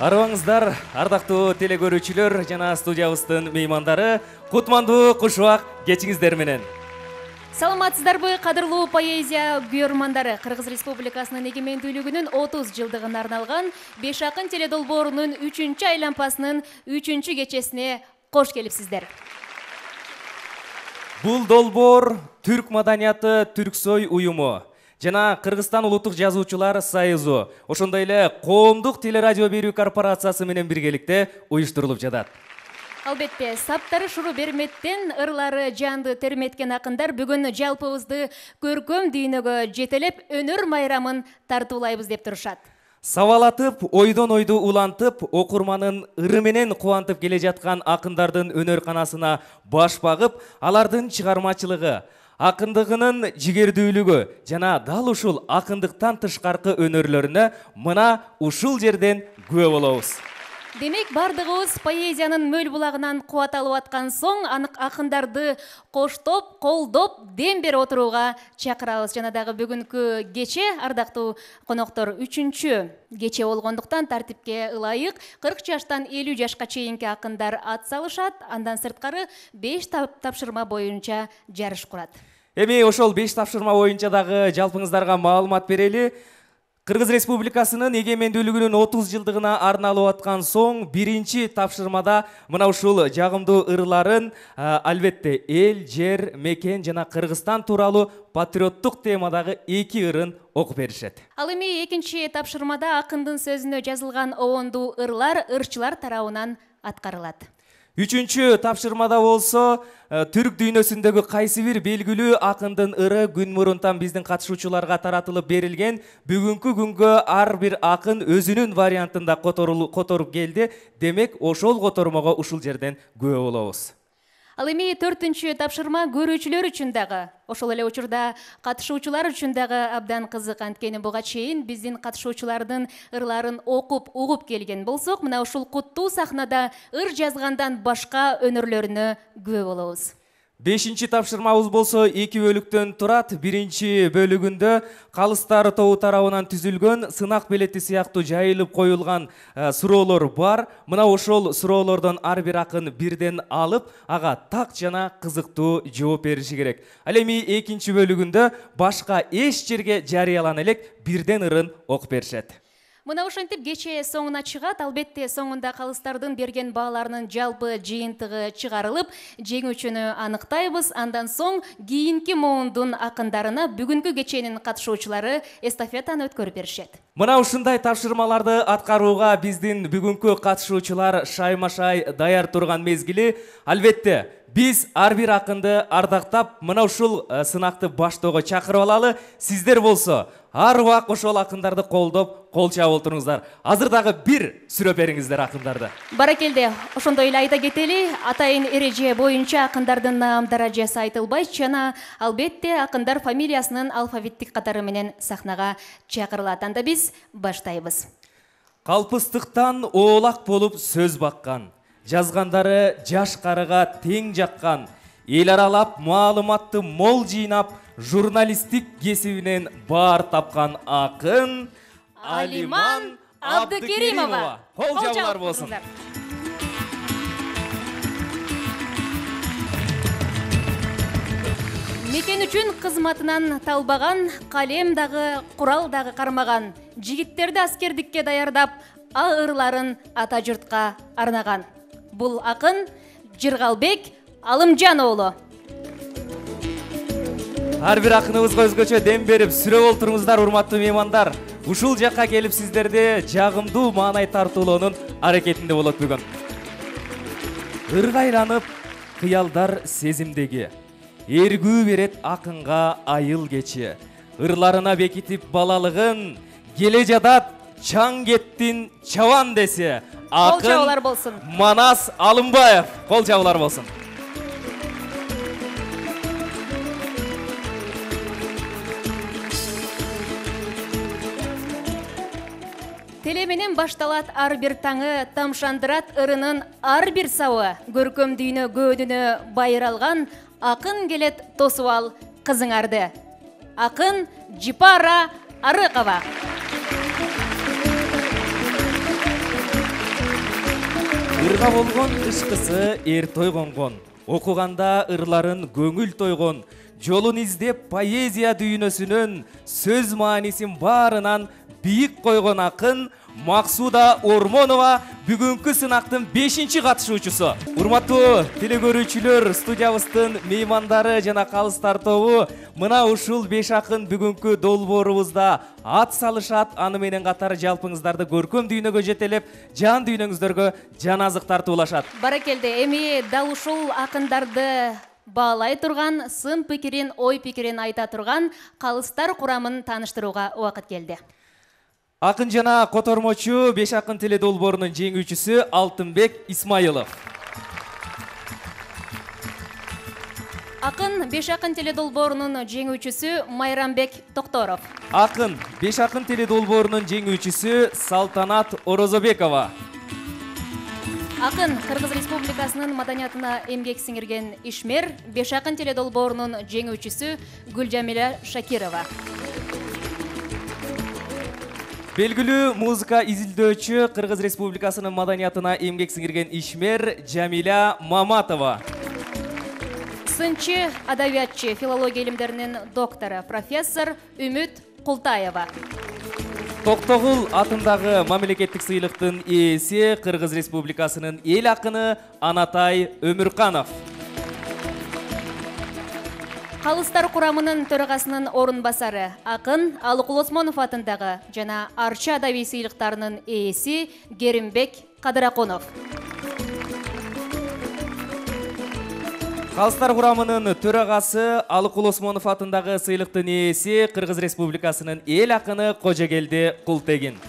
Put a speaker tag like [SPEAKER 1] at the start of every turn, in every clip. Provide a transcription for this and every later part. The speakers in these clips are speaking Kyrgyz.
[SPEAKER 1] Арыбаңыздар, ардактуу телекөрүүчүлөр жана студиябыздын меймандары, кутмандуу кушубак кечиңиздер менен.
[SPEAKER 2] Саламатсыздарбы, кадырлуу поэзия көрөрмандары. Кыргыз Республикасынын эгемендүүлүгүнүн 30 жылдыгына арналган Беш акын теледолбоорунун 3-чү айланпасынын 3-чү кечесине кош келипсиздер.
[SPEAKER 1] Бул долбоор Түрк маданияты Түрксой уюму жана Кыргызстан улуттук жазуучулар союзу, ошондой эле коомдук телерадио берүү корпорациясы менен биргеликте уюштурулуп жатат.
[SPEAKER 2] Албетте, саптары шуру берметтен ырлары жанды терметкен акындар бүгүн жалпыбызды көркөм дүйнөгө жетелеп өнөр майрамын тартуулайбыз деп турушат.
[SPEAKER 1] Сабалатып, ойдон ойду улантып, окурманын ыры менен кубантып келе жаткан акындардын өнөр канасына баш багып, алардын чыгармачылыгы, акындыгынын жигердүүлүгү жана дал ушул акындыктан тышкаркы өнөрлөрүнө мына ушул жерден күбө болобуз.
[SPEAKER 2] Демек, бардыгыбыз поэзиянын мөл булагынан кубат алып аткан соң, анык акындарды коштоп, колдоп, дем берип отурууга чакырабыз. Жана дагы бүгүнкү кече, ардактуу коноктор, 3-чү кече болгондуктан тартипке ылайык 40 жаштан 50 жашка чейинки акындар ат салышат, андан сырткары 5 тапшырма боюнча жарыш курат.
[SPEAKER 1] Эми ошол 5 тапшырма боюнча дагы жалпыңыздарга маалымат берели. Кыргыз Республикасынын эгемендүүлүгүнүн 30 жылдыгына арналып аткан соң, биринчи тапшырмада мына ушул жагымдуу ырларын албетте эл, жер, мекен жана Кыргызстан тууралуу патриоттук темадагы 2 ырын окуп беришет.
[SPEAKER 2] Ал эми экинчи тапшырмада акындын сөзүнө жазылган обондуу ырлар ырчылар тарабынан аткарылат.
[SPEAKER 1] 3-чү тапшырмада болсо, түрк дүйнөсүндөгү кайсы бир белгилүү акындын ыры күн мурунтан биздин катышуучуларга таратылып берилген. Бүгүнкү күнгө ар бир акын өзүнүн вариантында которуп келди. Демек, ошол котормого ушул жерден күбө болобуз.
[SPEAKER 2] Ал эми 4-чү тапшырма көрүүчүлөр үчүн дагы, ошол эле учурда катышуучулар үчүн дагы абдан кызык. Анткени буга чейин биздин катышуучулардын ырларын окуп, угуп келген болсок, мына ушул куттуу сахнада ыр жазгандан башка өнөрлөрүнө күбө болобуз.
[SPEAKER 1] 5-чи тапшырмабыз болсо 2 бөлүктөн турат. Биринчи бөлүгүндө калыстар тобу тарабынан түзүлгөн сынак билети сыяктуу жайылып коюлган суроолор бар. Мына ошол суроолордон ар бир акын бирден алып, ага так жана кызыктуу жооп бериши керек. Ал эми 2-чи бөлүгүндө башка эч жерге жарыялана элек бирден ырын окуп беришет.
[SPEAKER 2] Мына ошентип кече соңуна чыгат. Албетте, соңунда калыстардын берген бааларынын жалпы жыйынтыгы чыгарылып, жеңүүчүнү аныктайбыз. Андан соң кийинки муундун акындарына бүгүнкү кеченин катышуучулары эстафетаны өткөрүп беришет.
[SPEAKER 1] Мына ушундай тапшырмаларды аткарууга биздин бүгүнкү катышуучулар шайма-шай даяр турган мезгили. Албетте, биз ар бир акынды ардактап, мына ушул сынакты баштоого чакырып алалы. Сиздер болсо ар убак ошол акындарды колдоп, кол чабып отуруңуздар. Азыр дагы бир сүрөп бериңиздер акындарды.
[SPEAKER 2] Баракелде, ошондой эле айта кетели, атайын эреже боюнча акындардын наам даражасы айтылбайт жана албетте акындар фамилиясынын алфавиттик катары менен сахнага чакырылат. Анда биз баштайбыз.
[SPEAKER 1] Калпыстыктан оолак болуп сөз баккан, жазгандары жаш карыга тең жаккан, эл аралап маалыматты мол жыйнап, журналисттик кесибинен баар тапкан акын Алиман Абдыкеримова. Кол жабуулар болсун.
[SPEAKER 2] Мекен үчүн кызматынан талбаган, калем дагы, курал дагы кармаган, жигиттерди аскердикке даярдап, ырларын ата журтка арнаган. Бул акын Жыргалбек Алымжан оолу.
[SPEAKER 1] Ар бир акыныбызга өзгөчө дем берип, сүрөп олтуруңуздар, урматтуу меймандар. Ушул жакка келип сиздерди жагымдуу маанай тартуулоонун аракетинде болот бүгүн. Ыргайланып, кыялдар сезимдеги, эргүү берет акынга айыл кечи. Ырларына бекитип балалыгын, келе жадат чаң кеттин чабан десе. Акын Манас Алымбаев. Кол жабуулар болсун.
[SPEAKER 2] Теле менен башталат ар бир таңы, тамшандырат ырынын ар бир сабы. Көркөм дүйнө көөдүнө байыралган, акын келет тосуп ал кызыңарды. Акын Жипара Арыкова.
[SPEAKER 1] Ырга болгон ышкысы эр тойгонгон, окуганда ырларын көңүл тойгон, жолун издеп поэзия дүйнөсүнөн сөз маанисин баарынан бийик койгон акын Максуда Ормонова бүгүнкү сынактын 5-чи катышуучусу. Урматтуу телекөрүүчүлөр, студиябыздын меймандары жана калыстар тобу мына ушул 5 акын бүгүнкү долбоорубузда ат салышат. Аны менен катар жалпыңыздарды көркөм дүйнөгө жетелеп, жан дүйнөңүздөргө жан азык тартуулашат.
[SPEAKER 2] Баракелде, эми дал ушул акындарды баалай турган, сын пикирин, ой пикирин айта турган калыстар курамын тааныштырууга убакыт келди.
[SPEAKER 1] Акын жана котормочу 5 акын теле долбоорунун жеңүүчүсү Алтынбек Исмайылов.
[SPEAKER 2] Акын 5 акын теле долбоорунун жеңүүчүсү Майрамбек Токторов.
[SPEAKER 1] Акын 5 акын теле долбоорунун жеңүүчүсү Салтанат Орозобекова.
[SPEAKER 2] Акын Кыргыз Республикасынын маданиятына эмгек сиңирген ишмер 5 акын теле долбоорунун жеңүүчүсү Гүлжамиля Шакирова.
[SPEAKER 1] Белгилүү музыка изилдөөчү, Кыргыз Республикасынын маданиятына эмгек сиңирген ишмер Жамиля Маматова.
[SPEAKER 2] Сынчы, адабиятчы, филология илимдеринин доктору, профессор Үмүт Култаева.
[SPEAKER 1] Токтогул атындагы мамлекеттик сыйлыктын ээси, Кыргыз Республикасынын эл акыны Анатай Өмүрканов.
[SPEAKER 2] Калыстар курамынын төрагасынын орун басары акын Алыкул Осмонов атындагы жана Арчы адабий сыйлыктарынын ээси Керимбек Кадыракунов.
[SPEAKER 1] Калыстар курамынын төрагасы Алыкул Осмонов атындагы сыйлыктын ээси, Кыргыз Республикасынын эл акыны Кожогелди Култегин.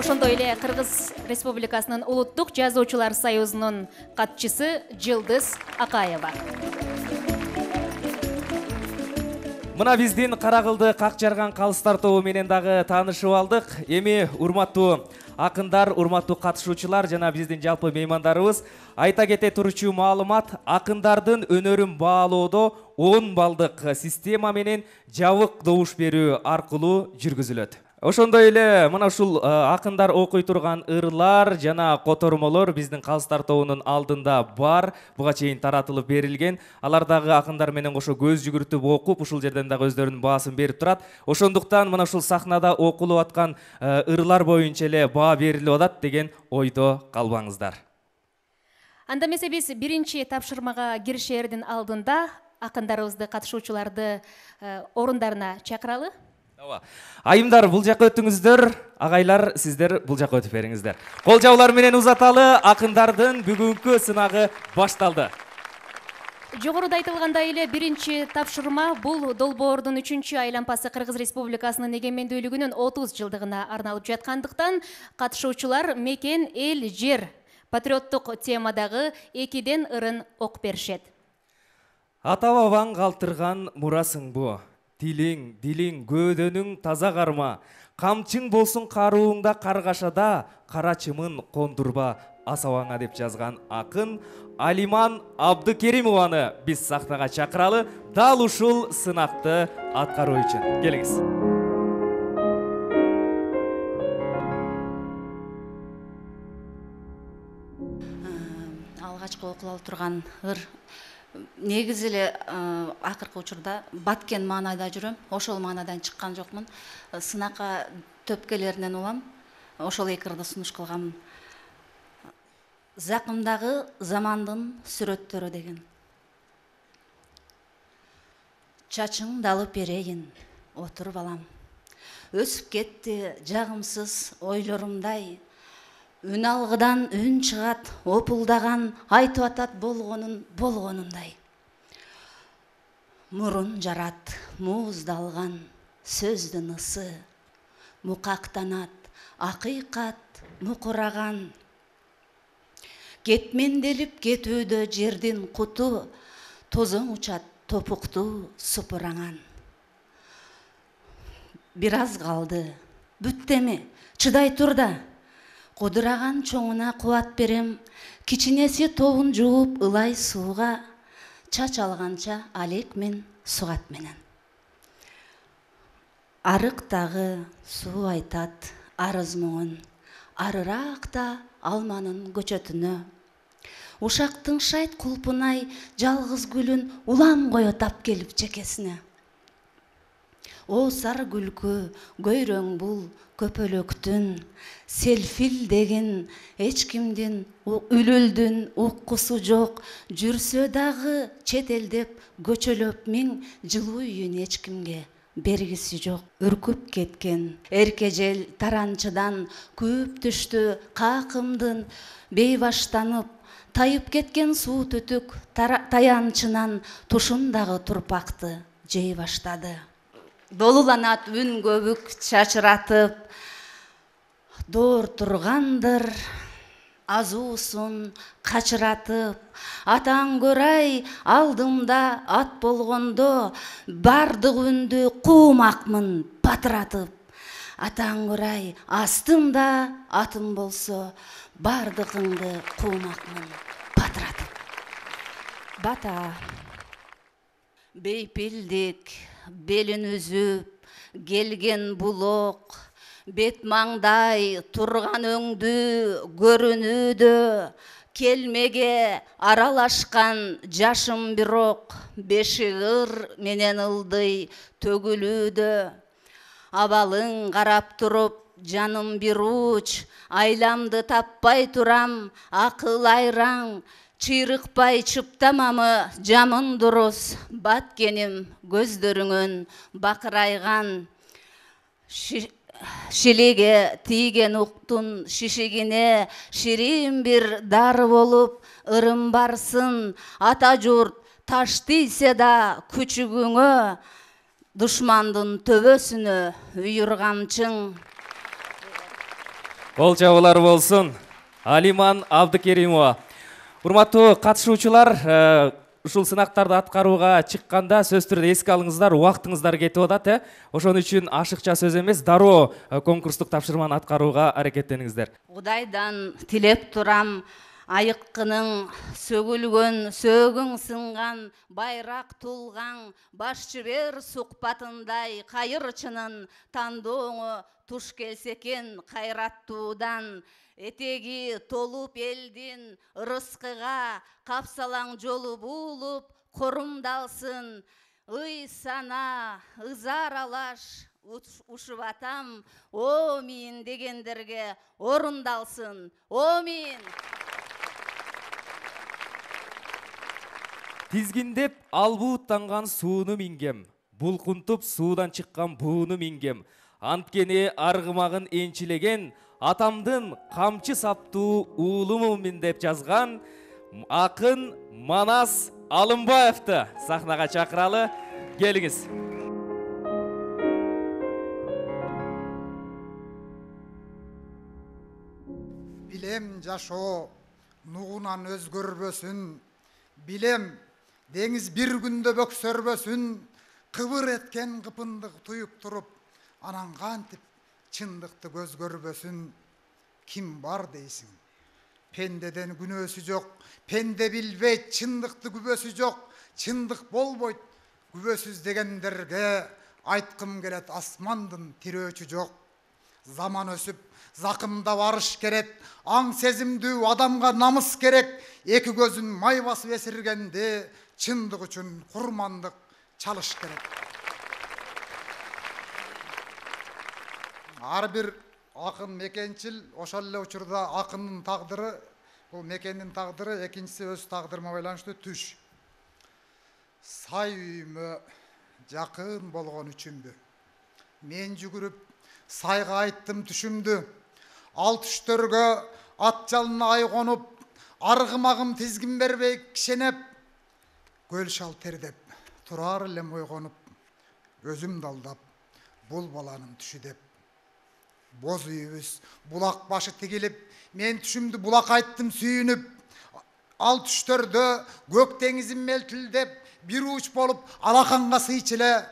[SPEAKER 2] Ошондой эле Кыргыз Республикасынын Улуттук жазуучулар союзунун катчысы Жылдыз Акаева.
[SPEAKER 1] Мына биздин Каракылды как жарган калыстар тобу менен дагы таанышып алдык. Эми урматтуу акындар, урматтуу катышуучулар жана биздин жалпы меймандарыбыз, айта кете турчу маалымат, акындардын өнөрүн баалоодо 10 балдык система менен жабык добуш берүү аркылуу жүргүзүлөт. Ошондой эле мына ушул акындар окуй турган ырлар жана котормолор биздин калыстар тобунун алдында бар. Буга чейин таратылып берилген. Алар дагы акындар менен кошо көз жүгүртүп окуп, ушул жерден дагы өздөрүнүн баасын берип турат. Ошондуктан мына ушул сахнада окулуп аткан ырлар боюнча эле баа берилип атат деген ойдо калбаңыздар.
[SPEAKER 2] Анда эмесе биз биринчи тапшырмага киришердин алдында акындарыбызды, катышуучуларды орундарына чакыралы.
[SPEAKER 1] Айымдар бул жака өтүңүздөр, агайлар сиздер бул жака өтүп бериңиздер. Кол жабуулар менен узаталы, акындардын бүгүнкү сынагы башталды.
[SPEAKER 2] Жогоруда айтылгандай эле биринчи тапшырма бул долбоордун 3-чү айлампасы Кыргыз Республикасынын эгемендүүлүгүнүн 30 жылдыгына арналып жаткандыктан катышуучулар мекен, эл, жер патриоттук темадагы 2ден ырын окуп беришет.
[SPEAKER 1] Ата бабаң калтырган мурасың бу. Дилиң, көөдөнүң таза карма. Камчың болсун карууңда каргашада, карачымын кондурба асабаңа деп жазган акын Алиман Абдыкеримованы биз сахнага чакыралы, дал ушул сынакты аткаруу үчүн. Келиңиз.
[SPEAKER 3] Алгачкы окулуп турган ыр негизи эле акыркы учурда баткен маанайда жүрөм. Ошол маанадан чыккан жокмун. Сынакка төпкелеринен улам. Ошол эки ырды сунуш кылгам. Закымдагы замандын сүрөттөрү деген. Чачың далып берейин, отур балам. Өсүп кетти жагымсыз ойлорумдай. Үн алгыдан үн чыгат, опулдаган, айтып атат болгонундай. Мурун жарат, мууздалган, сөздүн ысы, мукактанат, акыйкат, мукураган. Кетменделип кетүүдө жердин куту, тозоң учат, топукту супураңан. Бир аз калды, бүттеме, чыдай тур да. Кудураган чоңуна кубат берем, кичинеси тобун жууп ылай сууга, чач алганча алек мен сугат менен. Арыктагы суу айтат арыз моңун, арыракта алманын көчөтүнө. Ушактын шайт кулпунай жалгыз гүлүн улам кое тап келип чекесине. О сары күлкү, көйрөң бул көпөлөктүн, селфилдеген эч кимдин үлүлдүн уккусу жок, жүрсө дагы чет элдеп көчөлөп миң жылуу үйүн эч кимге бергиси жок. Үркүп кеткен эркежел таранчыдан күйүп түштү какымдын бейбаштанып, тайып кеткен суу түтүк таянчынан тушундагы турпакты жей баштады. Долуланат үн көбүк чачыратып, доор тургандыр азуусун качыратып. Атаң көрай алдымда ат болгондо, бардык үндү куумакмын батыратып. Атаң көрай астымда атым болсо, бардыгыңды куумакмын батыратып. Бата бейпилдик белин үзүп келген булок, бет маңдай турган өңдү көрүнүүдө, келмеге аралашкан жашым бирок, беши ыр менен ылдый төгүлүүдө. Абалың карап туруп жаным бир уч, айламды таппай турам акыл айраң, чыйрыкпай чыптамамы жамын дурус, баткеним көздөрүңөн бакырайган. Шилеге тийген уктун шишигине ширин бир дары болуп ырым барсын. Ата журт таш тийсе да күчүгүңө, душмандын төбөсүнө үйүр камчың.
[SPEAKER 1] Кол чабуулар болсун. Алиман Абдыкеримова. Урматтуу катышуучулар, ушул сынактарды аткарууга чыкканда сөзсүз түрдө эске алыңыздар, убактыңыздар кетип атат. Ошон үчүн ашыкча сөз эмес, дароо конкурстук тапшырманы аткарууга аракеттениңиздер.
[SPEAKER 3] Кудайдан тилеп турам, айыккының сөгүлгөн, сөгүң сынган, байрак тулган, баш жибер сукпатындай кайырчынын тандооңу туш келсе экен кайраттуудан. Этеги толуп элдин ырыскыга, капсалаң жолу буулуп корумдалсын. Ый сана, ызар алаш ушуп атам, омин дегендерге орундалсын. Омин.
[SPEAKER 1] Тизгиндеп албууттанган сууну мингем, булкунтуп суудан чыккан бууну мингем. Анткени аргымагын энчилеген, атамдын камчы саптуу уулумумун деп жазган акын Манас Алымбаевди сахнага чакыралы. Келиңиз.
[SPEAKER 4] Билем жашоо нугунан өзгөрбөсүн, билем деңиз бир күндө бөксөрбөсүн, кыбыр эткен кыпындык туюп туруп, анан кантип чындыкты көз көрбөсүн. Ким бар дейсиң? Пендеден күнөөсү жок, пенде билбейт, чындыкты күбөсү жок, чындык болбойт. Күбөсүз дегендерге айткым келет, асмандын тирөөчү жок. Заман өсүп, закымда барыш керек, аң сезимдүү адамга намыс керек. Эки көзүн май басып эсиргенде, чындык үчүн курмандык чалыш керек. Ар бир акын мекенчил, ошол эле учурда акындын тагдыры, бул мекендин тагдыры, экинчиси өз тагдырыма байланыштуу түш. Сай үйүмө жакын болгон үчүмдү, мен жүгүрүп сайга айттым түшүмдү. Ал түштөргө ат жалына ай конуп, аргымагым тизгин бербей кишенеп, көл шал тердеп, турар элем ойгонуп, өзүмдү алдап, бул баланын түшү деп. Боз үйүбүз булак башы тигилип, мен түшүмдү булак айттым сүйүнүп. Ал түштөрдө көк деңизим мелтилдеп, бир уч болуп алаканга сыйчыле.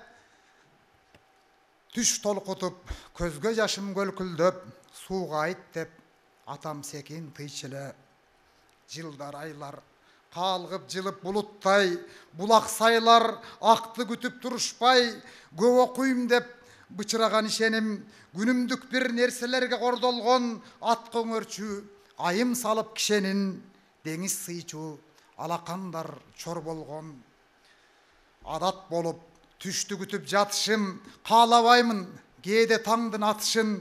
[SPEAKER 4] Түш толкутуп, көзгө жашым көлкүлдөп, сууга айт деп, атам секин тыйчыле. Жылдар айлар калгып жылып булуттай, булак сайлар акты күтүп турушпай, көп окуйм деп бычыраган ишеним, күнүмдүк бир нерселерге кордолгон ат көңөрчү, айым салып кишенин, деңиз сыйчу, алакандар чор болгон. Адат болуп түштү күтүп жатышым, каалабаймын кээде таңдын атышын.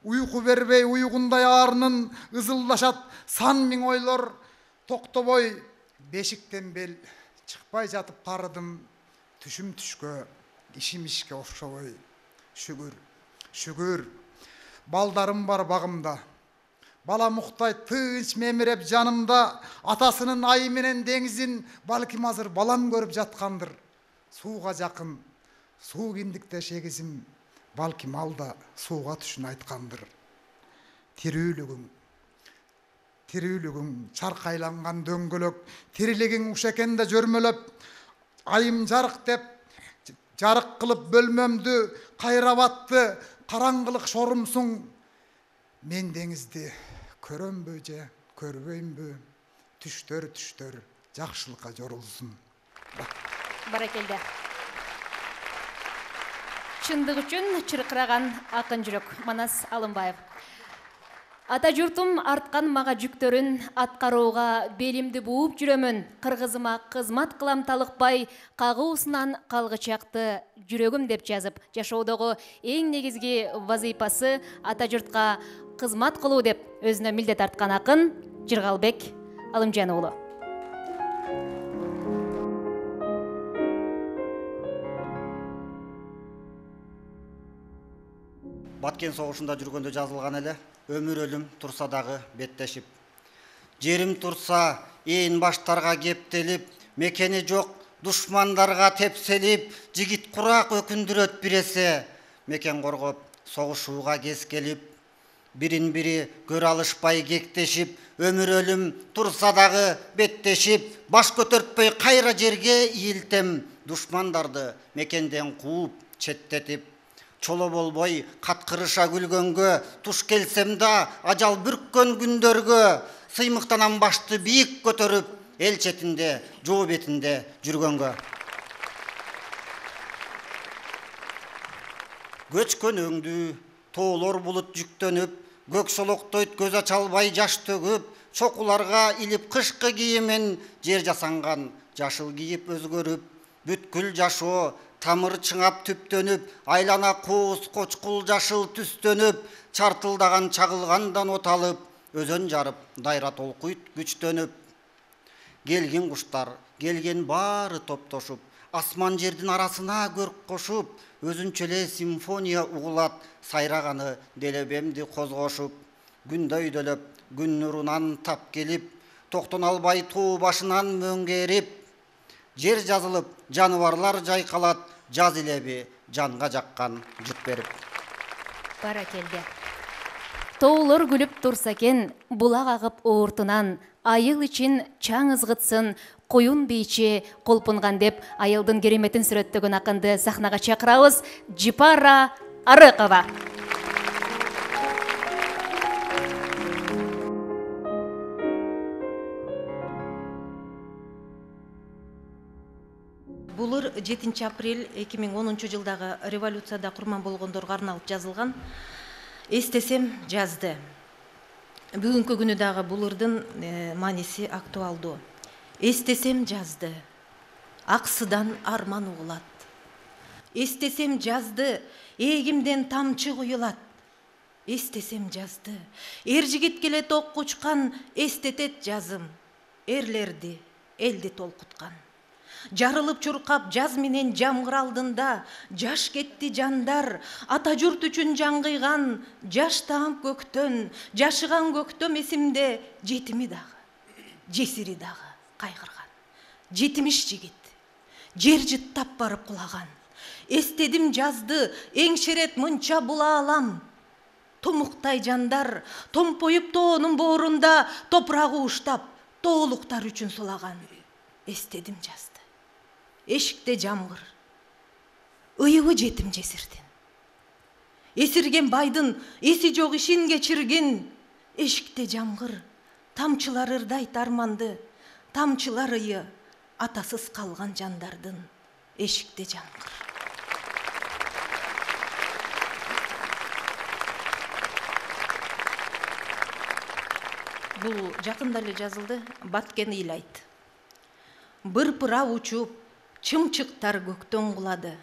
[SPEAKER 4] Уйку бербей уйгундай аарынын, ызылдашат сан миң ойлор. Токтобой бешиктен бел чыкпай жатып карыдым, түшүм түшкө, ишим ишке окшобой. Шүгүр, шүгүр, балдарым бар багымда. Бала муктай тынч мемиреп жанымда, атасынын айы менен деңизин балким азыр балам көрүп жаткандыр. Сууга жакын, суу киндикте шегизим, балким алда сууга түшүн айткандыр. Тирүүлүгүң чаркайланган дөңгөлөк, тирилигиң уш экенде жөрмөлөп, айым жарык деп жарык кылып бөлмөмдү кайрап атты, караңгылык шорумсуң. Мен деңизди көрөмбү же көрбөймбү, түштөр жакшылыкка жорулсун.
[SPEAKER 2] Баракелде. Чындык үчүн чыркыраган акын жүрөк. Манас Алымбаев. Ата журтум арткан мага жүктөрүн, аткарууга белимди бууп жүрөмүн. Кыргызыма кызмат кылам талыкпай, кагуусунан калгычакты жүрөгүм деп жазып, жашоодогу эң негизги вазыйпасы ата журтка кызмат кылуу деп өзүнө милдет арткан акын Жыргалбек Алымжан уулу.
[SPEAKER 5] Баткен согушунда жүргөндө жазылган эле. Өмүр өлүм турса дагы беттешип. Жерим турса ээн баштарга кептелип, мекени жок душмандарга тепселип, жигит курак өкүндүрөт биресе, мекен коргоп согушууга кез келип, бирин бири көрө алышпай кектешип, өмүр өлүм турса дагы беттешип, баш көтөртпөй кайра жерге ийилтем, душмандарды мекенден кууп четтетип, чоло болбой каткырыша күлгөнгө, туш келсем да ажал бүрккөн күндөргө, сыймыктанам башты бийик көтөрүп, эл четинде, жоо бетинде жүргөнгө. Көчкөн өңдү, тоолор булут жүктөнүп, көк солоктойт көз ача албай жаш төгүп, чокуларга илип кышкы кийимин, жер жасанган жашыл кийип өзгөрүп, бүткүл жашоо тамыр чыңап түптөнүп, айлана кооз кочкул жашыл түстөнүп, чартылдаган чагылгандан от алып, өзөн жарып, дайра толкуйт күчтөнүп. Келген куштар, келген баары топтошуп, асман жердин арасына көрк кошуп, өзүнчө эле симфония угулат, сайраганы делебемди козгошуп. Күндө өйдөлөп, күн нурунан тап келип, токтон албай тоо башынан мөңгерип, жер жазылып, жаныбарлар жайкалат, жаз илеби жанга жаккан жыт берип.
[SPEAKER 2] Баракелде. Тоолор күлүп турса экен, булак агып оортунан, айыл ичин чаң ызгытсын, коюн бийчи колпунган деп айылдын кереметин сүрөттөгөн акынды сахнага чакырабыз. Жипара Арыкова.
[SPEAKER 6] Булыр 7 апрель 2010 жылдагы революцияда курман болгондорго арналып жазылган. Эстесем жазды. Бүгүнкү күнү дагы булырдын мааниси актуалдуу. Эстесем жазды. Аксыдан арман угулат. Эстесем жазды. Эгимден тамчы куюлат. Эстесем жазды. Эр жигит келет ок кучкан, эстетет жазым. Эрлерди, элди толкуткан. Жарылып чуркап жаз менен жамгыр алдында, жаш кетти жандар, ата журт үчүн жангыйган, жаш таам көктөн, жашыган көктөм эсимде, жетими дагы, жесири дагы кайгырган. Жетимиш жигит, жер жыттап барып кулаган. Эстедим жазды, эңшерет мынча була алам. Томуктай жандар, томпоюп тоонун боорунда, топурагы уштап, тоолуктар үчүн сулаган. Эстедим жазды. Эшикте жамгыр, ыйыбы жетим жесирдин. Эсирген байдын эси жок ишин кечиргин. Эшикте жамгыр, тамчылар ырдайт арманды, тамчылар ыйы атасыз калган жандардын. Эшикте жамгыр. Бул жакында эле жазылды. Баткен ыйлайт. Бырпырап учуп, чымчыктар көктөн кулады.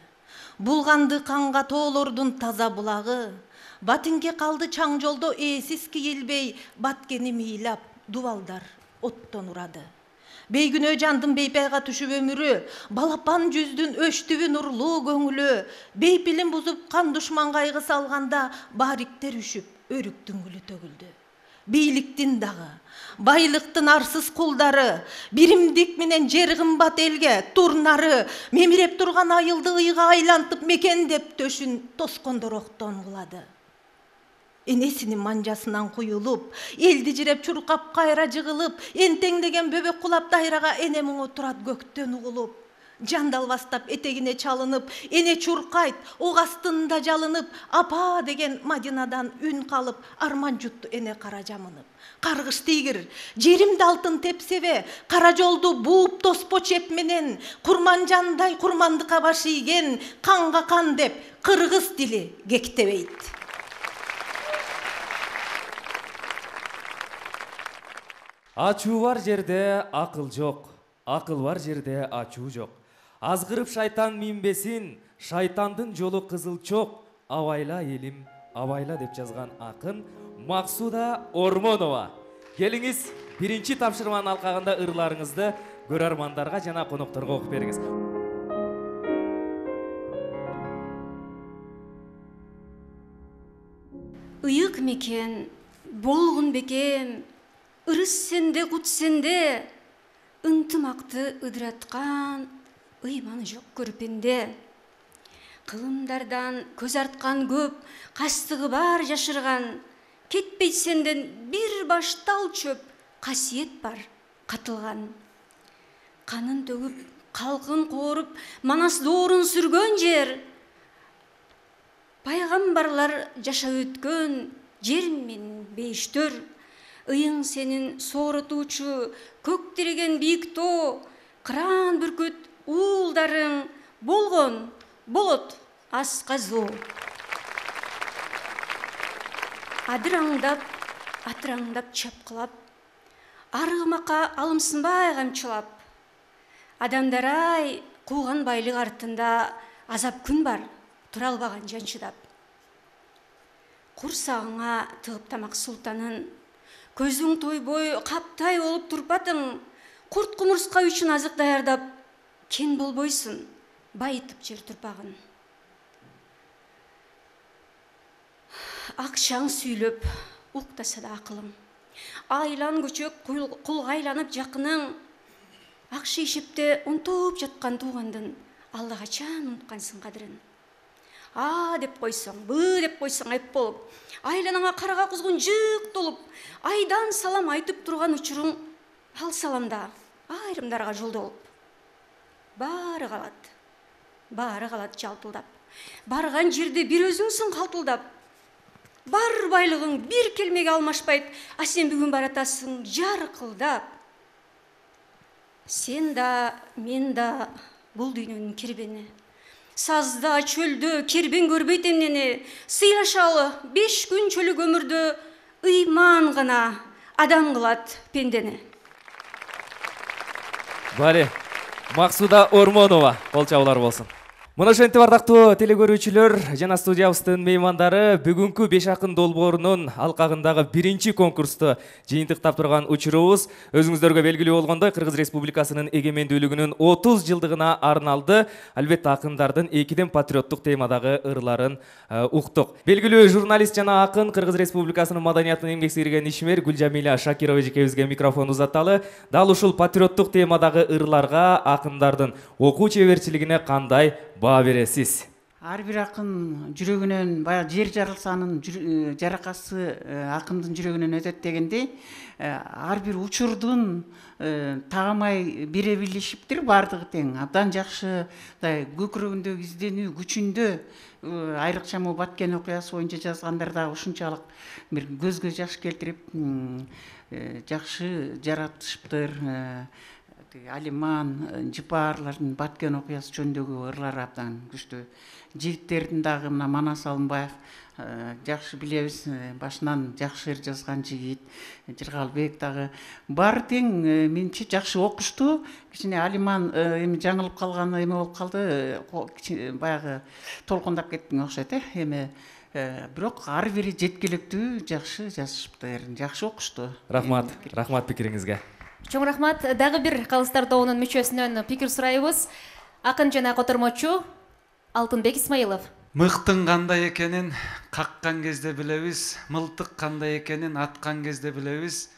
[SPEAKER 6] Булганды канга тоолордун таза булагы. Батинге калды чаң жолдо ээсиз кийилбей, баткени мыйлап, дубалдар оттон урады. Бейгүнөө жандын бейпайга түшүп өмүрү, балапан жүздүн өчтүбү нурлуу көңүлү, бейпилин бузуп кан душман кайгы салганда, бариктер үшүп, өрүктүн гүлү төгүлдү. Бийликтин дагы, байлыктын арсыз кулдары, биримдик менен жер кымбат элге, турнары, мемиреп турган айылды ыйга айлантып мекендеп төшүн тоскондор октон кылады. Энесинин манжасынан куюлуп, элди жиреп чуркап кайра жыгылып, энтеңдеген бөбөк кулап дайрага эне муңу турат көктөн угулуп. Жандалбастап этегине чалынып, эне чуркайт, ок астында жалынып, апа деген Мадинадан үн калып, арман жутту эне кара жамынып. Каргыш тийгир, жеримди алтын тепсебе, кара жолду бууп тоспо чеп менен, курманжандай курмандыкка баш ийген, канга кан деп, кыргыз тили кектебейт.
[SPEAKER 1] Ачуу бар жерде акыл жок, акыл бар жерде ачуу жок. Азгырып шайтан минбесин, шайтандын жолу кызылчок, абайла элим, абайла деп жазган акын Максуда Ормонова. Келиңиз, биринчи тапшырманын алкагында ырларыңызды көрөрмандарга жана конокторго окуп бериңиз.
[SPEAKER 7] Ыйык мекен, болгун бекем, ырыс сенде, кут сенде, ынтымакты ыдыраткан, ыйманы жок көрпенде. Кылымдардан көз арткан көп, кастыгы бар жашырган, кетпейт сенден бир баш тал чөп, касиет бар катылган. Канын төгүп, калкын кооруп, Манас доорун сүргөн жер, пайгамбарлар жашап өткөн жер мен бейиштөр. Ыйың сенин сооротуучу, көк тиреген бийик тоо, кыран бүркүт уулдарың болгон, болот асказоо. Адыраңдап, атыраңдап чапкылап, аргымакка алымсынбай камчылап. Адамдар-ай, кууган байлык артында азап күн бар, тура албаган жан чыдап. Курсагыңа тыгып тамак султанын, көзүң тойбой каптай болуп турпатың, курт кумурска үчүн азык даярдап, кен болбойсуң, байытып жер турпагын. Акчаң сүйлөп, уктаса да акылың, айлан көчөк кулга айланып жакының, акча ишепте унтуп жаткан туугандын алла качан унуткансың кадырын. А деп койсоң, Б деп койсоң айып болуп, айланаңа карага кузгун жык толуп, айдан салам айтып турган учуруң ал саламда айрымдарга жолдолуп. Баары калат жалтылдап. Барган жерде бир өзүңсүң калтылдап. Бар байлыгың бир келмеге алмашпайт, а сен бүгүн баратасың жаркылдап. Сен да, мен да бул дүйнөнүн кербени. Сазда, чөлдө кербен көрбөйт эмнени, сыйлашалы 5 күн чөлүк өмүрдө ыйман гана адам кылат пендени.
[SPEAKER 1] Бали, Максуда Ормонова, кол чабуулар болсун. Мына ошентип ардактуу телекөрүүчүлөр жана студиябыздын меймандары бүгүнкү Беш акын долбоорунун алкагындагы биринчи конкурсту жыйынтыктап турган учурубуз өзүңүздөргө белгилүү болгондой Кыргыз Республикасынын эгемендүүлүгүнүн 30 жылдыгына арналды. Албетте акындардын экиден патриоттук темадагы ырларын уктук. Белгилүү журналист жана акын Кыргыз Республикасынын маданиятын эмгек сиңирген ишмер Гүлжамиля Шакирова эжекебизге микрофон узатталы. Дал ушул патриоттук темадагы ырларга акындардын окуу чеберчилигине кандай баа бересиз?
[SPEAKER 8] Ар бир акын жүрөгүнөн баягы жер жарылсанын жаракасы акындын жүрөгүнөн өтөт дегендей, ар бир учурдун тагамай бере билишиптир, баардыгы тең. Абдан жакшы көкүрөгүндөгү изденүү күчүндө айрыкча могу Баткен окуясы боюнча жазгандар да ушунчалык бир көзгө жаш келтирип жакшы жаратышыптыр. Алиман, Жыпаарлардын Баткен окуясы жөнүндөгү ырлары абдан күчтүү. Жигиттердин дагы мына Манас Алымбаев жакшы билебиз, башынан жакшы ыр жазган жигит. Жыргалбек дагы баары тең менимче жакшы окушту. Кичине Алиман эми жаңылып калган эме болуп калды, баягы толкундап кеттиң окшойт эми. Бирок ар бири жеткиликтүү, жакшы жазышыптыр, жакшы окушту.
[SPEAKER 1] Рахмат пикириңизге.
[SPEAKER 2] Чоң рахмат. Дагы бир Калыстар тобунун мүчөсүнөн пикир сурайбыз. Акын жана котормочу Алтынбек Исмаилов.
[SPEAKER 9] Мыктын кандай экенин каккан кезде билебиз, мылтык кандай экенин аткан кезде билебиз.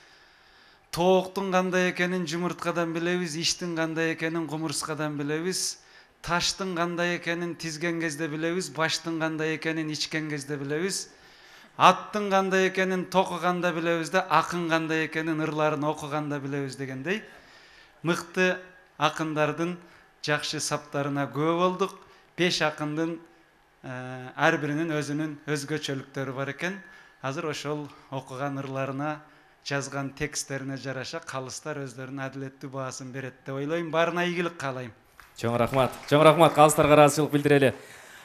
[SPEAKER 9] Тооктун кандай экенин жумурткадан билебиз, иштин кандай экенин кумурскадан билебиз. Таштын кандай экенин тизген кезде билебиз, баштын кандай экенин ичкен кезде билебиз. Аттын кандай экенин токуганда билебиз да, акын кандай экенин ырларын окуганда билебиз дегендей. Мыкты акындардын жакшы саптарына күбө болдук. 5 акындын ар биринин өзүнүн өзгөчөлүктөрү бар экен. Азыр ошол окуган ырларына, жазган тексттерине жараша калыстар өздөрүнүн адилеттүү баасын берет деп ойлойм. Баарына ийгилик каалайм.
[SPEAKER 1] Чоң рахмат калыстарга ыраазычылык билдирели.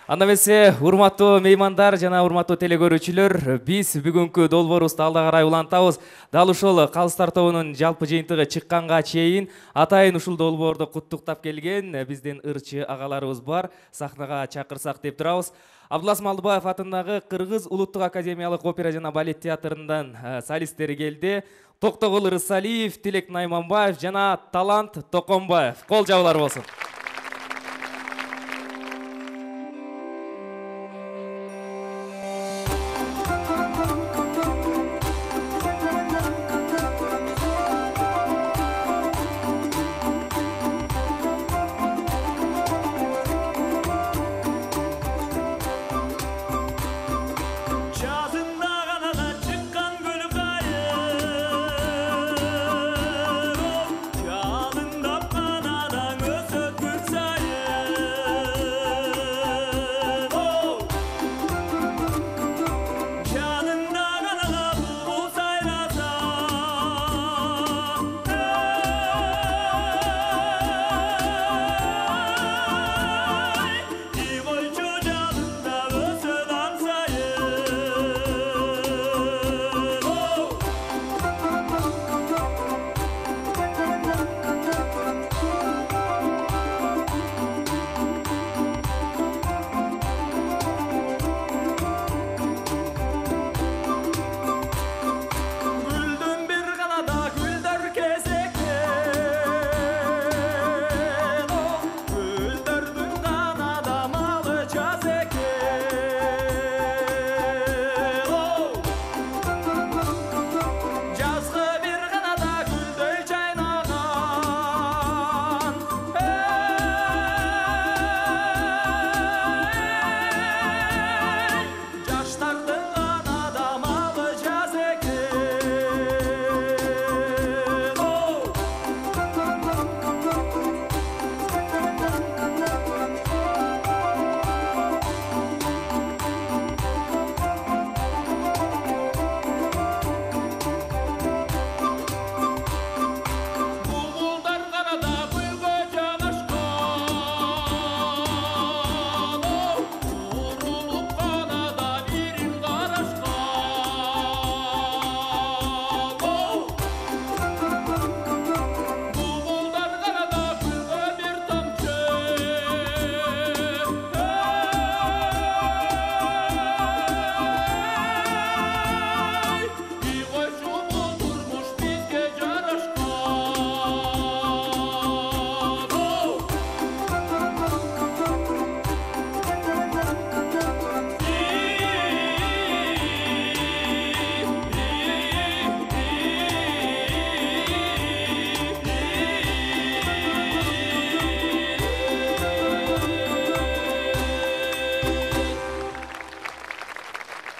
[SPEAKER 1] Анда эмесе, урматтуу меймандар жана урматтуу телекөрүүчүлөр, биз бүгүнкү долбоорубузду алда карай улантабыз. Дал ушул Калыстар тобунун жалпы жыйынтыгы чыкканга чейин атайын ушул долбоорду куттуктап келген биздин ырчы агаларыбыз бар. Сахнага чакырсак деп турабыз. Абдулас Малдыбаев атындагы Кыргыз улуттук академиялык опера жана балет театрындан солисттери келди. Токтогул Рысалиев, Тилек Найманбаев жана Талант Токонбаев. Кол жабылар болсун.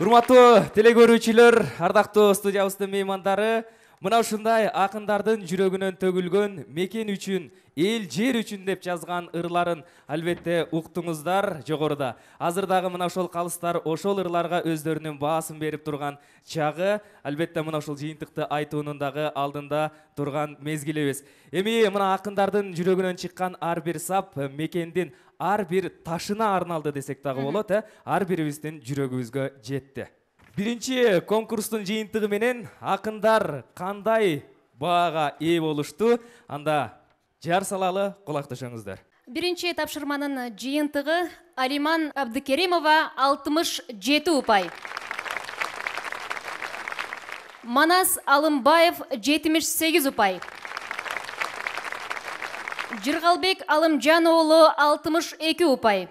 [SPEAKER 1] Урматтуу телекөрүүчүлөр, ардактуу студиябыздын меймандары, Мына ушундай акындардын жүрөгүнөн төгүлгөн мекен үчүн, эл жер үчүн деп жазган ырларын албетте уктуңуздар жогоруда. Азыр дагы мына ошол калыстар ошол ырларга өздөрүнүн баасын берип турган чагы, албетте мына ошол жыйынтыкты айтуунун дагы алдында турган мезгилибиз. Эми мына акындардын жүрөгүнөн чыккан ар бир сап мекендин ар бир ташына арналды десек дагы болот, ар бирибиздин жүрөгүбүзгө жетти. Биринчи конкурстун жыйынтыгы менен акындар кандай баага ээ болушту? Анда жар салалы, кулакташыңыздар.
[SPEAKER 2] Биринчи тапшырманын жыйынтыгы Алиман Абдыкеримова 67 упай. Манас Алымбаев 78 упай. Жыргалбек Алымжан уулу 62 упай.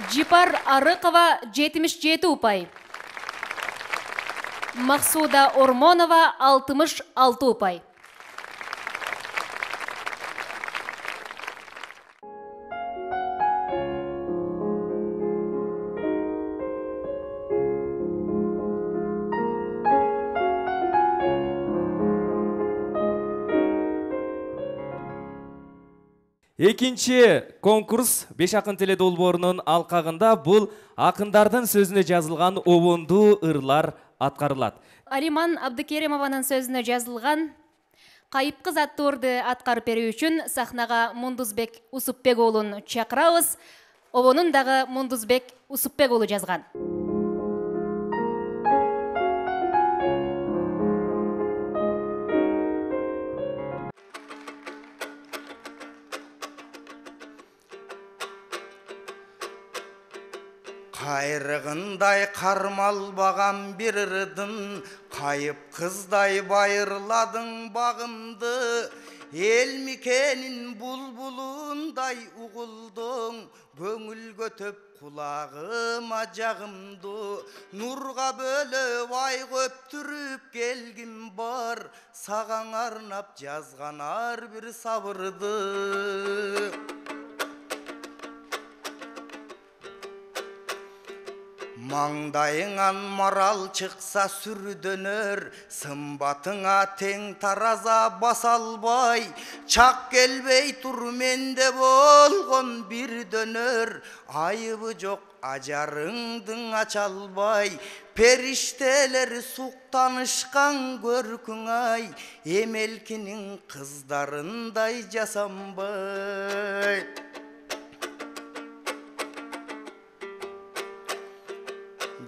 [SPEAKER 2] Жипар Арыкова 77 упай. Максуда Ормонова 66 упай.
[SPEAKER 1] Экинчи конкурс Беш акын теле долбоорунун алкагында бул акындардын сөзүнө жазылган обондуу ырлар аткарылат.
[SPEAKER 2] Алиман Абдыкеримованын сөзүнө жазылган Кайып кыз аттуу ырды аткарып берүү үчүн сахнага Мундузбек Усупбек уулун чакырабыз. Обонун дагы Мундузбек Усупбек уулу жазган.
[SPEAKER 5] Кайрыгындай кармалбаган бир ырдын, кайып кыздай байырладың багымды. Эл мекенин булбулундай угулдуң, көңүлгө төп кулагыма жагымды. Нурга бөлөп ай көптүрүп келгим бар, сагаң арнап жазган ар бир сабырды. Маңдайыңан марал чыкса сүрдөнөр, сымбатыңа тең тараза баса албай. Чак келбей тур менде болгон бир дөнөр, айыбы жок ажарыңдың ача албай. Периштелер суктанышкан көркүң ай, эмелкинин кыздарындай жасанбай.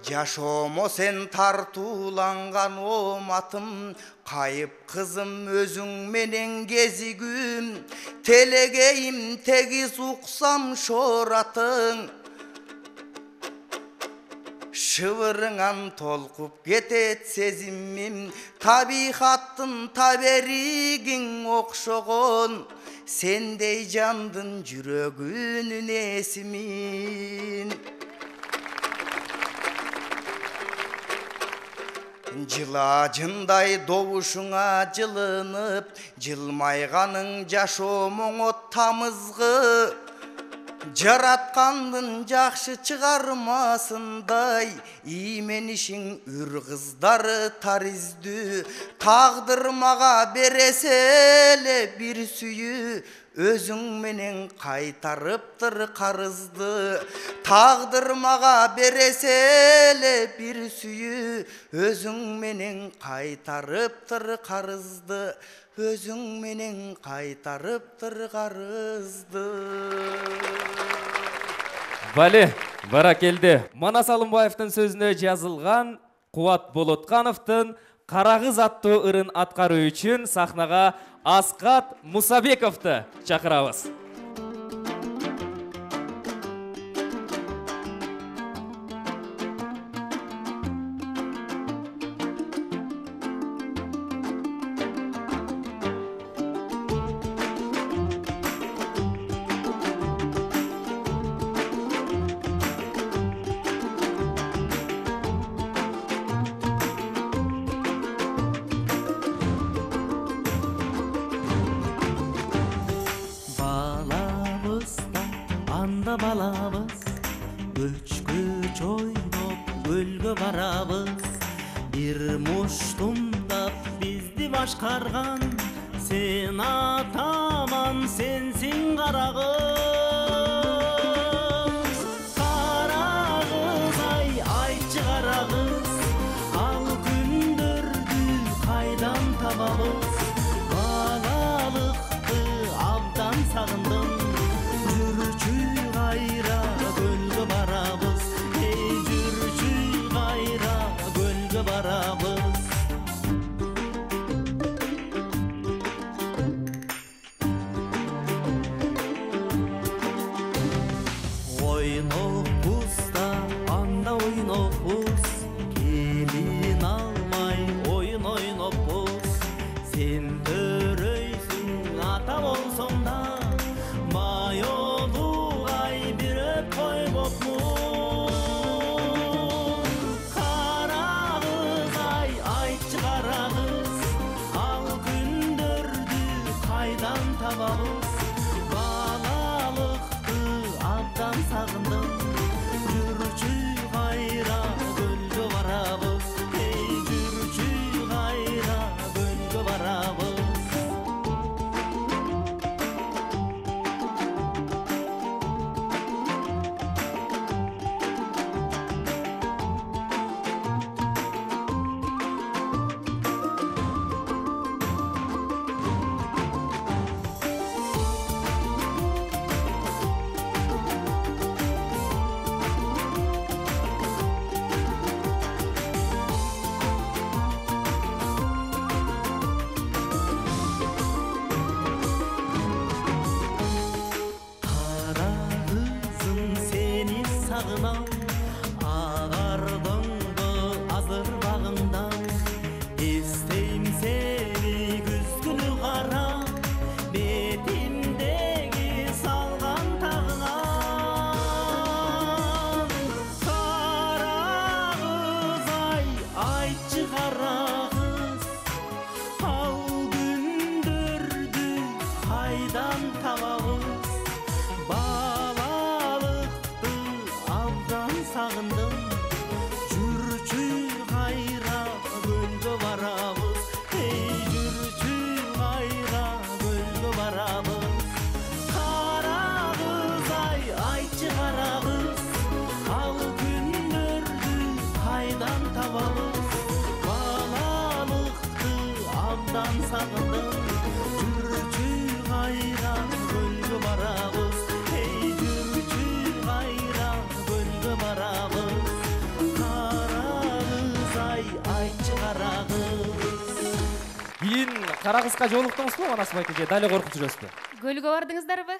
[SPEAKER 5] Жашомо сен тартууланган оматым, кайып кызым өзүң менен кезигүм. Телегейим тегиз уксам шоратың, шыбырыңан толкуп кетет сезимим. Табихаттын таберигиң окшогон, сендей жандын жүрөгүнүн эсимин. Жылажындай добушуңа жылынып, жылмайганың жашоомоңо тамызгы. Жараткандын жакшы чыгармасындай, ийменишиң үр кыздары тариздүү. Тагдыр мага бересе эле бир сүйүү, өзүң менен кайтарыптыр карызды. Тагдыр мага бересе эле бир сүйүү, өзүң менен кайтарыптыр карызды. Өзүң менен кайтарыптыр карызды.
[SPEAKER 1] Бале, баракелди. Манас Алымбаевдин сөзүнө жазылган Кубат Болоткановдун Кара кыз аттуу ырын аткаруу үчүн сахнага Аскат Мусабековду чакырабыз.
[SPEAKER 10] Балабыз көчкө чойноп көлгө барабыз, Ирмуштумдап бизди башкарган сен атаман сенсиң карагыз. Карагыз ай айтчы карагыз, ал күндөрдү кайдан табабыз? Балалыкты абдан сагындым, жүрчү кайра көлгө барабыз. Эй жүрчү кайра көлгө барабыз. Ойнопуз да анда ойнопуз, келин алмай ойын ойнопуз. Сен төрөйсүң ата болсоң да, майолугай бир өп койбопмун. Карагыз ай айтчы карагыз, ал күндөрдү кайдан табабыз? Балалыкты абдан сагындым, жүрчү кайра көлгө барабыз. Эй жүрчү кайра көлгө барабыз. Карагызым сени сагынам, агардыңбы азыр багыңдан. Эстейм сени күз күнү карап, бетимдеги салган тагыңан. Карагыз ай айтчы карагыз, ал күндөрдү кайдан табабыз? Балалыкты абдан сагындым, жүрчү кайра көлгө барабыз. Эй жүрчү кайра көлгө барабыз. Карагыз ай айтчы карагыз, ал күндөрдү кайдан табабыз? Балалыкты абдан сагындым, жүрчү кайра көлгө барабыз. Эй жүрчү кайра көлгө барабыз. Карагыз ай айтчы карагыз.
[SPEAKER 1] Кийин Карагызга жолуктуңузбу Манас байке? Дали коркуп жүрөсүзбү?
[SPEAKER 2] Көлгө бардыңыздарбы?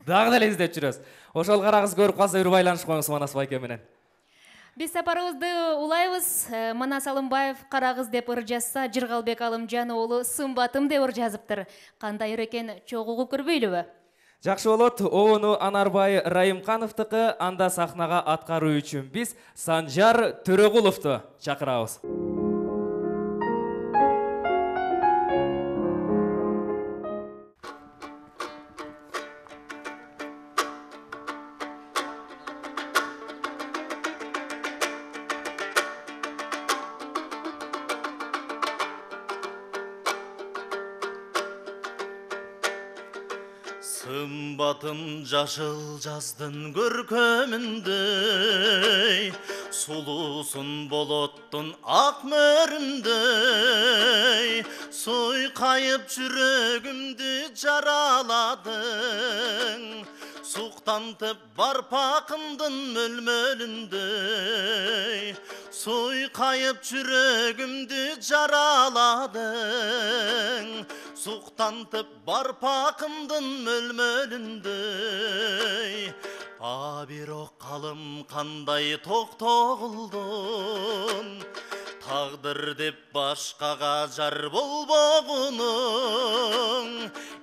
[SPEAKER 1] Дагы деле издеп жүрөбүз. Ошол Карагыз көрүп калса бир байланышып коюңуз Манас байке менен.
[SPEAKER 2] Биз сапарыбызды улайбыз. Манас Алымбаев Карагыз деп ыр жазса, Жыргалбек Алымжан уулу Сымбатым деп ыр жазыптыр. Кандай ыр экен чогуу угуп көрбөйлүбү?
[SPEAKER 1] Жакшы болот. Обону Анарбай Райымкановдуку, анда сахнага аткаруу үчүн биз Санжар Төрөгуловду чакырабыз.
[SPEAKER 10] Сымбатым жашыл жаздын көркөмүндөй, сулуусун болоттун ак мөрүндөй. Суйкайып жүрөгүмдү жараладың, суктантып барпакымдын мөлмөлүндөй. Суйкайып жүрөгүмдү жараладың, суктантып барпакымдын мөлмөлүндөй. А бирок калым кандай токтогулдун, тагдыр деп башкага жар болбогунуң.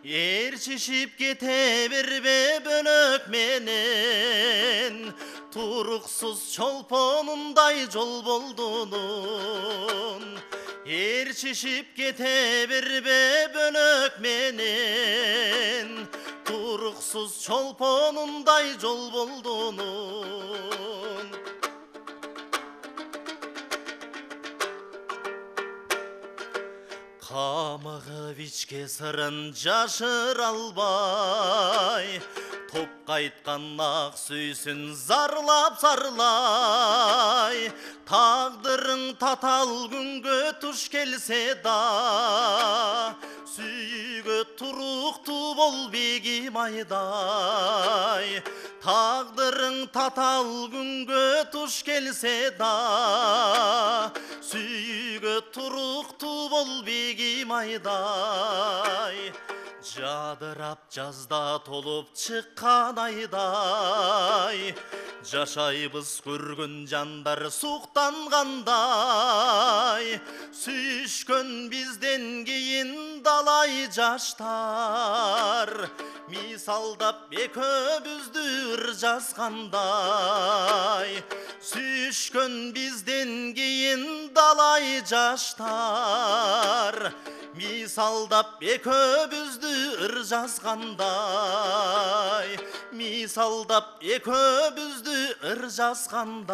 [SPEAKER 10] Ээрчишип кете бербе бөлөк менен, туруксуз чолпонундай жол болдунун. Ээрчишип кете бербе бөлөк менен, туруксуз чолпонундай жол болдунун. тамагы вичке сырын жашыра албай, топ кайткан ак сүйсүн зарлап зарлай. Тагдырың татал күнгө туш келсе да, сүйгө туруктуу бол бегим айдай. Тагдырың татал күнгө туш келсе да, сүйгө туруктуу бол бегим айдай. Жадырап жазда толуп чыккан айдай, жашайбыз көргөн жандар суктангандай. Сүйүшкөн бизден кийин далай жаштар, мисалдап экөөбүздү ыр жазгандай. Сүйүшкөн бизден кийин далай жаштар, мисалдап экөөбүздү ыр жазгандай. Мисалдап экөөбүздү ыр жазгандай.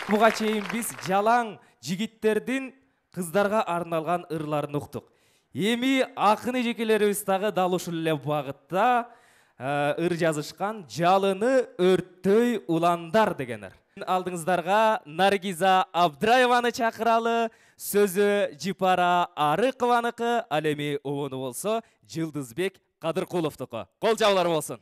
[SPEAKER 1] Буга чейин биз жалаң жигиттердин кыздарга арналган ырларын уктук. Эми акын эжекелерибиз дагы дал ушул эле багытта ыр жазышкан. Жалыны өрттөй уландар дегенер. Алдыңыздарга Наргиза Абдраеваны чакыралы. Сөзү Жипара Арыкованыкы, ал эми обону болсо Жылдызбек Кадыркуловдуку. Кол жабылар болсун.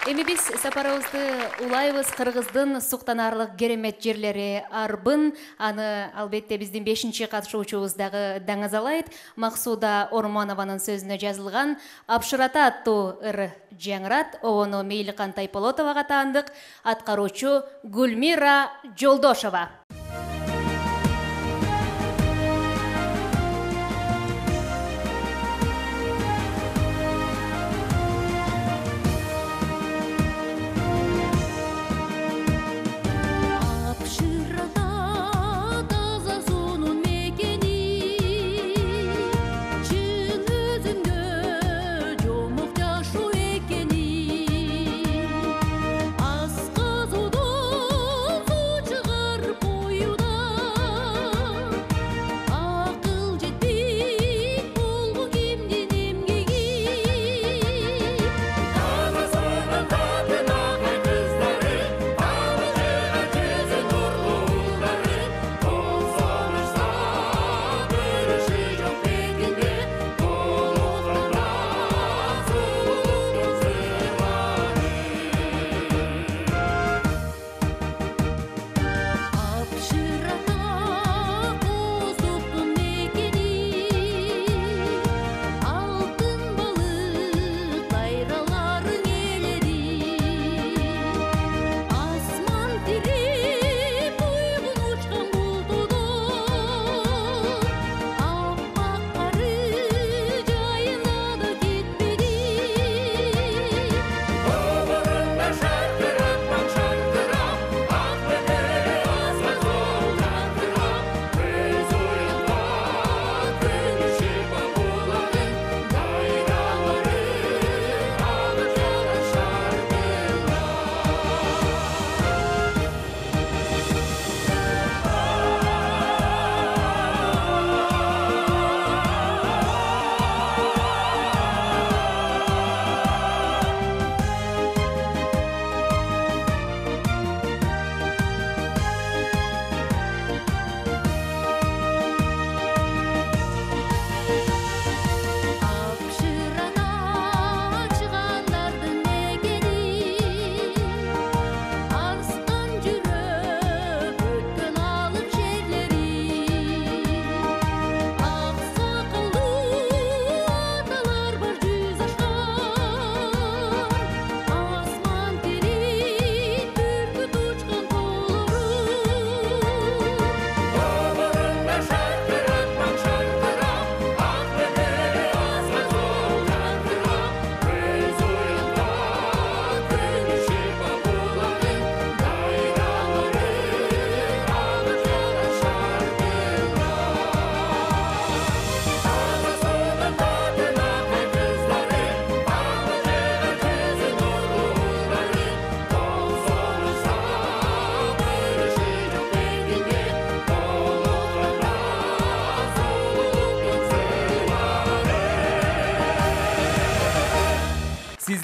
[SPEAKER 2] Эми биз сапарыбызды улайбыз Кыргыздын суктанарлык керемет жерлери Арбын. Аны албетте биздин 5-чи катышуучубуз дагы даңазалайт. Максуда Орманованын сөзүнө жазылган Апшырата аттуу ыр жаңырат. Обону Мейликан Тайполотовага таандык. Аткаруучу Гүлмира Жолдошова.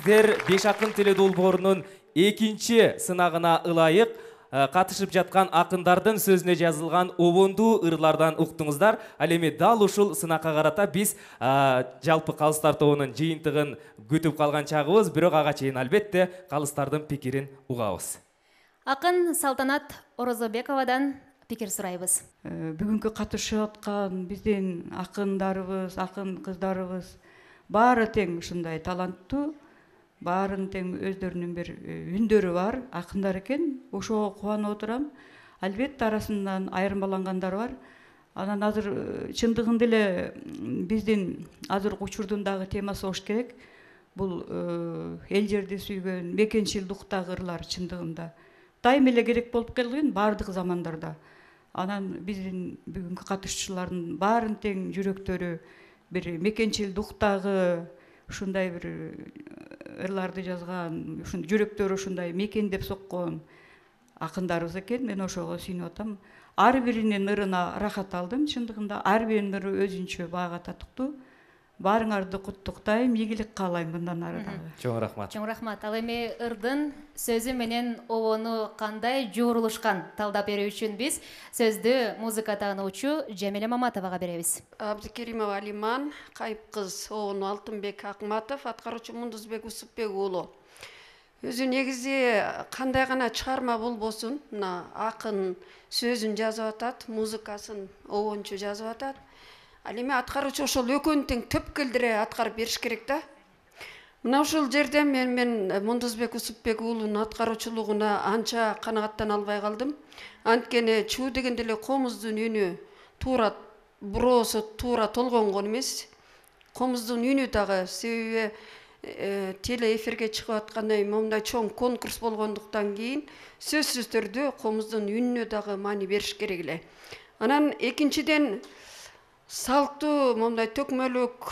[SPEAKER 1] сиздер Беш акын теле долбоорунун экинчи сынагына ылайык катышып жаткан акындардын сөзүнө жазылган обондуу ырлардан уктуңуздар. Ал эми дал ушул сынакка карата биз жалпы калыстар тобунун жыйынтыгын күтүп калган чагыбыз, бирок ага чейин албетте калыстардын пикирин угабыз.
[SPEAKER 2] Акын Салтанат Орозобековадан пикир сурайбыз.
[SPEAKER 11] Бүгүнкү катышып аткан биздин акындарыбыз, акын кыздарыбыз баары тең ушундай таланттуу, баарын тең өздөрүнүн бир үндөрү бар акындар экен. Ошого кубанып отурам. Албетте арасынан айырмалангандар бар. Анан азыр чындыгында эле биздин азыркы учурдун дагы темасы болуш керек. Бул эл жерди сүйгөн, мекенчилдуктагы ырлар чындыгында дайым эле керек болуп келген баардык замандарда. Анан биздин бүгүнкү катышуучулардын баарын тең жүрөктөрү бир мекенчилдуктагы ушундай бир ырларды жазган, ушун жүрөктөрү ушундай мекендеп соккон акындарыбыз экен. Мен ошого сүйүнүп атам. Ар биринин ырына рахат алдым. Чындыгында ар биринин ыры өзүнчө баага татыктуу. Баарыңарды куттуктайм, ийгилик каалайм мындан ары дагы.
[SPEAKER 1] Чоң рахмат.
[SPEAKER 2] Чоң рахмат. Ал эми ырдын сөзү менен обону кандай жуурулушкан талдап берүү үчүн биз сөздү музыка таануучу Жамиля Маматовага беребиз.
[SPEAKER 12] Абдыкеримова Алиман, кайып кыз обону Алтынбек Акматов, аткаруучу Мундузбек Усупбек уулу. Өзү негизи кандай гана чыгарма болбосун, мына акын сөзүн жазып атат, музыкасын обончу жазып атат. Ал эми аткаруучу ошол экөөнү тең төпкөлдүрө аткарып бериш керек да. Мына ушул жерде мен Мундузбек Усупбек уулунун аткаруучулугуна анча канагаттана албай калдым. Анткени чуу дегенде эле комуздун үнү туура буроосу туура толгонгон эмес. Комуздун үнү дагы себеби теле эфирге чыгып аткандай момундай чоң конкурс болгондуктан кийин сөзсүз түрдө комуздун үнүнө дагы маани бериш керек эле. Анан экинчиден салттуу момундай төкмөлүк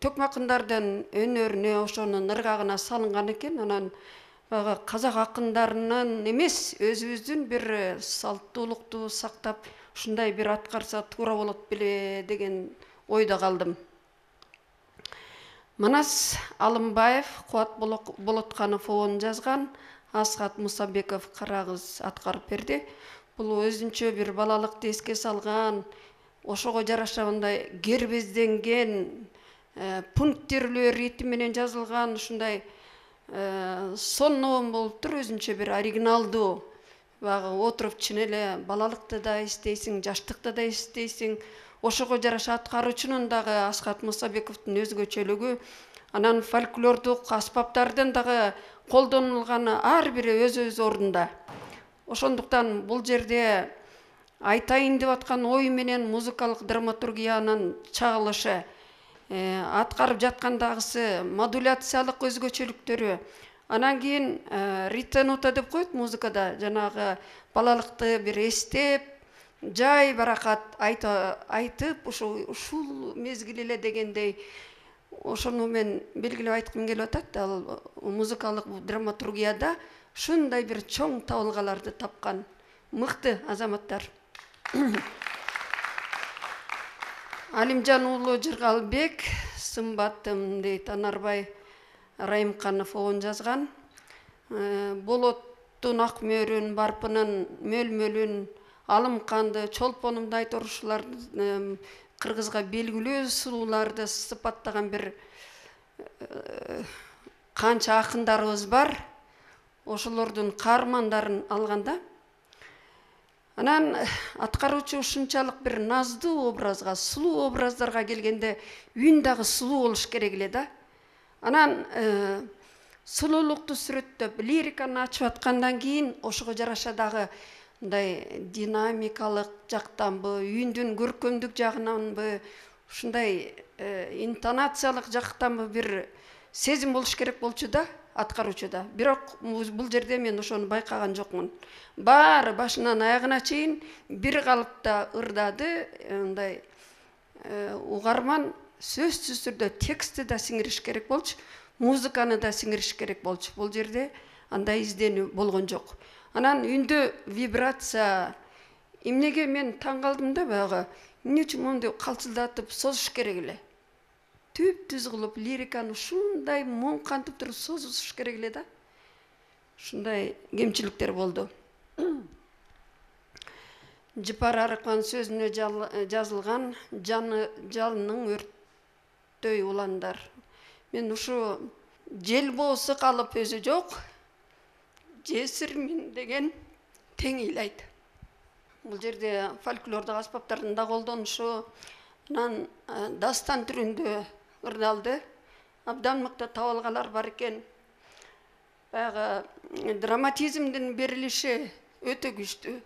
[SPEAKER 12] төкмө акындардын өнөрүнө, ошонун ыргагына салынган экен. Анан баягы казак акындарынын эмес, өзүбүздүн бир салттуулукту сактап, ушундай бир аткарса туура болот беле деген ойдо калдым. Манас Алымбаев, Кубат Болотканов обонун жазган, Асхат Мусабеков Карагыз аткарып берди. Бул өзүнчө бир балалыкты эске салган, ошого жараша мындай гербезденген, пункттерлүү ритм менен жазылган ушундай сонун болуптур, өзүнчө бир оригиналдуу. Баягы отуруп чын эле балалыкты да эстейсиң, жаштыкты да эстейсиң. Ошого жараша аткаруучунун дагы Асхат Мусабековдун өзгөчөлүгү, анан фольклордук аспаптардын дагы колдонулганы ар бири өз ордунда. Ошондуктан бул жерде айтайын деп аткан ой менен музыкалык драматургиянын чагылышы, аткарып жаткандагысы модуляциялык өзгөчөлүктөрү, анан кийин ритенута деп коет музыкада, жанагы балалыкты бир эстеп, жай баракат айтып, ушул мезгил эле дегендей, ошону мен белгилеп айткым келип атат. Ал музыкалык драматургияда ушундай бир чоң табылгаларды тапкан мыкты азаматтар. Алимжан уулу Жыргалбек, сымбаттым дейт Анарбай Райымканов обон жазган. Болоттун ак мөөрүн, барпынын мөлмөлүн, алымканды, чолпонумду айторушуларды, кыргызга белгилүү сулууларды сыпаттаган бир канча акындарыбыз бар. Ошолордун каармандарын алганда. Анан аткаруучу ушунчалык бир наздуу образга, сулуу образдарга келгенде үн дагы сулуу болуш керек эле да. Анан сулуулукту сүрөттөп, лириканы ачып аткандан кийин ошого жараша дагы мындай динамикалык жактанбы, үндүн көркөмдүк жагынанбы, ушундай интонациялык жактанбы бир сезим болуш керек болчу да аткаруучуда. Бирок бул жерде мен ошону байкаган жокмун. Баары башынан аягына чейин бир калыпта ырдады. Мындай угарман сөзсүз түрдө текстти да сиңириш керек болчу, музыканы да сиңириш керек болчу. Бул жерде андай изденүү болгон жок. Анан үндө вибрация, эмнеге мен таң калдым да, баягы эмне үчүн монду калчылдатып созуш керек эле. түз кылып лириканы ушундай моңкантып туруп созуш керек эле да. Ушундай кемчиликтер болду. Жыпар Арыкман сөзүнө жазылган жалынның өрттөй уландар. Мен ушу жел боосу калып өзү жок, жесирмин деген тең ыйлайт. Бул жерде фольклордук аспаптардын да колдонушу, анан дастан түрүндө ырдалды. Абдан мыкты табалгалар бар экен. Баягы драматизмдин берилиши өтө күчтүү.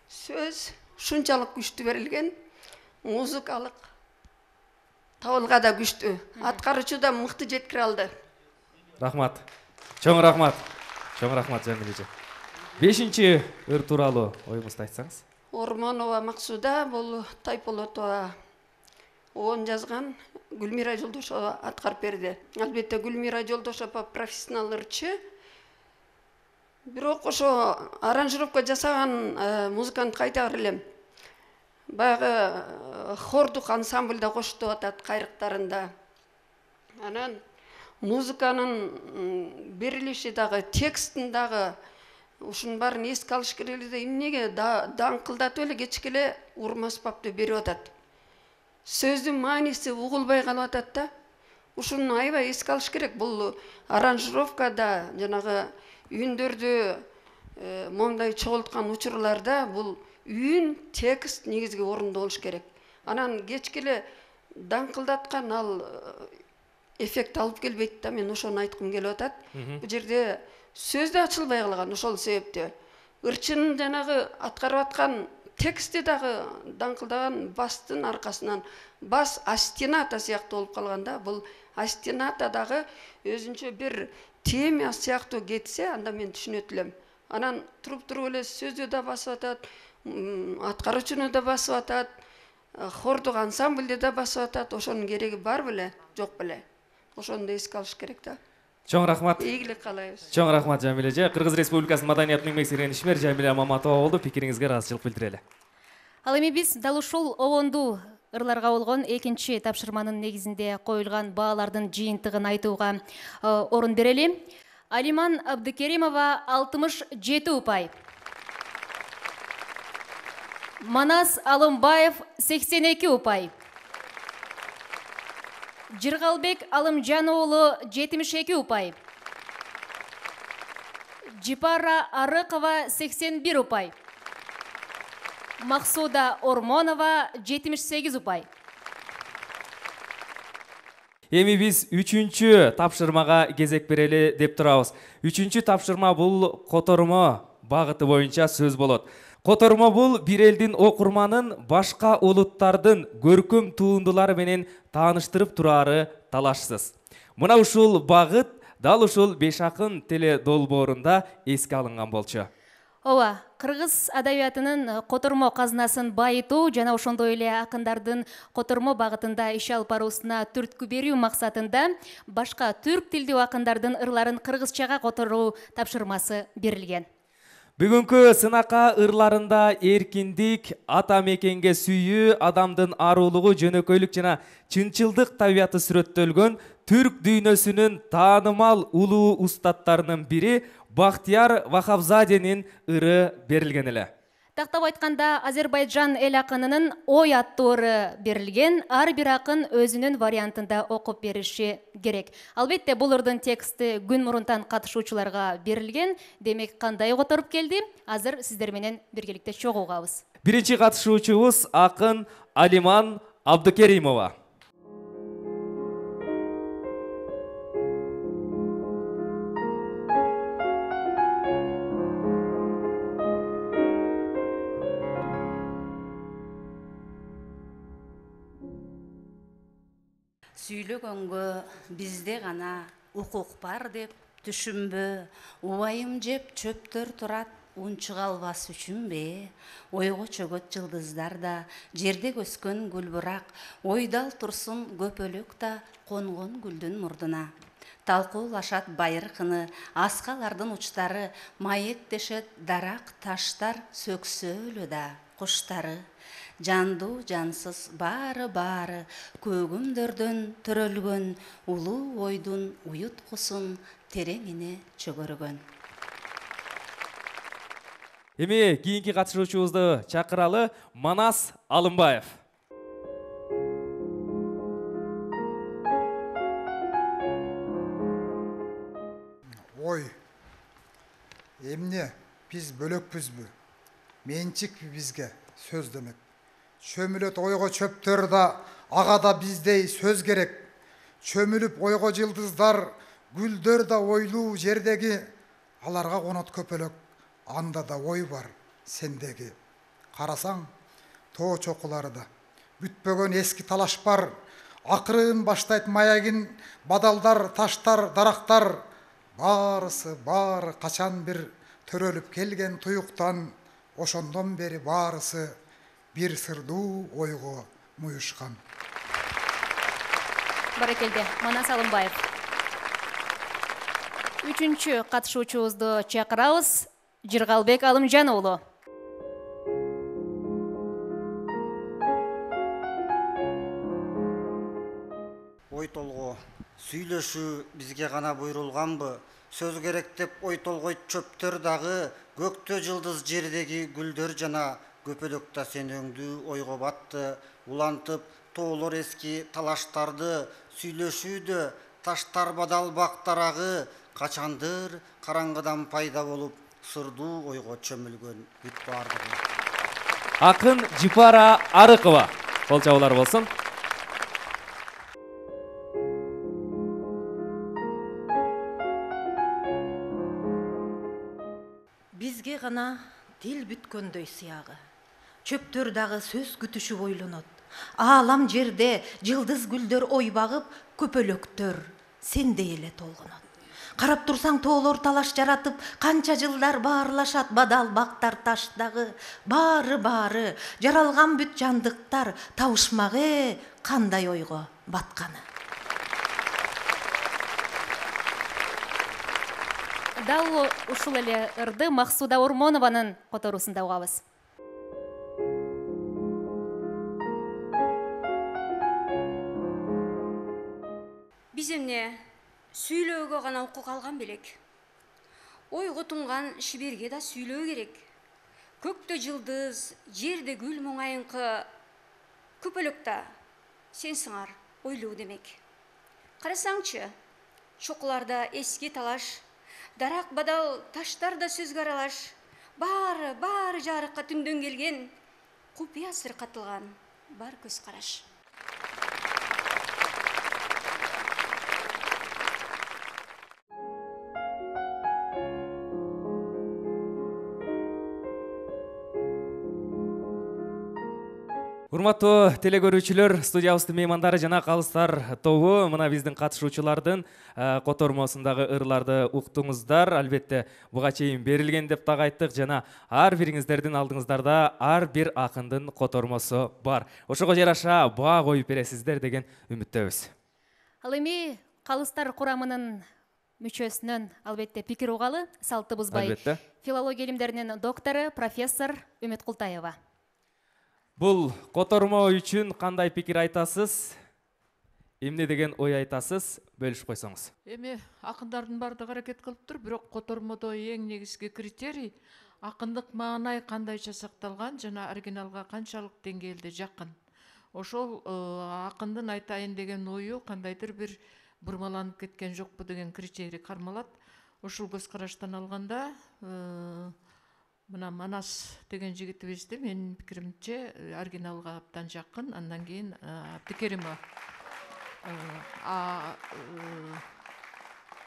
[SPEAKER 12] Сөз ушунчалык күчтүү берилген, музыкалык табылга да күчтүү. Аткаруучу да мыкты жеткире алды.
[SPEAKER 1] Рахмат. Чоң рахмат. Чоң рахмат Жамил эже. 5-чи ыр тууралуу оюңузду айтсаңыз.
[SPEAKER 12] Ормонова Максуда, бул Тайполотова оон жазган, Гүлмира Жолдошова аткарып берди. Албетте Гүлмира Жолдошова профессионал ырчы. Бирок ошо аранжировка жасаган музыканы кайта элем. Баягы хордук ансамбльда коштуп атат кайрыктарында. Анан музыканын берилиши дагы, текстин дагы ушунун баарын эске алыш керек эле. Эмнеге даңкылдатып эле кечке эле урма аспапты берип атат. Сөздүн мааниси угулбай калып атат да. Ушуну аябай эске алыш керек. Бул аранжировкада жанагы үндөрдү моңдай чогулткан учурларда бул үн, текст негизги орунда болуш керек. Анан кечке эле даңкылдаткан ал эффект алып келбейт да. Мен ошону айткым келип атат. Бул жерде сөз да ачылбай калган ошол себептен. Ырчынын жанагы аткарып аткан тексти дагы даңкылдаган бастын аркасынан бас астената сыяктуу болуп калганда, бул астената дагы өзүнчө бир тема сыяктуу кетсе, анда мен түшүнөт элем. Анан туруп эле сөздү да басып атат, аткаруучуну да басып атат, хордук ансамбльди да басып атат. Ошонун кереги бар беле, жок беле? Ошону да эске алыш керек да.
[SPEAKER 1] Чоң рахмат.
[SPEAKER 12] Ийгилик каалайбыз.
[SPEAKER 1] Чоң рахмат Жамил эже. Кыргыз Республикасынын маданиятын эмгек сиңирген ишмер Жамиля Маматова болду. Пикириңизге ыраазычылык билдирели.
[SPEAKER 2] Ал эми биз дал ушул обондуу ырларга болгон 2-чи тапшырманын негизинде коюлган баалардын жыйынтыгын айтууга орун берели. Алиман Абдыкеримова 67 упай. Манас Алымбаев 82 упай. Жыргалбек Алымжан уулу 72 упай. Жыпара Арыкова 81 упай. Максуда Ормонова 78 упай.
[SPEAKER 1] Эми биз 3-чү тапшырмага кезек берели деп турабыз. 3-чү тапшырма бул котормо багыты боюнча сөз болот. Котормо бул бир элдин окурманын башка улуттардын көркөм туындулары менен тааныштырып турары талашсыз. Мына ушул багыт дал ушул Беш акын теле долбоорунда эске алынган болчу.
[SPEAKER 2] Ооба, кыргыз адабиятынын котормо казынасын байытуу жана ошондой эле акындардын котормо багытында иш алып баруусуна түрткү берүү максатында башка түрк тилдүү акындардын ырларын кыргызчага которуу тапшырмасы берилген.
[SPEAKER 1] Бүгүнкү сынакка ырларында эркиндик, ата мекенге сүйүү, адамдын арулугу, жөнөкөйлүк жана чынчылдык табияты сүрөттөлгөн түрк дүйнөсүнүн таанымал улуу устаттарынын бири Бахтияр Вахапзаденин ыры берилген эле.
[SPEAKER 2] Тактап айтканда, Азербайджан эл акынынын Ой аттуу ыры берилген, ар бир акын өзүнүн вариантында окуп бериши керек. Албетте, бул ырдын тексти күн мурунтан катышуучуларга берилген. Демек, кандай которуп келди? Азыр сиздер менен биргеликте чогуугабыз.
[SPEAKER 1] Биринчи катышуучубуз акын Алиман Абдыкеримова.
[SPEAKER 3] Сүйлөгөнгө бизде гана укук бар деп түшүнбө, убайым жеп чөптөр турат унчук албас үчүнбе, ойго чөгөт жылдыздар да, жерде өскөн гүлбурак, ойдал турсун көпөлөк да конгон гүлдүн мурдуна. Талкуулашат байыркыны, аскалардын учтары, маектешет дарак таштар сөксөлү да куштары. жандуу жансыз баары көгүмдөрдөн төрөлгөн улуу ойдун уюткусун тереңине чөгөргөн.
[SPEAKER 1] Эми кийинки катышуучубузду чакыралы. Манас Алымбаев.
[SPEAKER 4] Ой, эмне биз бөлөкпүзбү? Менчикпи бизге сөз демек. Чөмүлөт ойго чөптөр да, ага да биздей сөз керек. Чөмүлүп ойго жылдыздар, гүлдөр да ойлуу жердеги, аларга конот көпөлөк, анда да ой бар сендеги. Карасаң, тоо чокуларда бүтпөгөн эски талаш бар, акырын баштайт маягин бадалдар, таштар, дарактар, баары качан бир төрөлүп келген туюктан, ошондон бери баарысы бир сырдуу ойго муюшкан.
[SPEAKER 2] Баракелде, Манас Алымбаев. Үчүнчү катышуучубузду чакырабыз. Жыргалбек Алымжан уулу.
[SPEAKER 5] Ой толго сүйлөшүү бизге гана буйрулганбы? Сөз керек деп ой толгойт чөптөр дагы, көктө жылдыз жердеги гүлдөр жана көпөлөктө сен өңдүү ойго батты. Улантып тоолор эски талаштарды, сүйлөшүүдө таштар бадал бактарагы, качандыр караңгыдан пайда болуп, сырдуу ойго чөмүлгөн бүт бардыгы.
[SPEAKER 1] Акын Жипара Арыкова. Кол чабуулар болсун.
[SPEAKER 6] Бизге гана дил бүткөндөй сыягы. Чөптөр дагы сөз күтүшүп ойлонот. Аалам жерде жылдыз гүлдөр ой багып, көпөлөктөр сендей эле толгонот. Карап турсаң тоолор талаш жаратып, канча жылдар баарлашат бадал бактар таштагы. Баары жаралган бүт жандыктар табышмагы кандай ойго батканы.
[SPEAKER 2] Дал ушул эле ырды Максуда Ормонованын которуусунда угабыз.
[SPEAKER 7] Биз эмне сүйлөөгө гана укук алган белек. Ойго тунган шиберге да сүйлөө керек. Көктө жылдыз, жерде гүл моңайыңкы, көпөлөктө сен сыңар ойлуу демек. Карасаңчы, чокуларда эски талаш, дарак бадал таштар да сөзгө аралаш, баары жарыкка түндөн келген, купуя сыр катылган бар көз караш.
[SPEAKER 1] Урматтуу телекөрүүчүлөр, студиябыздын меймандары жана калыстар тобу мына биздин катышуучулардын котормосундагы ырларды уктуңуздар. Албетте, буга чейин берилген деп дагы айттык жана ар бириңиздердин алдыңыздарда ар бир акындын котормосу бар. Ошого жараша баа коюп бересиздер деген үмүттөбүз.
[SPEAKER 2] Ал эми калыстар курамынын мүчөсүнөн албетте пикир угалы, салты бузбай.
[SPEAKER 1] Албетте.
[SPEAKER 2] Филология илимдеринин доктору, профессор Үмүт Култаева.
[SPEAKER 1] Бул котормо үчүн кандай пикир айтасыз? Эмне деген ой айтасыз? Бөлүшүп койсоңуз.
[SPEAKER 13] Эми акындардын баардыгы аракет кылыптыр, бирок котормодо эң негизги критерий акындык маанай кандайча сакталган жана оригиналга канчалык деңгээлде жакын. Ошол акындын айтайын деген ою кандайдыр бир бурмаланып кеткен жокпу деген критерий кармалат. Ушул көз караштан алганда мына Манас деген жигитибизди менин пикиримче оригиналга абдан жакын, андан кийин Абдыкеримова.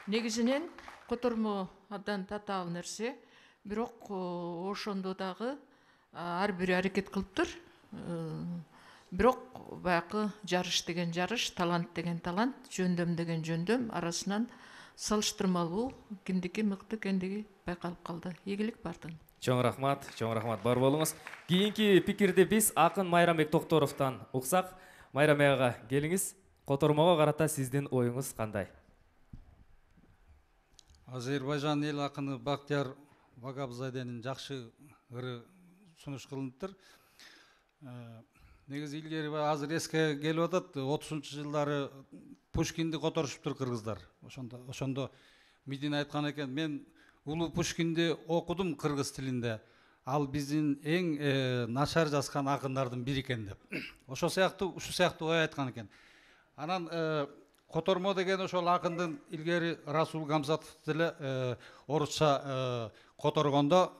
[SPEAKER 13] Негизинен котормо абдан татаал нерсе, бирок ошондо дагы ар бири аракет кылыптыр. Бирок баягы жарыш деген жарыш, талант деген талант, жөндөм деген жөндөм арасынан салыштырмалуу кимдики мыкты экендиги байкалып калды. Ийгилик бардыгына.
[SPEAKER 1] Чоң рахмат, бар болуңуз. Кийинки пикирди биз акын Майрамбек Токторовдон уксак. Майрамбек ага, келиңиз. Котормого карата сиздин оюңуз кандай?
[SPEAKER 14] Азербайжан эл акыны Бактияр Вагабзаденин жакшы ыры сунуш кылыныптыр. Негизи илгери азыр эске келип атат, 30-жылдары Пушкинди которушуптур кыргыздар. Ошондо Медина айткан экен, мен улуу Пушкинди окудум кыргыз тилинде. Ал биздин эң начар жазган акындардын бири экен деп. Ушул сыяктуу ой айткан экен. Анан котормо деген ошол акындын илгери Расул Гамзатов деле орусча которгондо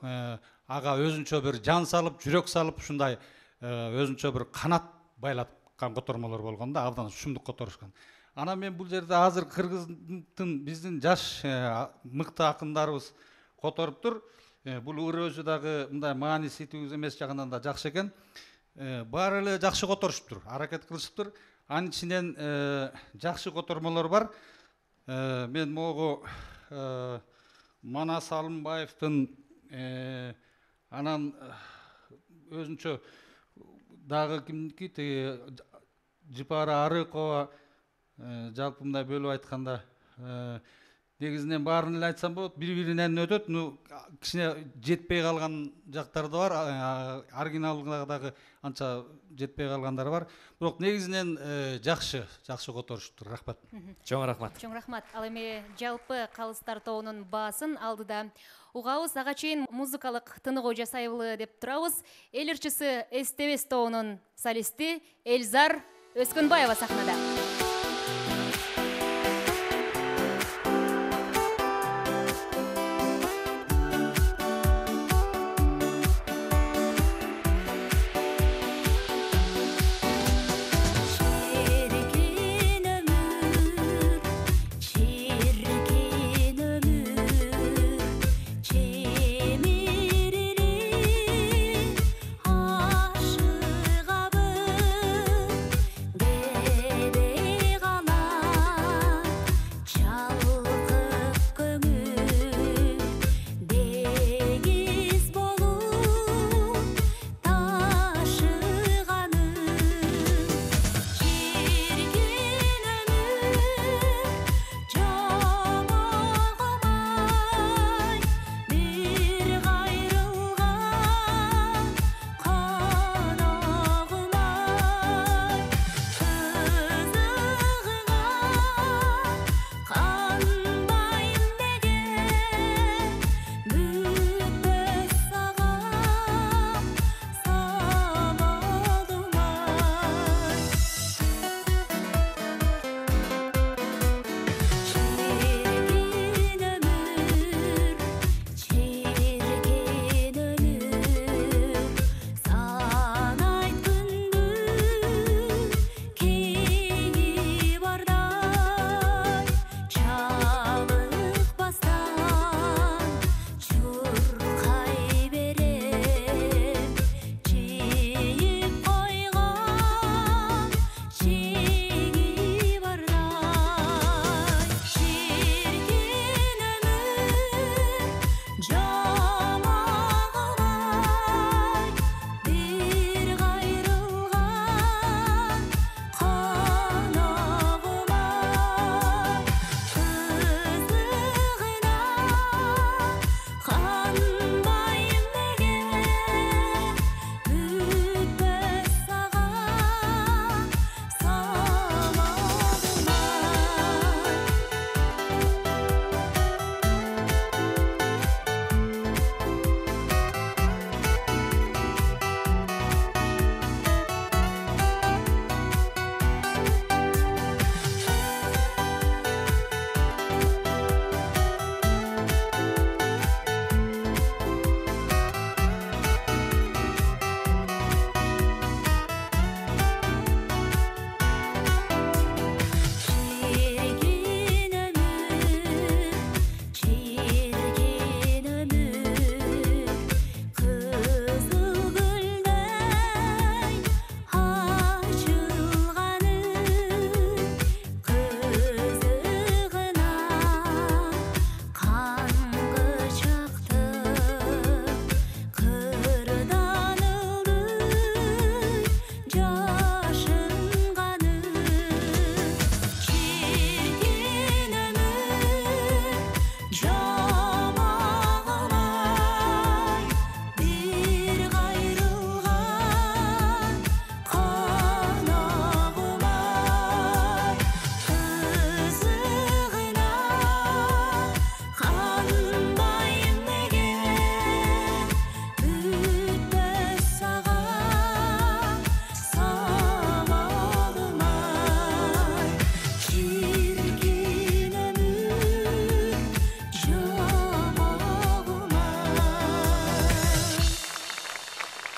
[SPEAKER 14] ага өзүнчө бир жан салып, жүрөк салып, ушундай өзүнчө бир канат байлаткан котормолор болгон да, абдан шумдук которушкан. Анан мен бул жерде азыр кыргыздын биздин жаш мыкты акындарыбыз которуптур. Бул ыры өзү дагы мындай мааниси түгүз эмес жагынан да жакшы экен. Баары эле жакшы которушуптур, аракет кылышыптыр. Анын ичинен жакшы котормолор бар. Мен могу Манас Алымбаевдин анан өзүнчө дагы кимники тиги Жипара Арыкова жалпы мындай бөлүп айтканда негизинен баарын эле айтсам болот, бири-биринен өтөт. Кичине жетпей калган жактары да бар, оригиналга дагы анча жетпей калгандары бар. Бирок негизинен жакшы которуштур. Рахмат.
[SPEAKER 1] Чоң рахмат.
[SPEAKER 2] Чоң рахмат. Ал эми жалпы калыстар тобунун баасын алдыда угабыз. Ага чейин музыкалык тыныгуу жасайлы деп турабыз. Эл ырчысы Эстебес тобунун солисти Эльзар Өскөнбаева сахнада.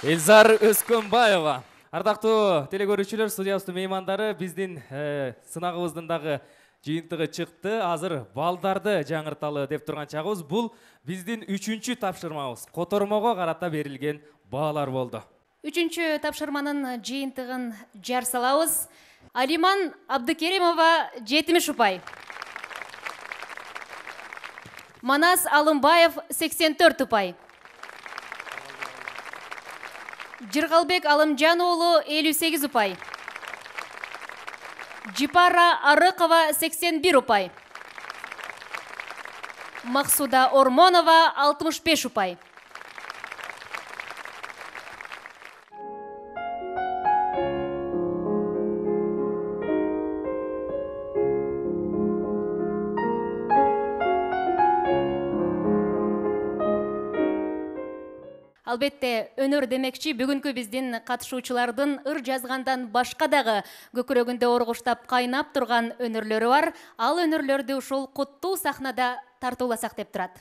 [SPEAKER 1] Элзар Өскөнбаева. Ардактуу телекөрүүчүлөр, студиябыздын меймандары, биздин сынагыбыздын дагы жыйынтыгы чыкты. Азыр балдарды жаңырталы деп турган чагыбыз. Бул биздин 3-чү тапшырмабыз. Котормого карата берилген баалар болду.
[SPEAKER 2] 3-чү тапшырманын жыйынтыгын жар салабыз. Алиман Абдыкеримова 70 упай. Манас Алымбаев 84 упай. Жыргалбек Алымжан уулу 58 упай. Жипара Арыкова 81 упай. Максуда Ормонова 65 упай. Албетте, өнөр демекчи бүгүнкү биздин катышуучулардын ыр жазгандан башка дагы көкүрөгүндө оргуштап кайнап турган өнөрлөрү бар. Ал өнөрлөрдү ушул куттуу сахнада тартууласак деп турат.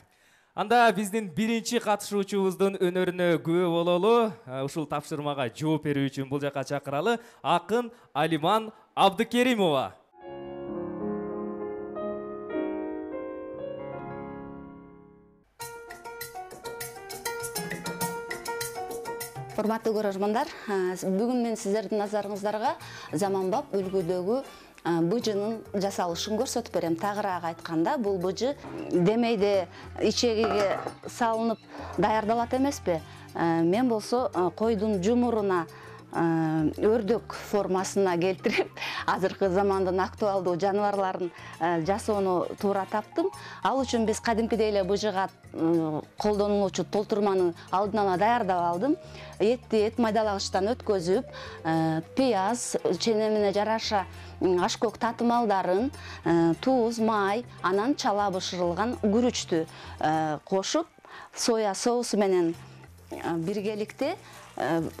[SPEAKER 1] Анда биздин биринчи катышуучубуздун өнөрүнө күбө бололу. Ушул тапшырмага жооп берүү үчүн бул жака чакыралы акын Алиман Абдыкеримова.
[SPEAKER 3] Урматтуу көрөрмандар, бүгүн мен сиздердин назарыңыздарга заманбап үлгүдөгү быжынын жасалышын көрсөтүп берем. Тагыраак айтканда, бул быжы демейде ичегиге салынып даярдалат эмеспи? Мен болсо койдун жумуруна өрдөк формасына келтирип, азыркы замандын актуалдуу жаныбарларын жасоону туура таптым. Ал үчүн биз кадимкидей эле быжыга колдонулуучу толтурманы алдын ала даярдап алдым. Этти эт майдалагычтан өткөзүп, пияз, ченемине жараша ашкөк татымалдарын, туз, май, анан чала бышырылган күрүчтү кошуп, соя соусу менен биргеликте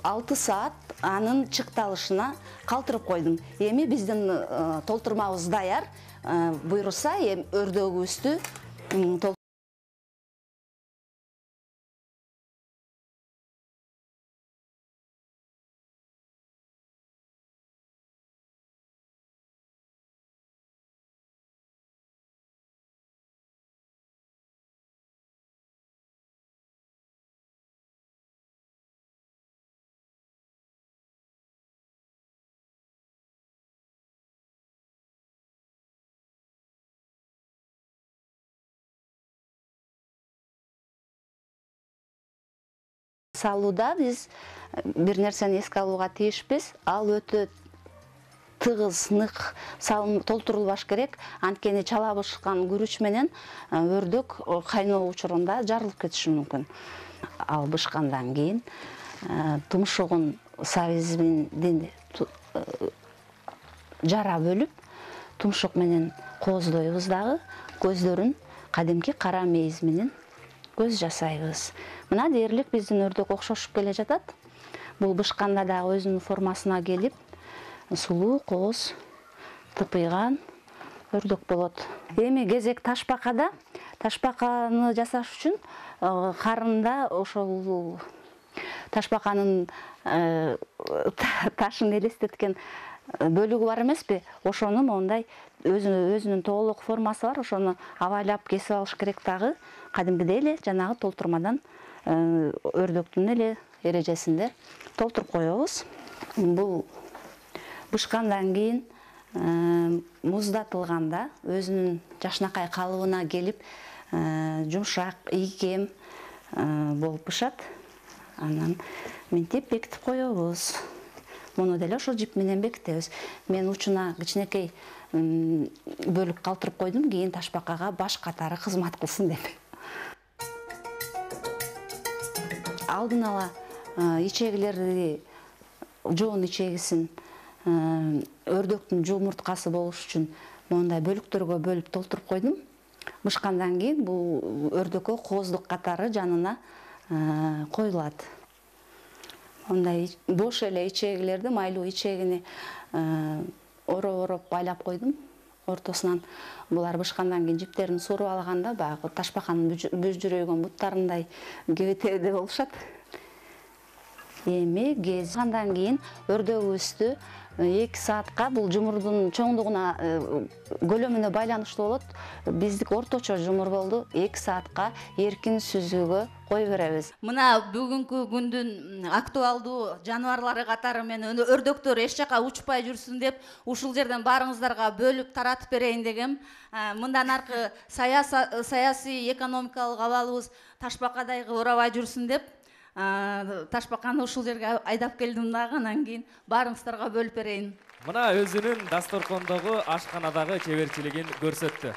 [SPEAKER 3] 6 саат анын чыкталышына калтырып койдум. Эми биздин толтурмабыз даяр. Буйруса, өрдөгүбүздү салууда биз бир нерсени эске алууга тийишпиз. Ал өтө тыгыз, нык толтурулбаш керек. Анткени чала бышкан күрүч менен өрдөк кайноо учурунда жарылып кетиши мүмкүн. Ал бышкандан кийин тумшугун сабизинден жара бөлүп, тумшук менен кооздойбуз дагы, көздөрүн кадимки кара мейиз менен көз жасайбыз. Мына дээрлик биздин өрдөк окшошуп келе жатат. Бул бышканда дагы өзүнүн формасына келип, сулуу, кооз, тыпыйган өрдөк болот. Эми кезек ташбакада. Ташбаканы жасаш үчүн карында ошол ташбаканын ташын элестеткен бөлүгү бар эмеспи? Ошону мондай өзүнүн тоолук формасы бар. Ошону абайлап кесип алыш керек дагы. Кадимкидей эле жанагы толтурмадан өрдөктүн эле эрежесинде толтуруп коебуз. Бул бышкандан кийин муздатылганда өзүнүн жашнакай калыбына келип, жумшак, ийкем болуп бышат. Анан минтип бекитип коебуз. Муну деле ошол жип менен бекитебиз. Мен учуна кичинекей бөлүп калтырып койдум, кийин ташбакага баш катары кызмат кылсын деп. Алдын ала ичегилерди, жоон ичегисин өрдөктүн жумурткасы болуш үчүн мондай бөлүктөргө бөлүп толтуруп койдум. Бышкандан кийин бул өрдөккө кооздук катары жанына коюлат. Мондай бош эле ичегилерди, майлуу ичегини ороп байлап койдум. Ортосунан булар бышкандан кийин жиптерин сууруп алганда баягы ташбаканын бүжүрөйгөн буттарындай кебетеде болушат. эми кез андан кийин өрдөгүбүздү 2 саатка бул жумурдун чоңдугуна көлөмүнө байланыштуу болот. Биздик орточо жумур болду. 2 саатка эркин сүзүүгө кое беребиз. Мына бүгүнкү күндүн актуалдуу жаныбарлары катары мен өрдөктөр эч жака учпай жүрсүн деп ушул жерден баарыңыздарга бөлүп таратып берейин дегем. Мындан аркы саясий экономикалык абалыбыз ташбакадай оорабай жүрсүн деп ташбаканы ушул жерге айдап келдим дагы, анан кийин баарыңыздарга бөлүп берейин.
[SPEAKER 1] Мына өзүнүн дасторкондогу ашканадагы чеберчилигин көрсөттү.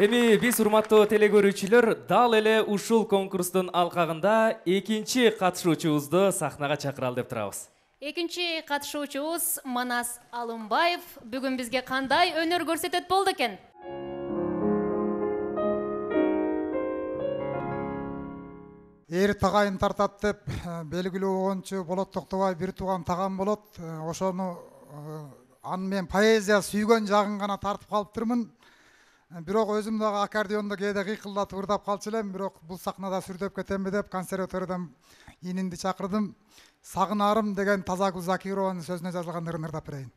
[SPEAKER 1] Эми биз урматтуу телекөрүүчүлөр дал эле ушул конкурстун алкагында экинчи катышуучубузду сахнага чакыралы деп турабыз.
[SPEAKER 2] Экинчи катышуучубуз Манас Алымбаев бүгүн бизге кандай өнөр көрсөтөт болду экен?
[SPEAKER 4] Эр тагайын тартат деп белгилүү болгончу Болот Токтобай бир тууган тагам болот. Ошону аны мен поэзия сүйгөн жагын гана тартып калыптырмын. Бирок өзүм дагы аккордеондо кээде кыйкылдатып ырдап калчу элем, бирок бул сахнада сүрдөп кетемби деп консерваториядан инимди чакырдым. Сагынарым деген Тазагүл Закированын сөзүнө жазылган ырын ырдап берейин.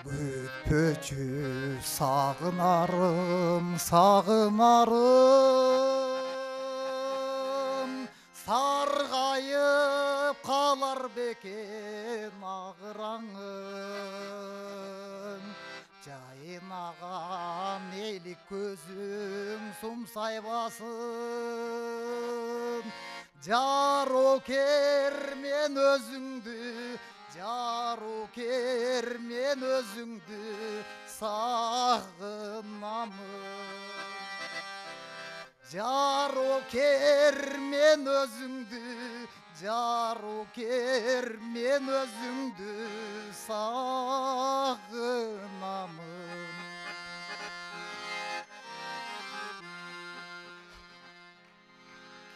[SPEAKER 4] Бүтпөчү сагынарым, сагынарым, саргайып калар бекен агыраңым. Жайнаган элик көзүң сумсайбасын, жарокер мен өзүңдү, жарокер мен өзүңдү сагынамын. Жарокер мен өзүңдү, жарокер мен өзүңдү сагынамын.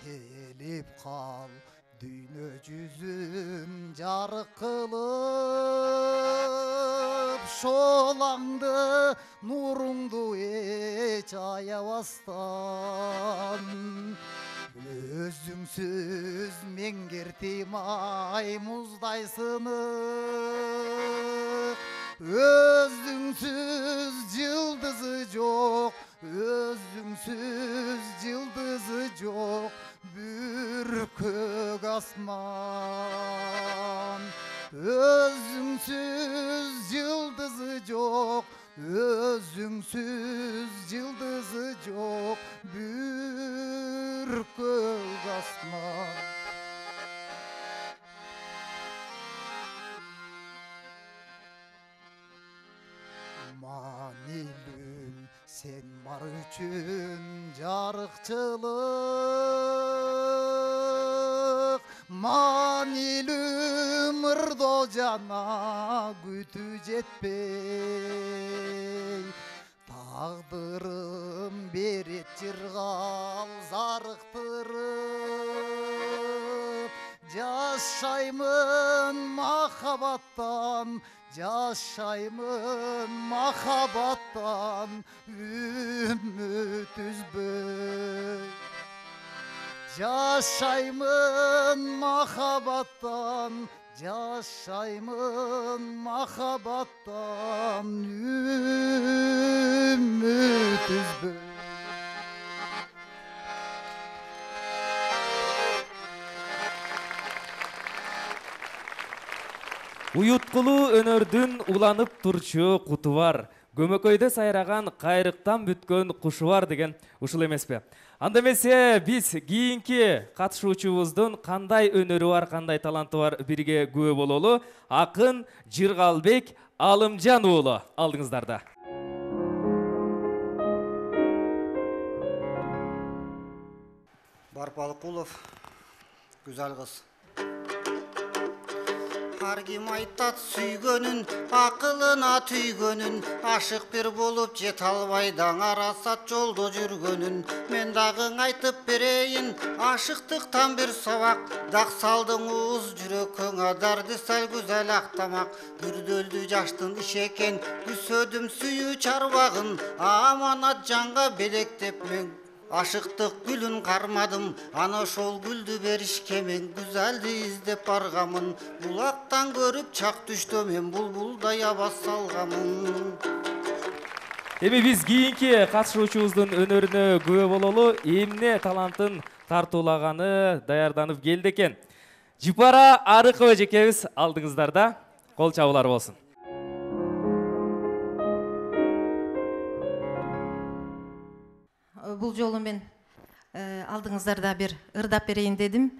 [SPEAKER 4] Келип кал дүйнө жүзүн жарык кылып, шолаңды нуруңду эч аябастан. Өзүңсүз меңгертим ай муздай сынык, өзүңсүз жылдызы жок, өзүңсүз жылдызы жок бүркөк асман. Өзүңсүз жылдызы жок, өзүңсүз жылдызы жок бүркөк асман. Манилүм сен бар үчүн жарыкчылык, манилүм ырдоо жана күтүү жетпей. Тагдырым берет жыргал зарыктырып, жашаймын махабаттан, жашаймын махабаттан үмүт үзбөй. Жашаймын махабаттан, жашаймын махабаттан үмүт үзбөй.
[SPEAKER 1] Уюткулуу өнөрдүн уланып турчу куту бар, көмөкөйдө сайраган кайрыктан бүткөн кушу бар деген ушул эмеспи? Анда эмесе биз кийинки катышуучубуздун кандай өнөрү бар, кандай таланты бар бирге күбө бололу. Акын Жыргалбек Алымжан уулу алдыңыздарда.
[SPEAKER 5] Барпалыкулов, güzel kız. ар ким айтат сүйгөнүн акылына түйгөнүн ашык бир болуп жете албай даңарасат жолдо жүргөнүн мен дагы айтып берейин ашыктыктан бир сабак дак салдың уыз жүрөккөңө дарди сал güzel актамак бүрдөлдү жаштын иши экен күсөдүм сүйүү чарбагын аманат жанга белектеп мен ашыктык гүлүн кармадым ана ошол гүлдү беришке мен güzelди издеп баргамын булактан көрүп чак түштө мен булбулдай абас салгамын.
[SPEAKER 1] Эми биз кийинки катышуучубуздун өнөрүнө күбө бололу. Эмне талантын тартуулаганы даярданып келди экен. Жыпара Арыкова эжекебиз алдыңыздарда. Кол чабуулар болсун.
[SPEAKER 6] Бул жолу мен алдыңыздарда бир ырдап берейин дедим.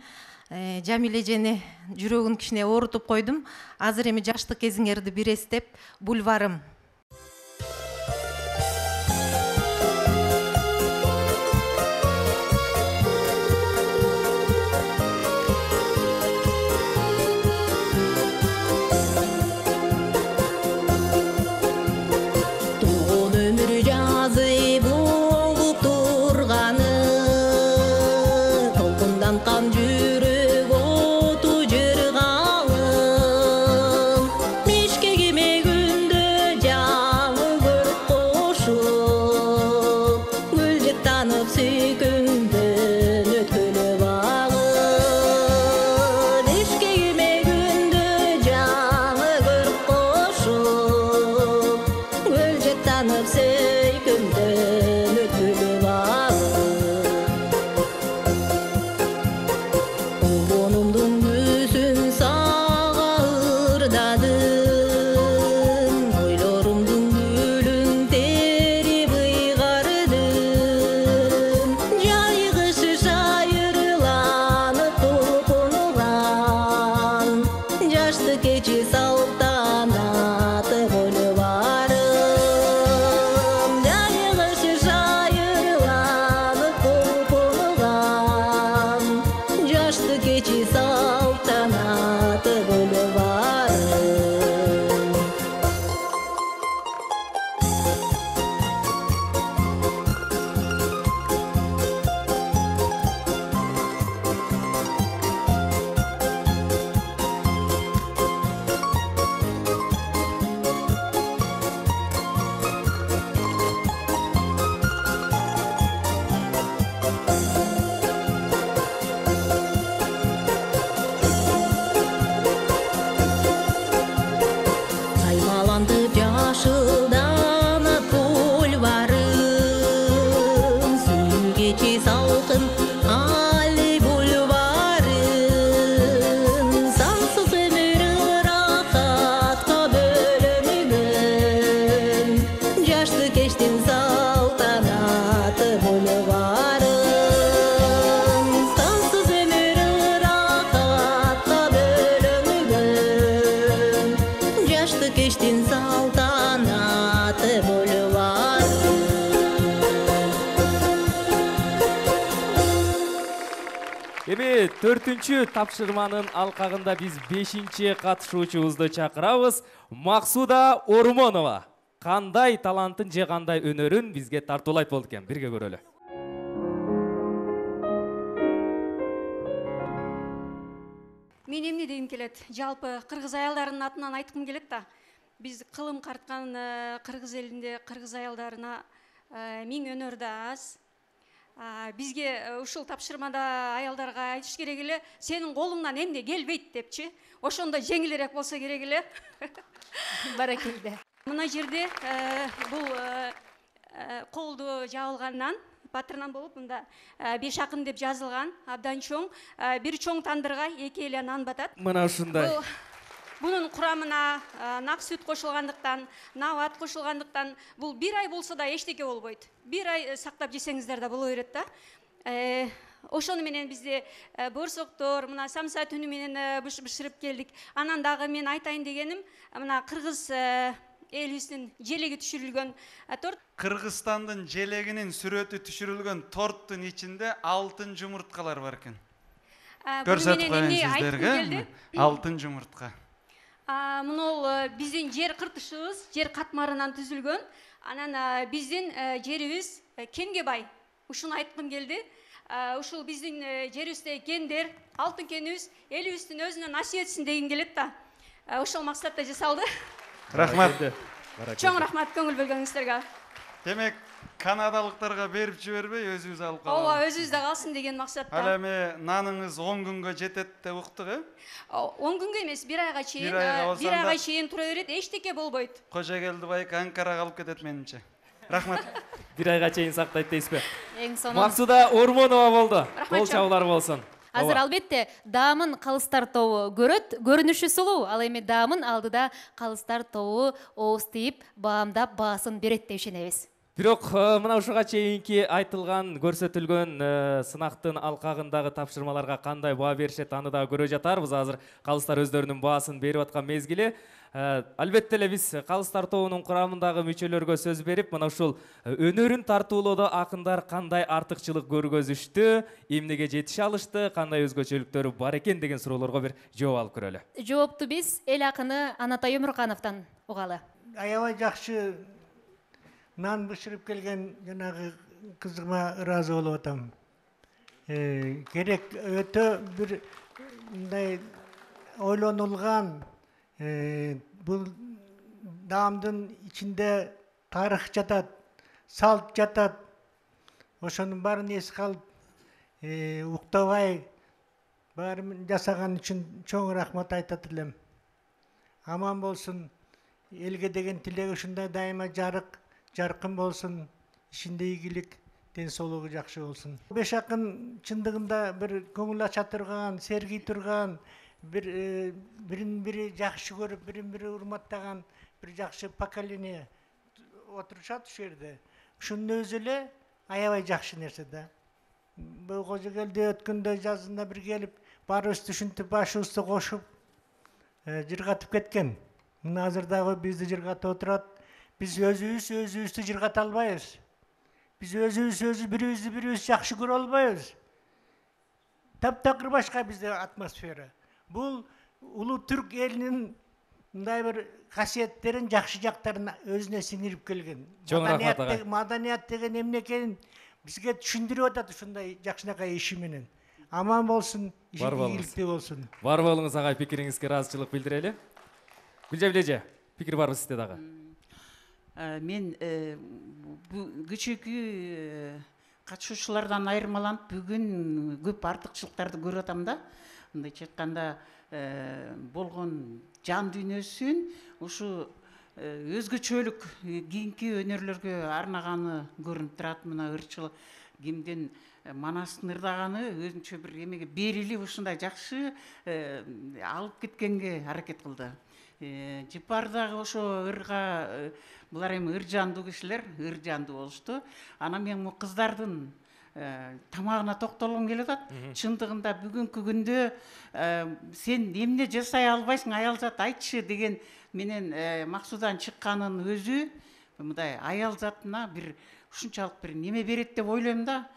[SPEAKER 6] Жамиле эжени жүрөгүн кичине оорутуп койдум. Азыр эми жаштык кезиңерди бир эстеп, бульварым.
[SPEAKER 1] Эми 4-чү тапшырманын алкагында биз 5-чи катышуучубузду чакырабыз. Максуда Ормонова кандай талантын же кандай өнөрүн бизге тартуулайт болду экен. Бирге көрөлү.
[SPEAKER 7] Мен эмне дегим келет? Жалпы кыргыз аялдарынын атынан айткым келет да. Биз кылым карткан кыргыз элинде кыргыз аялдарына миң өнөр да аз. Бизге ушул тапшырмада аялдарга айтыш керек эле, сенин колуңнан эмне келбейт депчи. Ошондо жеңилирээк болсо керек эле.
[SPEAKER 2] Баракелде.
[SPEAKER 7] Мына жерде бул колду жабылгандан батырынан болуп мында 5 акын деп жазылган, абдан чоң. Бир чоң тандырга 2 эле нан батат.
[SPEAKER 1] Мына ушундай.
[SPEAKER 7] Бунун курамына нак сүт кошулгандыктан, нават кошулгандыктан бул 1 ай болсо да эчтеке болбойт. 1 ай сактап жесеңиздер да боло берет да. Ошону менен бизде борсоктор, мына самса түнү менен бышырып келдик. Анан дагы мен айтайын дегеним, мына кыргыз элибиздин желеги түшүрүлгөн торт.
[SPEAKER 9] Кыргызстандын желегинин сүрөтү түшүрүлгөн торттун ичинде алтын жумурткалар бар экен. Көрсөтүп коеюн сиздерге. Алтын жумуртка.
[SPEAKER 7] Мынол биздин жер кыртышыбыз, жер катмарынан түзүлгөн. Анан биздин жерибиз кенге бай. Ушуну айткым келди. Ушул биздин жерибизде кендер, алтын кенибиз элибиздин өзүнө насип этсин деген келет да. Ошол максатта жасалды.
[SPEAKER 9] Рахмат.
[SPEAKER 7] Чоң рахмат көңүл бөлгөнүңүздөргө.
[SPEAKER 9] Демек, канадалыктарга берип жибербей өзүбүз алып калабыз.
[SPEAKER 7] Ооба, өзүбүздө калсын деген максатта.
[SPEAKER 9] Ал эми наныңыз 10 күнгө жетет деп уктук,
[SPEAKER 7] 10 күнгө эмес, 1 айга чейин, 1 айга чейин тура берет, эчтеке болбойт.
[SPEAKER 9] Кожогелдибай Анкарага алып кетет менимче. Рахмат.
[SPEAKER 1] 1 айга чейин сактайт дейсизби?
[SPEAKER 2] Эң сонун.
[SPEAKER 1] Максуда Ормонова болду. Кол чабуулар болсун.
[SPEAKER 2] Азыр албетте даамын калыстар тобу көрөт, көрүнүшү сулуу, ал эми даамын алдыда калыстар тобу ооз тийип, баамдап баасын берет деп ишенебиз.
[SPEAKER 1] Бирок мына ушуга чейинки айтылган, көрсөтүлгөн сынактын алкагындагы тапшырмаларга кандай баа беришет, аны да көрө жатарбыз. Азыр калыстар өздөрүнүн баасын берип аткан мезгили. Албетте эле биз калыстар тобунун курамындагы мүчөлөргө сөз берип, мына ушул өнөрүн тартуулоодо акындар кандай артыкчылык көргөзүштү, эмнеге жетише алышты, кандай өзгөчөлүктөрү бар экен деген суроолорго бир жооп алып көрөлү.
[SPEAKER 2] Жоопту биз эл акыны Анатай Өмүркановдон угалы.
[SPEAKER 15] Аябай жакшы нан бышырып келген жанагы кызыма ыраазы болуп атам. Керек өтө бир мындай ойлонулган, бул даамдын ичинде тарых жатат, салт жатат. Ошонун баарын эске алып, уктабай баарын жасаган үчүн чоң рахмат айтат элем. Аман болсун, элге деген тилеги ушундай дайыма жаркын болсун, ишинде ийгилик, ден соолугу жакшы болсун. Беш акын чындыгында бир көңүл ача турган, сергий турган, бирин бири жакшы көрүп, бирин бири урматтаган бир жакшы поколение отурушат ушул жерде. Ушунун өзү эле аябай жакшы нерсе да. Бул Кожогелде өткөндө жазында бир келип, баарыбызды түшүнтүп, башыбызды кошуп жыргатып кеткен. Мына азыр дагы бизди жыргатып отурат. Биз өзүбүздү жыргата албайбыз. Биз өзүбүз бирибиз жакшы көрө албайбыз. Таптакыр башка бизде атмосфера. Бул улуу түрк элинин мындай бир касиеттерин, жакшы жактарын өзүнө сиңирип келген. Маданият деген эмне экенин бизге түшүндүрүп атат ушундай жакшынакай иши менен. Аман болсун, ийгиликтүү болсун.
[SPEAKER 1] Бар болуңуз агай, пикириңизге ыраазычылык билдирели. Гүлжабил эже, пикир барбы сизде дагы?
[SPEAKER 8] Мен кичүүкү катышуучулардан айырмаланып бүгүн көп артыкчылыктарды көрүп атам да. Мындайча айтканда болгон жан дүйнөсүн ушу өзгөчөлүк кийинки өнөрлөргө арнаганы көрүнүп турат. Мына ырчыл кимдин манастын ырдаганы өзүнчө бир эмеге берилип ушундай жакшы алып кеткенге аракет кылды. Жыпар дагы ошо ырга, булар эми ыр жандуу кишилер, ыр жандуу болушту. Анан мен кыздардын тамагына токтолгум келип атат. Чындыгында бүгүнкү күндө сен эмне жасай албайсың, аялзат айтчы деген менен Максудан чыкканын өзү мындай аял затына бир ушунчалык бир неме берет деп ойлойм да.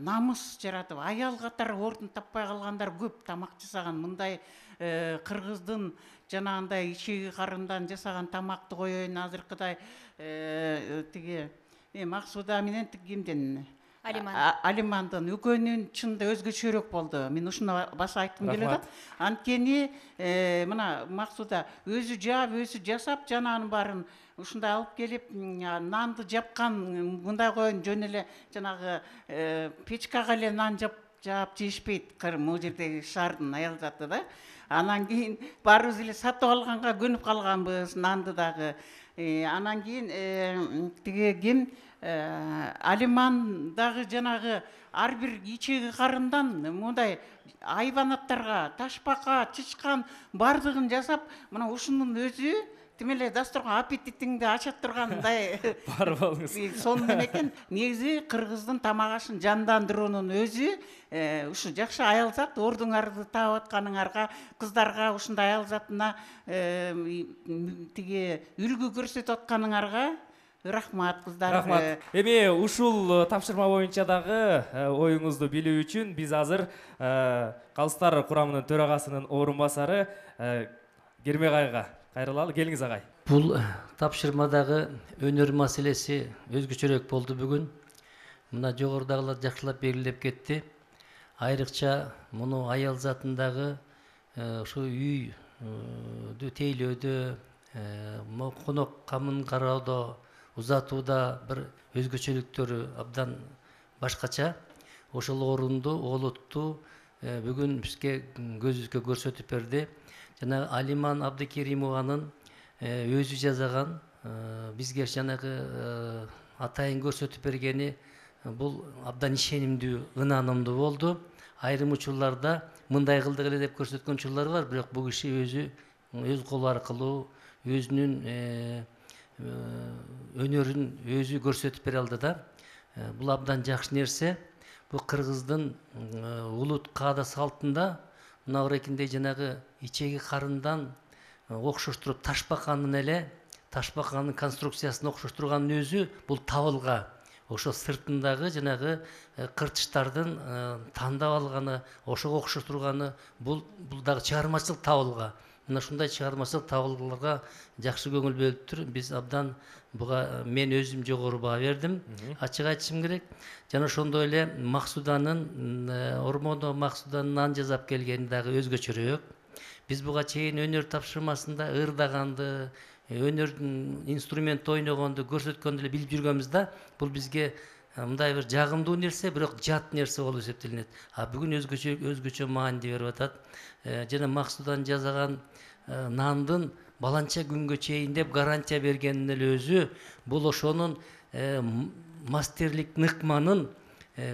[SPEAKER 8] Намыс жаратып, аял катары ордун таппай калгандар көп. Тамак жасаган мындай кыргыздын жанагындай ичеги карындан жасаган тамакты коеюн, азыркыдай тиги Максуда менен кимден Алимандын экөөнүн чынында өзгөчөрөөк болду. Мен ушуну баса айткым келип атат. Анткени мына Максуда өзү жаап, өзү жасап, жанагынын баарын ушундай алып келип, нанды жапкан, мындай коеюн, жөн эле жанагы печкага эле нан жаап жешпейт. Могу жердеги шаардын аял заты да. Анан кийин баарыбыз эле сатып алганга көнүп калганбыз, нанды дагы. Анан кийин тиги ким Алиман дагы жанагы ар бир ичеги карындан мындай айбанаттарга, ташпакка, чычкан бардыгын жасап, мына ушунун өзү тим эле дасторкон аппетитиңди ачат тургандай.
[SPEAKER 1] Бар болуңуз.
[SPEAKER 8] Сонун экен. Негизи кыргыздын тамак ашын жандандыруунун өзү ушу жакшы аял зат, ордуңарды таап атканыңарга, кыздарга ушундай аял затына тиги үлгү көрсөтүп атканыңарга рахмат кыздар.
[SPEAKER 1] Рахмат. Эми ушул тапшырма боюнча дагы оюңузду билүү үчүн биз азыр Калыстар курамынын төрагасынын орун басары Кермек айга кайрылалы, келиңиз агай.
[SPEAKER 16] Бул тапшырмадагы өнөр маселеси өзгөчөрөөк болду бүгүн. Мына жогорудагылар жакшылап белгилеп кетти. Айрыкча муну аял затындагы ушу үйдү тейлөөдө, конок камын кароодо, узатууда бир өзгөчөлүктөрү абдан башкача. Ошол орунду, олутту бүгүн бизге көзүбүзгө көрсөтүп берди. Жана Алиман Абдыкеримованын өзү жазаган, бизге жанагы атайын көрсөтүп бергени бул абдан ишенимдүү, ынанымдуу болду. Айрым учурларда мындай кылдык эле деп көрсөткөн учурлар бар, бирок бул киши өз колу аркылуу өзүнүн өнөрүн өзү көрсөтүп бере алды да. Бул абдан жакшы нерсе. Бул кыргыздын улут каада салтында мына орекиндей жанагы ичеги карындан окшоштуруп ташбаканын эле, ташбаканын конструкциясын окшоштурганын өзү бул табылга. Ошо сыртындагы жанагы кыртыштардын тандап алганы, ошого окшоштурганы бул дагы чыгармачылык табылга. Мына ушундай чыгармачылык табылгаларга жакшы көңүл бөлүптүр. Биз абдан буга мен өзүм жогору баа бердим. Ачык айтышым керек. Жана ошондой эле Максуданын, Ормоно Максуданын ан жасап келгени дагы өзгөчөрөөк. Биз буга чейин өнөр тапшырмасында ырдаганды, өнөрдүн инструмент ойногонду көрсөткөндү эле билип жүргөнбүз да. Бул бизге мындай бир жагымдуу нерсе, бирок жат нерсе болуп эсептелинет. Бүгүн өзгөчө маани берип атат. Жана Максудан жасаган нандын баланча күнгө чейин деп гарантия бергенин эле өзү бул ошонун мастерлик ныкманын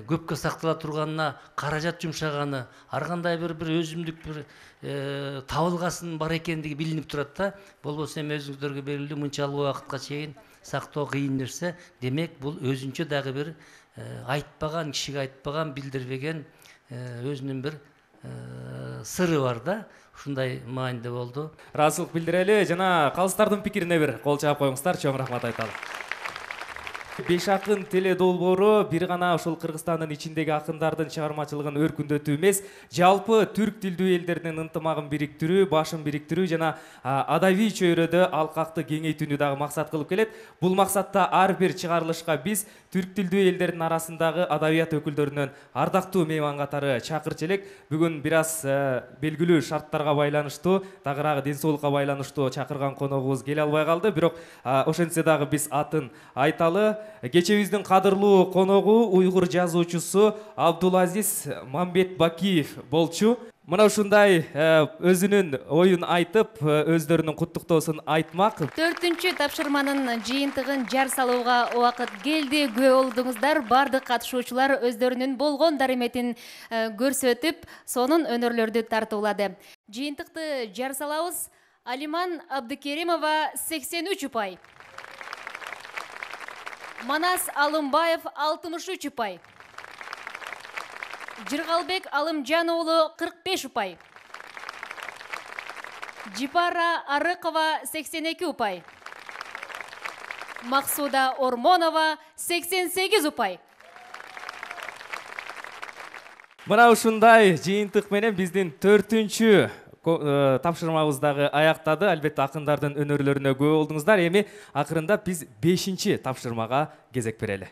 [SPEAKER 16] көпкө сактала турганына каражат жумшаганы, ар кандай бир өзүмдүк бир табылгасын бар экендиги билинип турат да. Болбосо эми өзүңүздөргө белгилүү мынчалык убакытка чейин сактоо кыйын нерсе. Демек бул өзүнчө дагы бир айтпаган, кишиге айтпаган, билдирбеген өзүнүн бир сыры бар да. Ушундай мааниде болду.
[SPEAKER 1] Ыраазычылык билдирели жана калыстардын пикирине бир кол чаап коюңуздар, чоң рахмат айталы. 5 акын теле долбоору бир гана ошол Кыргызстандын ичиндеги акындардын чыгармачылыгын өркүндөтүү эмес, жалпы түрк тилдүү элдердин ынтымагын бириктирүү, башын бириктирүү жана адабий чөйрөдө алкакты кеңейтүүнү дагы максат кылып келет. Бул максатта ар бир чыгарылышка биз түрк тилдүү элдердин арасындагы адабият өкүлдөрүнөн ардактуу мейман катары чакырчу элек. Бүгүн бир аз белгилүү шарттарга байланыштуу, тагыраагы ден соолукка байланыштуу чакырган коногубуз келе албай калды. Бирок ошентсе дагы биз атын айталы. Кечебиздин кадырлуу коногу уйгур жазуучусу Абдулазиз Мамбетбакиев болчу. Мына ушундай өзүнүн оюн айтып, өздөрүнүн куттуктоосун айтмак.
[SPEAKER 2] 4-чү тапшырманын жыйынтыгын жар салууга убакыт келди. Күбө болдуңуздар. Бардык катышуучулар өздөрүнүн болгон дарыметин көрсөтүп, сонун өнөрлөрдү тартуулады. Жыйынтыкты жар салабыз. Алиман Абдыкеримова 83 упай. Манас Алымбаев 63 упай. Жыргалбек Алымжан-уулу 45 упай. Жипара Арыкова 82 упай. Максуда Ормонова 88 упай.
[SPEAKER 1] Мына ушундай жыйынтык менен биздин 4-чү тапшырмабыз дагы аяктады. Албетте акындардын өнөрлөрүнө күбө болдуңуздар. Эми акырындап биз 5-чи тапшырмага кезек берели.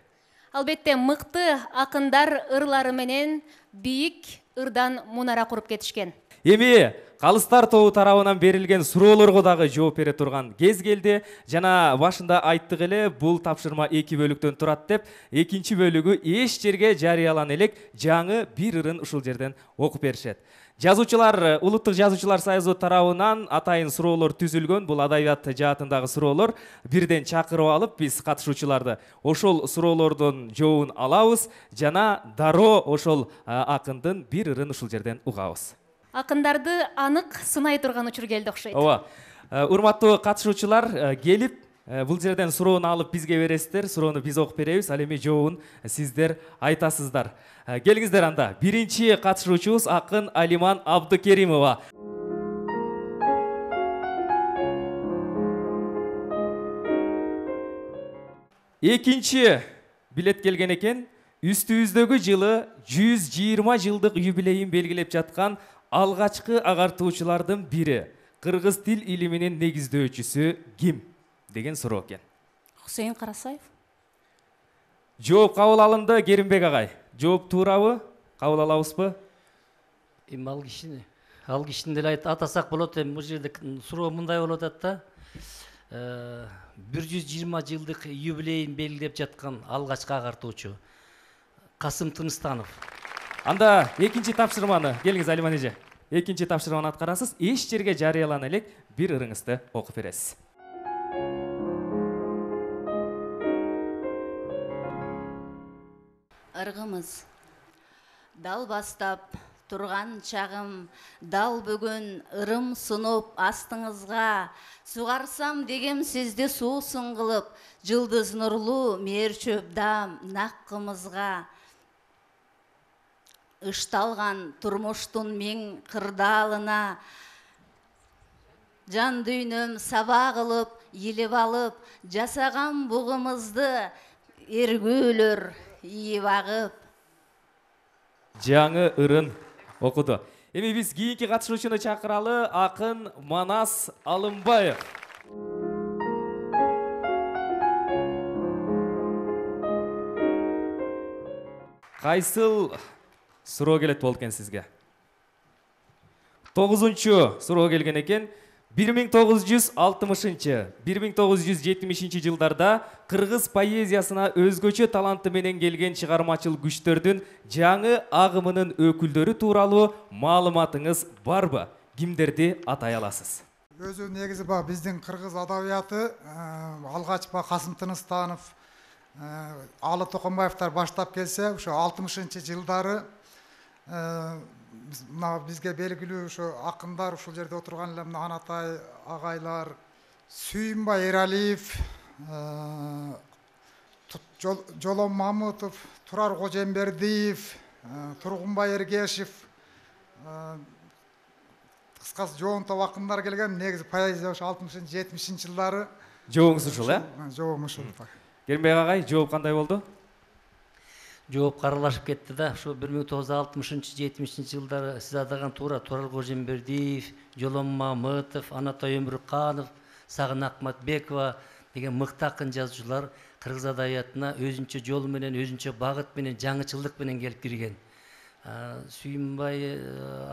[SPEAKER 2] Албетте мыкты акындар ырлары менен бийик ырдан мунара куруп кетишкен.
[SPEAKER 1] Эми калыстар тобу тарабынан берилген суроолорго дагы жооп бере турган кез келди. Жана башында айттык эле, бул тапшырма 2 бөлүктөн турат деп, 2-чи бөлүгү эч жерге жарыялана элек, жаңы бир ырын ушул жерден окуп беришет. Жазуучулар, Улуттук жазуучулар союзу тарабынан атайын суроолор түзүлгөн. Бул адабият жаатындагы суроолор. Бирден чакырып алып, биз катышуучуларды ошол суроолордун жообун алабыз жана дароо ошол акындын бир ырын ушул жерден угабыз.
[SPEAKER 2] Акындарды анык сынай турган учур келди окшойт.
[SPEAKER 1] Ооба. Урматтуу катышуучулар, келип бул жерден суроону алып бизге бересиздер. Суроону биз окуп беребиз. Ал эми жообун сиздер айтасыздар. Келиңиздер анда. Биринчи катышуучубуз акын Алиман Абдыкеримова. Экинчи билет келген экен. Үстүбүздөгү жылы 120 жылдык юбилейин белгилеп жаткан алгачкы агартуучулардын бири. кыргыз тил илиминин негиздөөчүсү ким деген суроо экен.
[SPEAKER 3] Хусейин Карасаев.
[SPEAKER 1] Жооп кабыл алынды. Керимбек агай, жооп туурабы? Кабыл алабызбы?
[SPEAKER 16] Эми ал кишини деле атасак болот. Эми бул жерде суроо мындай болуп атат да. 120 жылдык юбилейин белгилеп жаткан алгачкы агартуучу Касым Тыныстанов.
[SPEAKER 1] Анда экинчи тапшырманы келиңиз Алиман эже. Экинчи тапшырманы аткарасыз. Эч жерге жарыялана элек бир ырыңызды окуп бересиз.
[SPEAKER 3] Ыргымыз. Дал бастап турган чагым, дал бүгүн ырым сунуп астыңызга, сугарсам дегем сизди суусун кылып, жылдыз нурлуу мээрчөп дам наккымызга. Ышталган турмуштун миң кырдаалына, жан дүйнөм саба кылып, илип алып, жасаган бугумузду эргүүлөр ийип агып.
[SPEAKER 1] Жаңы ырын окуду. Эми биз кийинки катышуучуну чакыралы, акын Манас Алымбаев. Кайсыл суроо келет болду экен сизге? 9-чу суроо келген экен. 1960-1970 жылдарда кыргыз поэзиясына өзгөчө таланты менен келген чыгармачыл күчтөрдүн жаңы агымынын өкүлдөрү тууралуу маалыматыңыз барбы? Кимдерди атай аласыз?
[SPEAKER 4] Өзү негизи биздин кыргыз адабияты алгач Касым Тыныстанов, Алы Токонбаевтар баштап келсе, ошо 60-жылдары бизге белгилүү ошо акындар ушул жерде отурган эле Анатай агайлар, Сүйүнбай Эралиев, Жолом Мамытов, Турар Кожембердиев, Тургунбай Эргешев, кыскасы жоонтоп акындар келген. Негизи поэзия ошо 60-70 жылдары.
[SPEAKER 1] Жообуңуз ушул,
[SPEAKER 4] Жообум ушул.
[SPEAKER 1] Керимбек агай, жооп кандай болду?
[SPEAKER 16] Жооп каралашып кетти да. Ошо 1960-70 жылдары сиз атаган Турар Кожембердиев, Жолом Мамытов, Анатай Өмүрканов, Сагын Акматбекова деген мыкты акын жазуучулар кыргыз адабиятына өзүнчө жол менен, өзүнчө багыт менен, жаңычылдык менен келип кирген. Сүйүнбай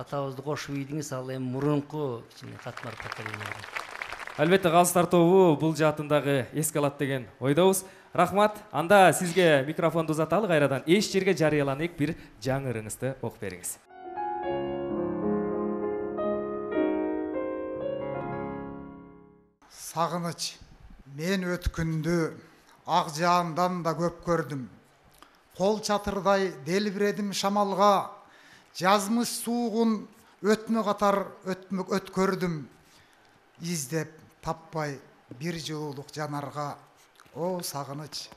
[SPEAKER 16] атабызды кошуп ийдиңиз, ал эми мурунку кичине катмар поколение.
[SPEAKER 1] Албетте калыстар тобу бул жаатындагы эске алат деген ойдобуз. Рахмат. Анда сизге микрофонду узаталы кайрадан. Эч жерге жарыялана элек бир жаңы ырыңызды окуп бериңиз.
[SPEAKER 4] Сагыныч, мен өткүндү ак жаандан да көп көрдүм. Кол чатырдай делбиредим шамалга, жазмыш суугун өтмө катар өткөрдүм. Издеп таппай бир жылуулук жанарга, о сагыныч,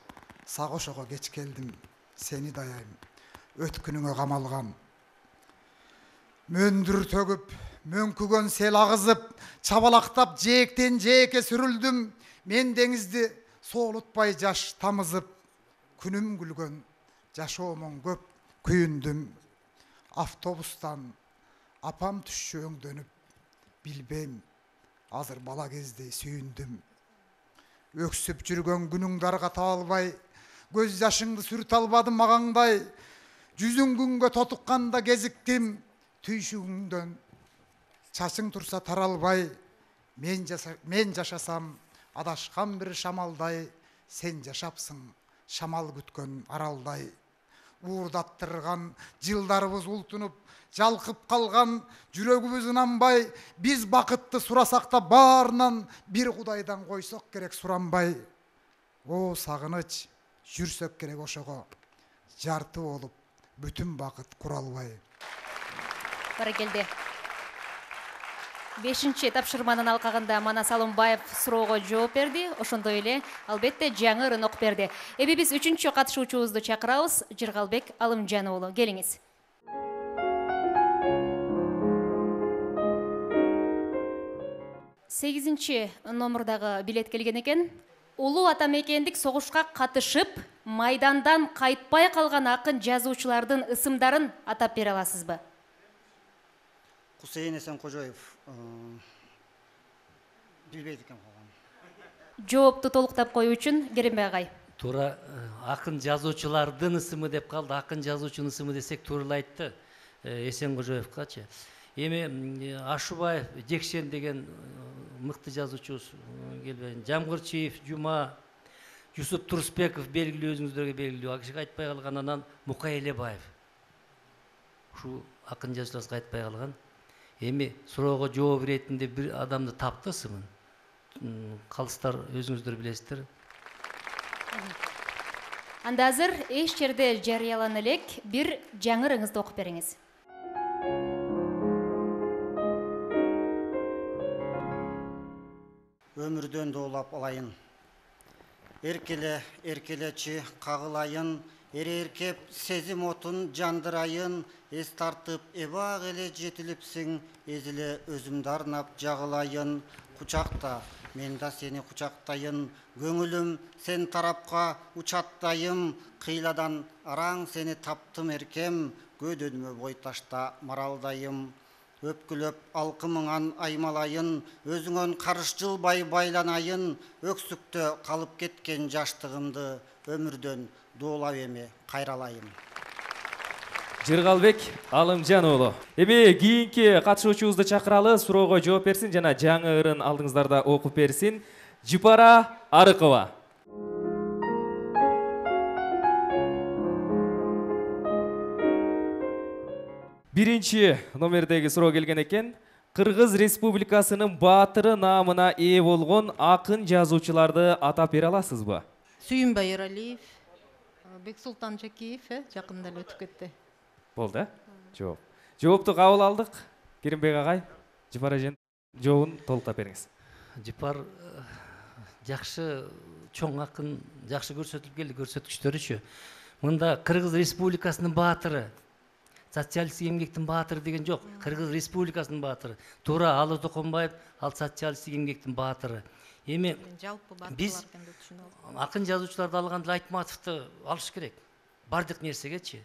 [SPEAKER 4] сагошого кеч келдим, сени даяйм, өткүнүңө камалган. Мөндүр төгүп, мөңкүгөн сел агызып, чабалактап жээктен жээкке сүрүлдүм. Мен деңизди соолутпай жаш тамызып, күнүм күлгөн, жашоомун көп күйүндүм. Автобустан апам түшчү өңдөнүп, билбейм, азыр бала кездей сүйүндүм. Өксүп жүргөн күнүңдү аргата албай, көз жашыңды сүрүтө албадым магаңдай. Жүзүң күнгө тотукканда кезиктим, түйшүгүңдөн чачың турса таралбай. Мен жашасам адашкан бир шамалдай, сен жашапсың шамал күткөн аралдай. Уурдаттырган жылдарыбыз ултунуп, жалкып калган жүрөгүбүз ынанбай, биз бакытты сурасак да баарынан бир Кудайдан койсок керек суранбай. О сагыныч, жүрсөк керек ошого, жарты болуп бүтүн бакыт куралбай.
[SPEAKER 2] Баракелде. 5-чи тапшырманын алкагында Манас Алымбаев суроого жооп берди. Ошондой эле албетте жаңы ырын окуп берди. Эми биз 3-чү катышуучубузду чакырабыз. Жыргалбек Алымжан уулу, келиңиз. Сегизинчи номурдагы билет келген экен. Улуу атамекендик согушка катышып, майдандан кайтпай калган акын жазуучулардын ысымдарын атап бере аласызбы?
[SPEAKER 5] Кусейин Эсенкожоев, билбейт экен калган.
[SPEAKER 2] Жоопту толуктап коюу үчүн Керимбек агай.
[SPEAKER 16] Туура акын жазуучулардын ысымы деп калды. Акын жазуучунун ысымы десек туура эле айтты. Эсенгожоевкачы. Эми Ашубаев Жекшен деген мыкты жазуучубуз келбейин. Жамгырчиев Жума, Юсуп Турсбеков белгилүү, өзүңүздөргө белгилүү. Акышыга айтпай калган, анан Мукай Элебаев. Ушу акын жазуучуларга айтпай калган. Эми суроого жооп иретинде бир адамды тапты ысымын. Калыстар өзүңүздөр билесиздер.
[SPEAKER 2] Анда азыр эч жерде жарыялана элек бир жаңы ырыңызды окуп бериңиз.
[SPEAKER 5] Өмүрдөн доолап алайын. Эркеле, эркелечи кагылайын, эреркеп сезим отун жандырайын, эс тартып эбак эле жетилипсиң, эзиле өзүмдү арнап жагылайын. Кучакта, мен да сени кучактайын, көңүлүм сен тарапка учаттайым, кыйладан араң сени таптым эркем, көдөнмө бой ташта маралдайым. Өпкүлөп алкымыңан аймалайын, өзүңөн карыш жылбай байланайын, өксүктө калып кеткен жаштыгымды өмүрдөн доолап эми кайралайын.
[SPEAKER 1] Жыргалбек Алымжан уулу. Эми кийинки катышуучубузду чакыралы, суроого жооп берсин жана жаңы ырын алдыңыздарда окуп берсин. Жыпара Арыкова. Биринчи номердеги суроо келген экен. Кыргыз Республикасынын баатыры наамына ээ болгон акын жазуучуларды атап бере аласызбы?
[SPEAKER 6] Сүйүнбай Эралиев, Бексултан Жакиев жакында эле өтүп кетти.
[SPEAKER 1] Болду, жооп. Жоопту кабыл алдык. Керимбек агай, Жыпар эженин жообун толуктап бериңиз.
[SPEAKER 16] Жыпар жакшы чоң акын, жакшы көрсөтүлүп келди көрсөткүчтөрүчү. Мында Кыргыз Республикасынын баатыры, социалисттик эмгектин баатыры деген жок. Кыргыз Республикасынын баатыры. Туура Алы Токонбаев, ал социалисттик эмгектин баатыры. Эми биз акын жазуучуларды алганда Айтматовду алыш керек. Бардык нерсегечи.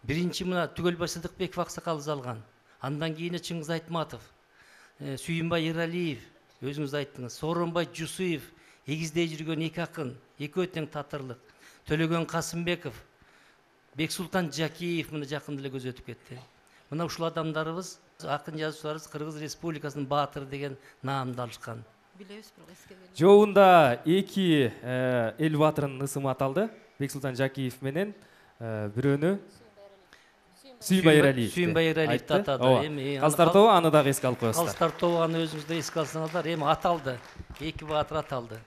[SPEAKER 16] Биринчи мына Түгөлбай Сыдыкбеков аксакалыбыз алган. Андан кийин Чыңгыз Айтматов, Сүйүнбай Эралиев, өзүңүз айттыңыз. Сооронбай Жусуев, эгиздей жүргөн эки акын, экөө тең татырлык. Төлөгөн Касымбеков, Бексултан Жакиев мына жакында эле көз өтүп кетти. Мына ушул адамдарыбыз, акын жазуучуларыбыз Кыргыз Республикасынын баатыры деген наамды алышкан.
[SPEAKER 1] Жообунда эки эл баатырынын ысымы аталды. Бексултан Жакиев менен бирөөнү Сүйүнбай Эралиев.
[SPEAKER 16] Сүйүнбай Эралиевди атады.
[SPEAKER 1] Эми Калыстар тобу аны дагы эске алып коесуздар.
[SPEAKER 16] Калыстар тобу аны өзүңүздөр эске алсаңыздар, эми аталды. Эки баатыр аталды.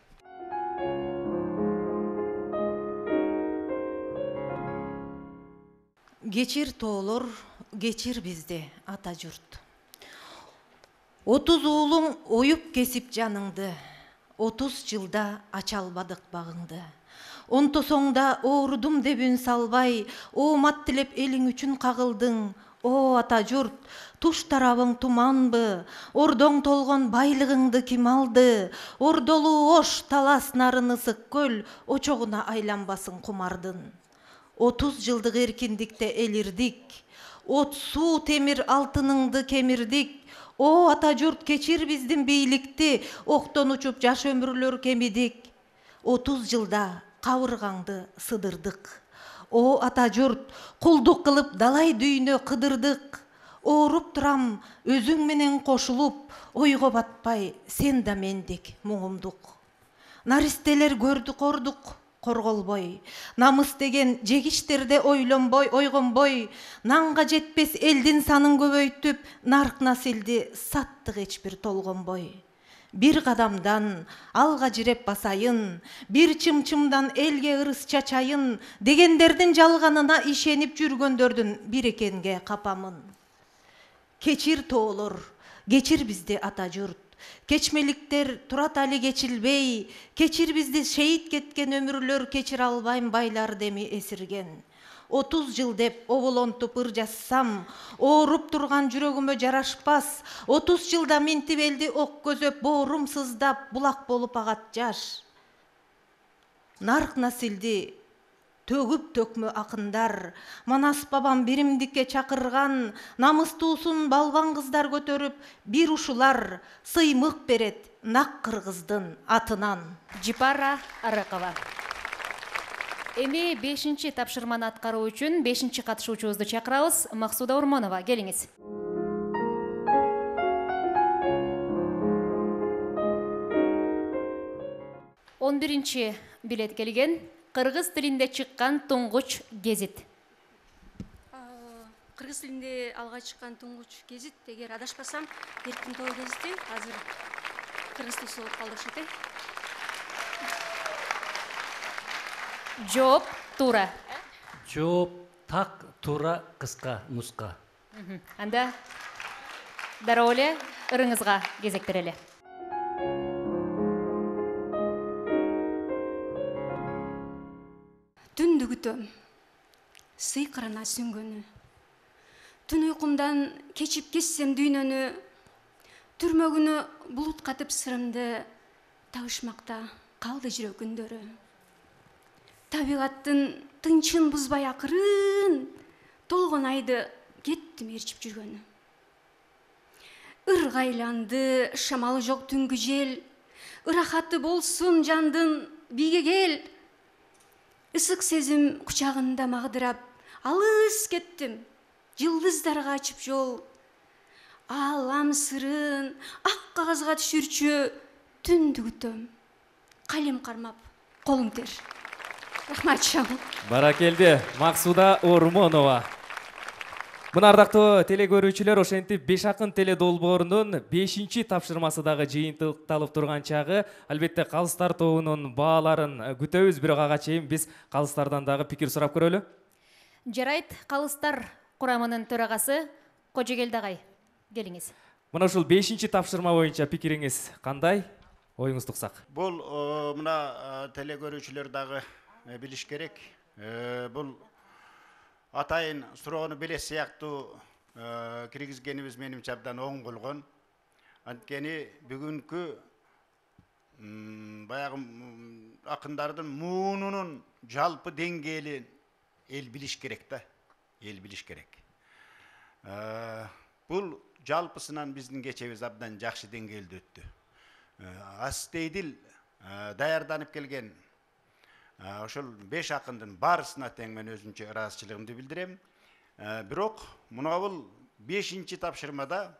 [SPEAKER 6] Кечир тоолор, кечир бизди ата журт. 30 уулуң оюп кесип жаныңды, 30 жылда ача албадык багыңды. Онтосоңда оорудум деп үн салбай, оомат тилеп элиң үчүн кагылдың. О ата журт, туш тарабың туманбы, ордоң толгон байлыгыңды ким алды? Ордолуу ош, талас, нарын ысык көл, очогуна айланбасын кумардын. 30 жылдык эркиндикте элирдик, от, суу, темир, алтыныңды кемирдик. О ата журт, кечир биздин бийликти, октон учуп жаш өмүрлөр кемидик. 30 жылда кабыргаңды сыдырдык. О ата журт, кулдук кылып далай дүйнө кыдырдык. Ооруп турам өзүң менен кошулуп, ойго батпай сен да мендик муңумдук. Наристелер көрдүк ордук, корголбой, намыс деген жегиштерде ойгонбой, нанга жетпес элдин санын көбөйтүп, нарк насилди саттык эч бир толгонбой. Бир кадамдан алга жиреп басайын, бир чымчымдан элге ырыс чачайын, дегендердин жалганына ишенип жүргөндөрдүн бир экенге капамын. Кечир тоолор, кечир бизди ата журт. Кечмеликтер турат али кечилбей, кечир бизди шейит кеткен өмүрлөр кечире албайм байлар деми эсирген. 30 жыл деп оболонтуп ыр жазсам, ооруп турган жүрөгүмө жарашпас. 30 жылда минтип элди ок көзөп, боорум сыздап, булак болуп агат жаш. Нарк насилди төгүп төкмө акындар. Манас бабам биримдикке чакырган, намыстуусун балбан кыздар көтөрүп, бир ушулар сыймык берет нак кыргыздын атынан.
[SPEAKER 2] Жипара Арыкова. Эми 5-чи тапшырманы аткаруу үчүн 5-чи катышуучубузду чакырабыз. Максуда Урмонова, келиңиз. Он биринчи билет келген. Кыргыз тилинде чыккан туңгуч гезит.
[SPEAKER 7] Кыргыз тилинде алга чыккан туңгуч гезит, эгер адашпасам, Эркин тоо гезити азыр кыргыз тилси болуп калды окшойт.
[SPEAKER 2] Жооп туура.
[SPEAKER 16] Жооп так, туура, кыска, нуска.
[SPEAKER 2] Анда дароо эле ырыңызга кезек берели.
[SPEAKER 7] Түндү күтөм, сыйкырына сүңгөнү. Түн уйкумдан кечип кессем дүйнөнү, түрмөгүнө булут катып сырымды, табышмакта калды жүрөк үндөрү. Табигаттын тынчын бузбай акырын, толгон айды кеттим ээрчип жүргөнү. Ыргайланды шамалы жок түнгү жел, ырахаты болсун жандын биге кел. Ысык сезим кучагында магдырап, алыс кеттим, жылдыздарга ачып жол. Алам сырын ак кагазга түшүрчү, түндү күтөм, калем кармап, колуң тер. Рахмат шам.
[SPEAKER 1] Баракелди, Максуда Урмонова. Мына ардактуу телекөрүүчүлөр, ошентип 5 акын теле долбоорунун 5-чи тапшырмасы дагы жыйынтыкталып турган чагы. Албетте калыстар тобунун бааларын күтөбүз, бирок ага чейин биз калыстардан дагы пикир сурап көрөлү.
[SPEAKER 2] Жарайт, калыстар курамынын төрагасы Кожогелди агай, келиңиз.
[SPEAKER 1] Мына ушул 5-чи тапшырма боюнча пикириңиз кандай? Оюңузду уксак.
[SPEAKER 5] Бул мына телекөрүүчүлөр дагы билиш керек. Бул атайын суроону биле сыяктуу киргизгенибиз менимче абдан оң болгон. Анткени бүгүнкү баягы акындардын муунунун жалпы деңгээли эл билиш керек да. Эл билиш керек. Бул жалпысынан биздин кечебиз абдан жакшы деңгээлде өттү. Астейдил даярданып келген ошол 5 акындын баарысына тең мен өзүнчө ыраазычылыгымды билдирем. Бирок мына бул 5-чи тапшырмада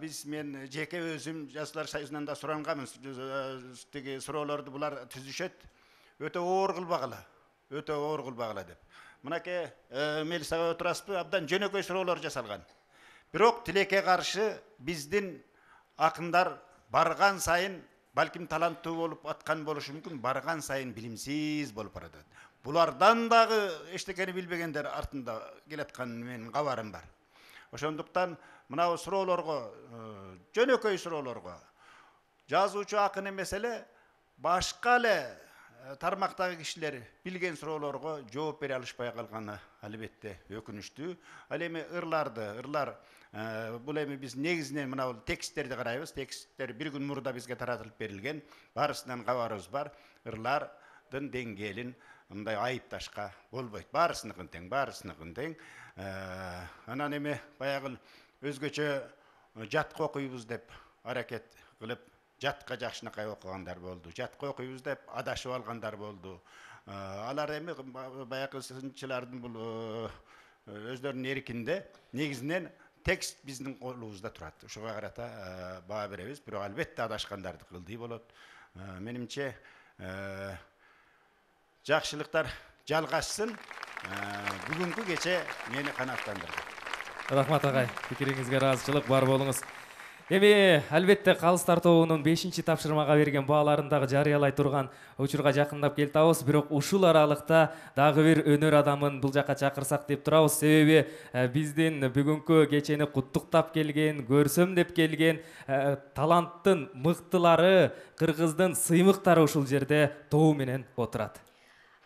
[SPEAKER 5] биз мен жеке өзүм Жаштар союзунан да суранганмын. Тиги суроолорду булар түзүшөт. Өтө оор кылбагыла деп. Мынакей Мелисага отурасызбы? Абдан жөнөкөй суроолор жасалган. Бирок тилекке каршы биздин акындар барган сайын, балким таланттуу болуп аткан болушу мүмкүн, барган сайын билимсиз болуп баратат. Булардан дагы эчтекени билбегендер артында келаткан менин кабарым бар. Ошондуктан мына суроолорго, жөнөкөй суроолорго жазуучу акын эмес эле башка эле тармактагы кишилер билген суроолорго жооп бере алышпай калганы албетте өкүнүчтүү. Ал эми ырлар бул эми биз негизинен мына бул тексттерди карайбыз. Тексттер бир күн мурда бизге таратылып берилген. Баарысынан кабарыбыз бар. Ырлардын деңгээлин мындай айыпташка болбойт. Баарысыныкын тең. Анан эми баягы өзгөчө жатка окуйбуз деп аракет кылып, жатка жакшынакай окугандар болду. Жатка окуйбуз деп адашып алгандар болду. Алар эми баягы сынчылардын бул өздөрүнүн эркинде негизинен текст биздин колубузда турат. Ушуга карата баа беребиз. Бирок албетте адашкандарды кылдый болот. Менимче жакшылыктар жалгашсын. Бүгүнкү кече мени канааттандырды.
[SPEAKER 1] Рахмат агай, пикириңизге ыраазычылык бар болуңуз. Эми албетте калыстар тобунун 5-чи тапшырмага берген бааларын дагы жарыялай турган учурга жакындап келатабыз. Бирок ушул аралыкта дагы бир өнөр адамын бул жака чакырсак деп турабыз. Себеби биздин бүгүнкү кечени куттуктап келген, көрсөм деп келген таланттын мыктылары, кыргыздын сыймыктары ушул жерде тобу менен отурат.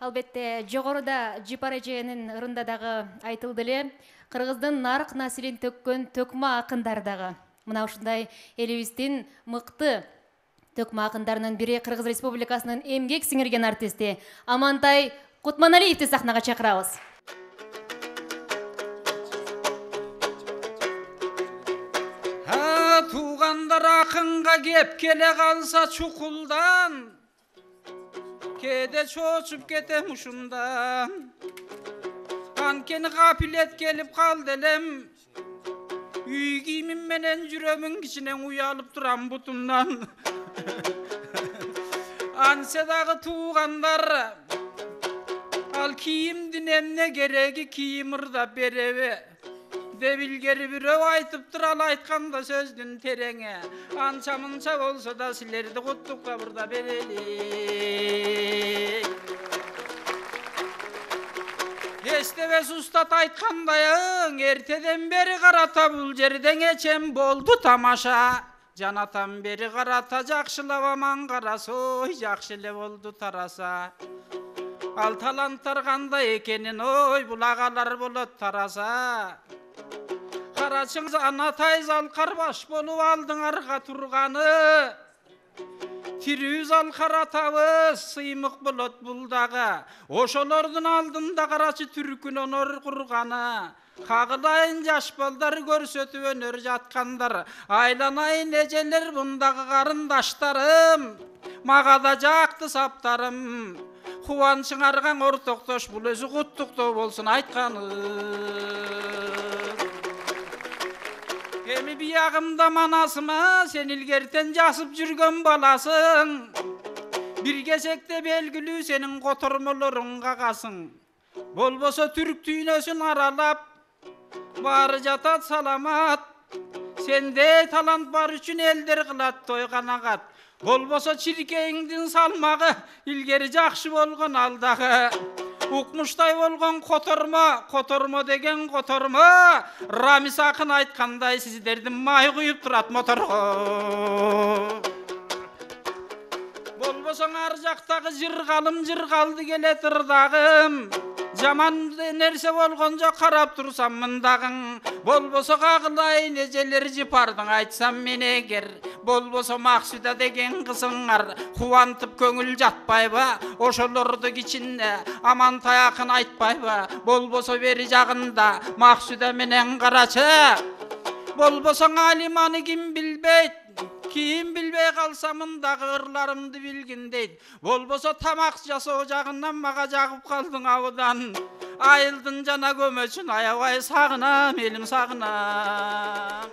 [SPEAKER 2] Албетте жогоруда Жипара эженин ырында дагы айтылды эле, кыргыздын нарк населин төккөн төкмө акындар дагы. Мына ушундай элибиздин мыкты Төкмө акындарынын бири Кыргыз Республикасынын эмгек сиңирген артисти Амантай Кутманалиевди сахнага чакырабыз.
[SPEAKER 17] Туугандар акынга кеп келе калса чукулдан, кээде чочуп кетем ушундан. Анткени капилет келип калды элем, үй кийимим менен жүрөмүн кичинен уялып турам бутумдан. Ансе дагы туугандар, ал кийимдин эмне кереги, кийим ырдап береби деп илгери бирөө айтыптыр, ал айтканда сөздүн тереңи. Анча мынча болсо да силерди куттукка ырдап берели. Эстебес устат айткандайың, эртеден бери карата бул жерден эчем болду тамаша. Жанатан бери карата жакшылап аман караса, ой жакшы эле болду тараса. Ал таланттар кандай экенин, ой бул агалар болот тараса. Карачыңыз анатай залкар баш болуп алдыңарга турганы. Тирүү залкар атабыз сыймык болот бул дагы. Ошолордун алдында карачы түркүн онор курганы. Кагылайын жаш балдар көрсөтүп өнөр жаткандар. Айланайын эжелер бундагы карындаштарым. Мага да жакты саптарым. Кубанычыңарга ортоктош бул өзү куттуктоо болсун айтканы. Эми биягымда манасыма сен илгертен жасып жүргөн баласың. Бир кезекте белгилүү сенин котормолоруң кагасың. Болбосо түрк дүйнөсүн аралап, баары жатат саламат. Сенде талант бар үчүн элдер кылат той канагат. Болбосо чиркейиңдин салмагы илгери жакшы болгон алдагы. Укмуштай болгон котормо деген котормо. Рамис акын айткандай сиздердин май куюп турат моторго. Болбосоң ар жактагы жыргалым жыргалды келет ырдагым. Жаман нерсе болгон жок карап турсам мындагың. Болбосо кагылайын эжелер жыпардың айтсам мен эгер. Болбосо Максуда деген кызыңар кубантып көңүл жатпайбы? Ошолорду кичинде Амантай акын айтпайбы? Болбосо бери жагында Максуда менен карачы. Болбосоң Алиманы ким билбейт? Кийим билбей калса мындагы ырларымды билгин дейт. Болбосо тамак жасоо жагынан мага жагып калдың абыдан. Айылдын жана көмөчүн аябай сагынам, элим сагынам.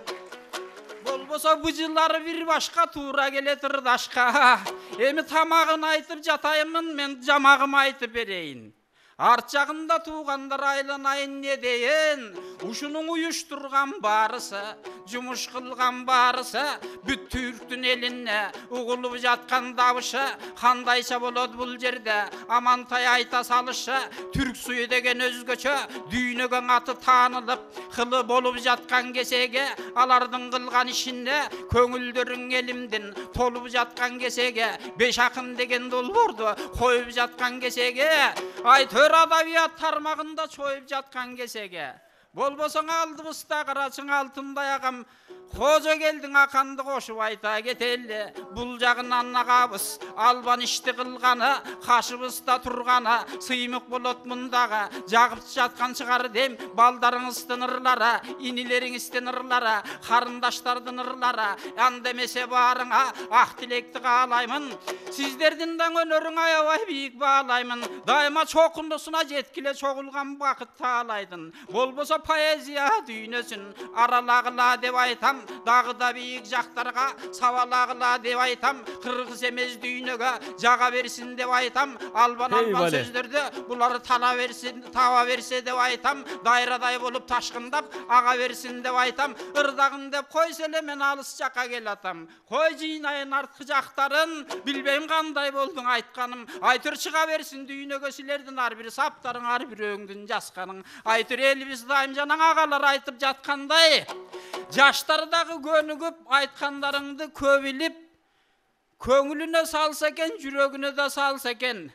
[SPEAKER 17] Болбосо быжылары бир башка туура келет ырдашка. Эми тамагын айтып жатайымын, мен жамагым айтып берейин. Арт жагында туугандар айланайын не дейин. Ушунун уюштурган баарысы, жумуш кылган баарысы, бүт түрктүн элине угулуп жаткан дабышы. Кандайча болот бул жерде Амантай айта салышы. Түрк суyu деген өзгөчө дүйнөгө аты таанылып, кылы болуп жаткан кесеге, алардын кылган ишинде көңүлдөрүң элимдин толуп жаткан кесеге, беш акын деген долбоорду коюп жаткан кесеге, айтөр адабият тармагында чоюп жаткан кесеге. Болбосоң алдыбызда карачың алтындай агам, кожо келдиң аканды кошуп айта кетели. Бул жагынан агабыз албан ишти кылганы, кашыбызда турганы сыймык болот мындагы. Жагып жаткан чыгар дем балдарыңыздын ырлары, инилериңиздин ырлары, карындаштардын ырлары. Анда эмесе баарыңа ак тилекти каалаймын. Сиздердин да өнөрүң аябай бийик баалаймын. Дайыма чокундусуна жеткиле чогулган бакыт таалайдын. Болбосо поэзия дүйнөсүн аралагыла деп айтам. Дагы да бийик жактарга сабалагыла деп айтам. Кыргыз эмес дүйнөгө жага берсин деп айтам. Албан сөздөрдү булар таба берсе деп айтам. Дайрадай болуп ташкындап ага берсин деп айтам. Ырдагын деп койсо эле мен алыс жакка келатам. Кой жыйнайын арткы жактарын, билбейм кандай болдуң айтканым. Айтыр чыга берсин дүйнөгө силердин ар бир саптарың, ар бирөөңдүн жазканың. Айтыр элибиз дайым жанаң агалар айтып жаткандай. Жаштар дагы көнүгүп айткандарыңды көп билип, көңүлүнө салса экен, жүрөгүнө да салса экен.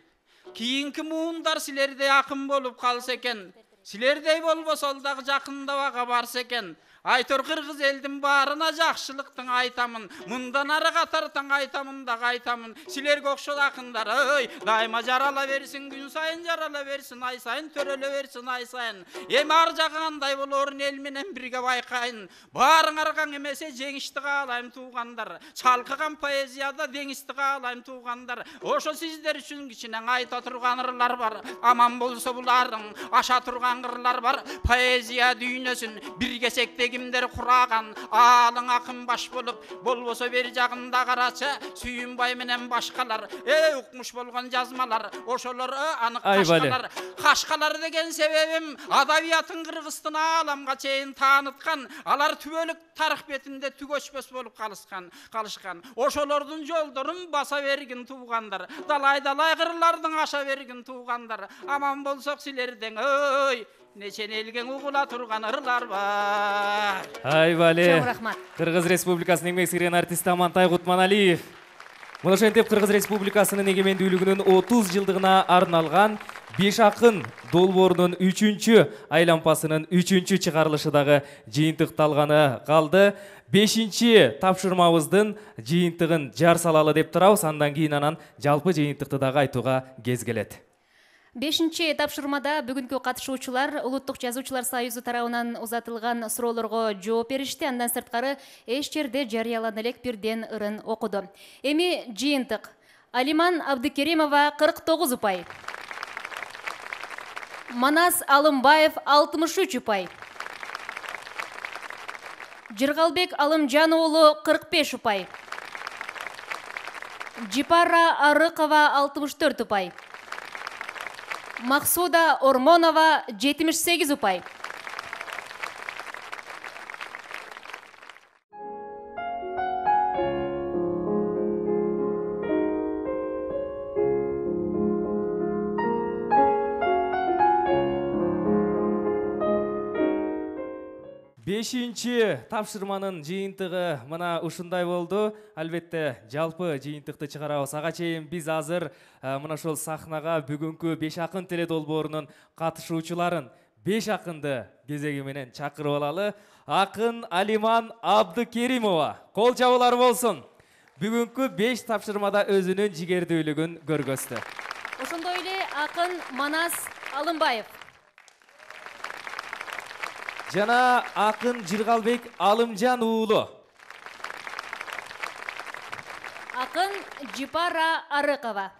[SPEAKER 17] Кийинки муундар силерде акын болуп калса экен. силердей болбосо ал дагы жакындабага барса экен. Айтор кыргыз элдин баарына жакшылыктын айтамын. Мындан ары катартаң айтамын да айтамын. Силерге окшол акындар, ой, дайыма жарала берсин, күн сайын жарала берсин, ай сайын төрөлө берсин, ай сайын. Эми ар жагы кандай болорун эл менен бирге байкайын. Баарыңар каң эмесе жеңишти каалайм туугандар. Чалкыган поэзияда деңизди каалайм туугандар. Ошо сиздер үчүн кичинең айта турган ырлар бар. Аман болсо буларың аша турган ырлар бар. Поэзия дүйнөсүн бирге сектеги кимдер кураган, алың акын баш болуп, болбосо бери жагында карачы, Сүйүнбай менен башкалар, укмуш болгон жазмалар, ошолор анык кашкалар. Кашкалар деген себебим адабиятын Кыргыздын ааламга чейин тааныткан, алар түбөлүк тарых бетинде түгөчпөс болуп калышкан. Ошолордун жолдорун баса бергин туугандар, далай-далай кырлардын аша бергин туугандар. Аман болсок силерден, ой, нечен элген угула турган ырлар бар.
[SPEAKER 1] Айбале.
[SPEAKER 2] Чоң рахмат.
[SPEAKER 1] Кыргыз Республикасынын эмгек сиңирген артисти Амантай Кутманалиев. Мына ошентип Кыргыз Республикасынын эгемендүүлүгүнүн 30 жылдыгына арналган Беш акын долбоорунун 3-чү айлампасынын 3-чү чыгарылышы дагы жыйынтыкталганы калды. 5-чи тапшырмабыздын жыйынтыгын жар салалы деп турабыз. Андан кийин анан жалпы жыйынтыкты дагы айтууга кез келет.
[SPEAKER 2] 5-чи тапшырмада бүгүнкү катышуучулар Улуттук жазуучулар союзу тарабынан узатылган суроолорго жооп беришти. Андан сырткары эч жерде жарыялана элек бирден ырын окуду. Эми жыйынтык. Алиман Абдыкеримова 49 упай. Манас Алымбаев 63 упай. Жыргалбек Алымжан уулу 45 упай. Жипара Арыкова 64 упай. Максуда Ормонова 78 упай.
[SPEAKER 1] Бешинчи тапшырманын жыйынтыгы мына ушундай болду. Албетте жалпы жыйынтыкты чыгарабыз. Ага чейин биз азыр мына ошол сахнага бүгүнкү Беш акын теледолбоорунун катышуучуларын 5 акынды кезеги менен чакырып алалы. Акын Алиман Абдыкеримова. Кол чабуулар болсун. Бүгүнкү 5 тапшырмада өзүнүн жигердүүлүгүн көргөздү.
[SPEAKER 2] Ошондой эле акын Манас Алымбаев.
[SPEAKER 1] Жана акын Жыргалбек Алымжан уулу.
[SPEAKER 2] Акын Жипара Арыкова.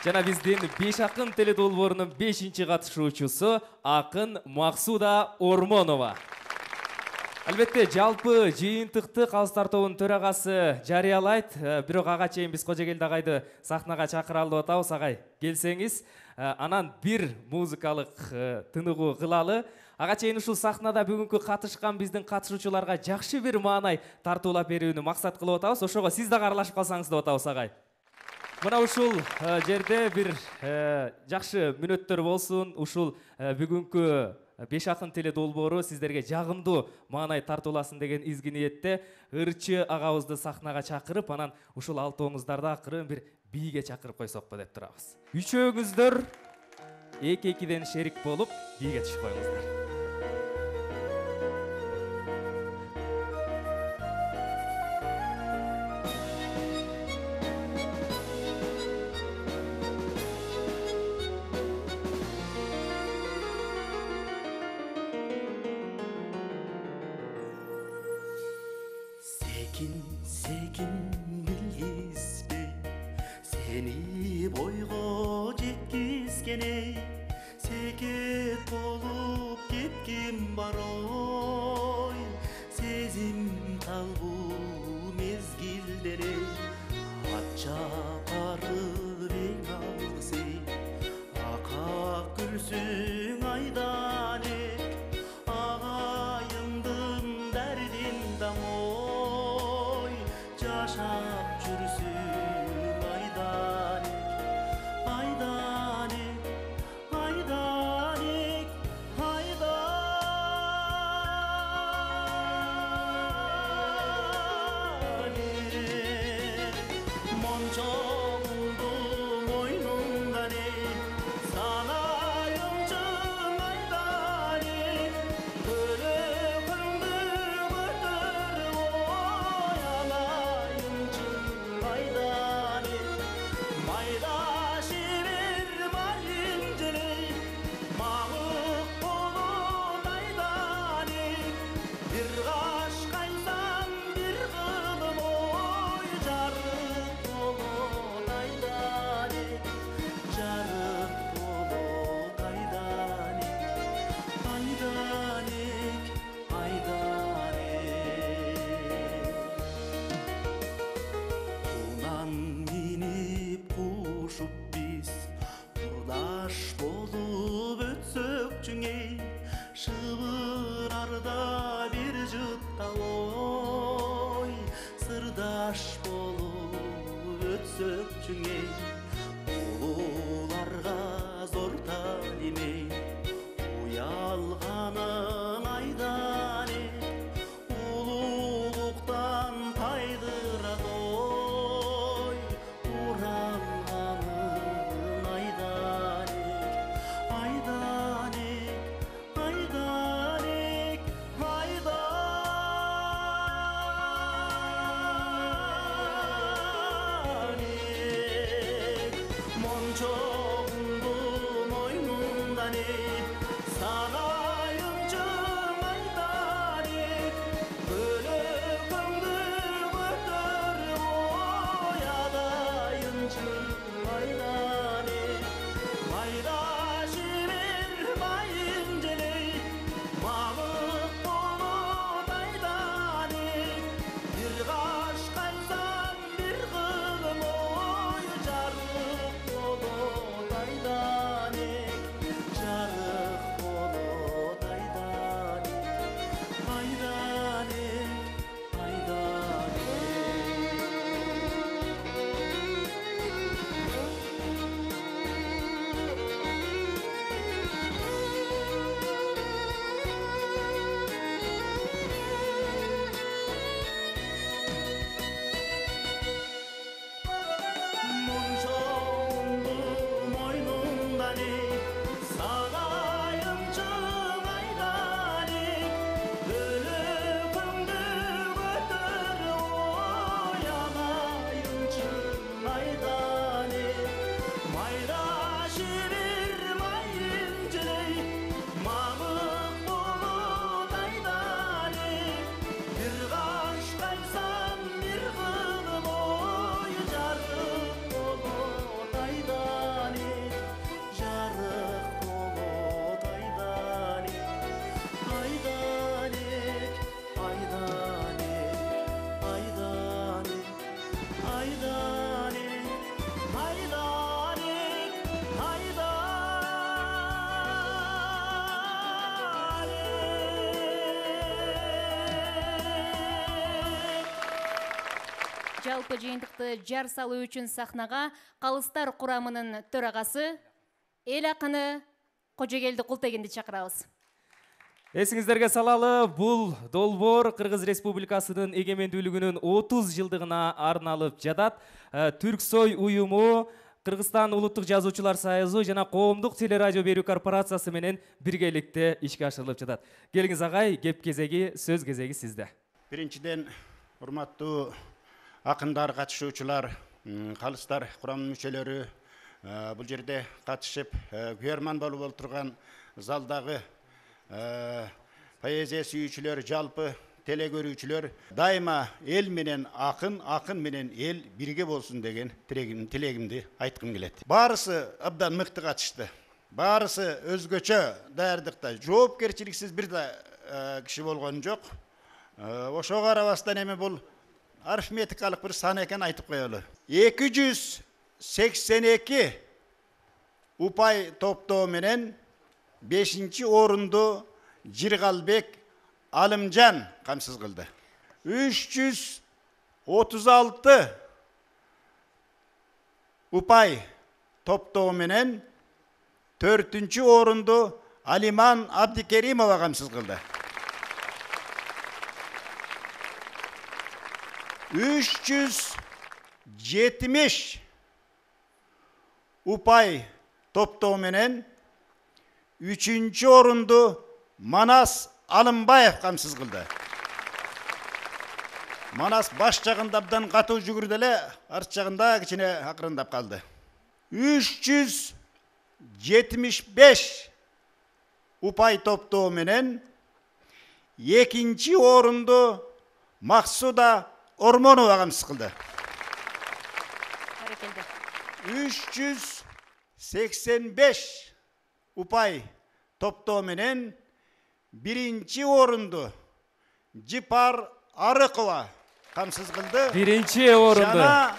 [SPEAKER 1] Жана биздин 5 акын теледолбоорунун 5-чи катышуучусу акын Максуда Ормонова. Албетте жалпы жыйынтыкты Калыс тартоонун төрагасы жарыялайт. Бирок ага чейин биз Кожогелди агайды сахнага чакыралы деп атабыз. Агай, келсеңиз, анан бир музыкалык тыныгуу кылалы. Ага чейин ушул сахнада бүгүнкү катышкан биздин катышуучуларга жакшы бир маанай тартуулап берүүнү максат кылып атабыз. Ошого сиз дагы аралашып калсаңыз деп атабыз, агай. Мына ушул жерде бир жакшы мүнөттөр болсун. Ушул бүгүнкү Беш акын теледолбоору сиздерге жагымдуу маанай тартууласын деген изги ниетте ырчы агабызды сахнага чакырып, анан ушул алтооңуздарды акырын бир бийге чакырып койсокпу деп турабыз. Үчөөңүздөр 2-2ден шерик болуп бийге түшүп коюңуздар.
[SPEAKER 10] Sekin bilgizbe seni boygo jetkizgene seket bolup ketkin бар ой сезим талбу мезгилдере атча барып эң алгысы ака күлсүң айдан агайымдын дәрдин дамой жашап жүрсүң айдан айдан айдан мончоңду мойнуңдан санайымчы сөкчүңей шыбырарда бир жытта ой сырдаш болуп өтсөкчүңей улууларга зор таалимей уялганың айдан улуулуктан тайдырат ой уранганың айдан айдан айдан мончогумду мойнундан сагайынчы айдан бөлөгөңдү көтөрүп оядайынчы айдан майдаши бир майын желей мамык болот айдан бир каш кайсам бир кылым ой жарык болот айдан жарык болот айдан айдан айдан мончогумду мойнундан сагайынчы айдан бөлөгөңдү көтөрүп оядайынчы айдан майдаши бир майын желей мамык болот айдан бир каш кайсам бир кылым ой жарык болот айдан жарык болот айдан айдан айдан айдан айдан айдан
[SPEAKER 2] жалпы жыйынтыкты жар салуу үчүн сахнага калыстар курамынын төрагасы эл акыны Кожогелди Култегинди чакырабыз.
[SPEAKER 1] Эсиңиздерге салалы, бул долбоор Кыргыз Республикасынын эгемендүүлүгүнүн 30 жылдыгына арналып жатат. Түрксой уюму, Кыргызстан улуттук жазуучулар союзу жана коомдук телерадио берүү корпорациясы менен биргеликте ишке ашырылып жатат. Келиңиз агай, кеп кезеги, сөз кезеги сизде.
[SPEAKER 18] Биринчиден, урматтуу акындар, катышуучулар, калыстар курамынын мүчөлөрү, бул жерде катышып, күйөрман болуп отурган залдагы поэзия сүйүүчүлөр, жалпы теле көрүүчүлөр, дайыма эл менен акын, акын менен эл бирге болсун деген тилегимди айткым келет. Баарысы абдан мыкты катышты. Баарысы өзгөчө даярдыкта, жоопкерчиликсиз бир да киши болгон жок. Ошого карабастан эми бул арифметикалык бир сан экен айтып коелу. 282 упай топтоо менен 5-орунду Жиргалбек Алымжан камсыз кылды. 336 упай топтоо менен 4-орунду Алиман Абдикеримова камсыз кылды. 370 упай топтоо менен 3-орунду Манас Алымбаев камсыз кылды. Манас баш жагында абдан катуу жүгүрдү эле, арт жагында кичине акырындап калды. 375 упай топтоо менен 2-орунду Максуда Ормонова камсыз кылды. 385 упай топтоо менен 1-орунду Жипар Арыкова камсыз кылды.
[SPEAKER 1] 1-орунду.
[SPEAKER 18] Жана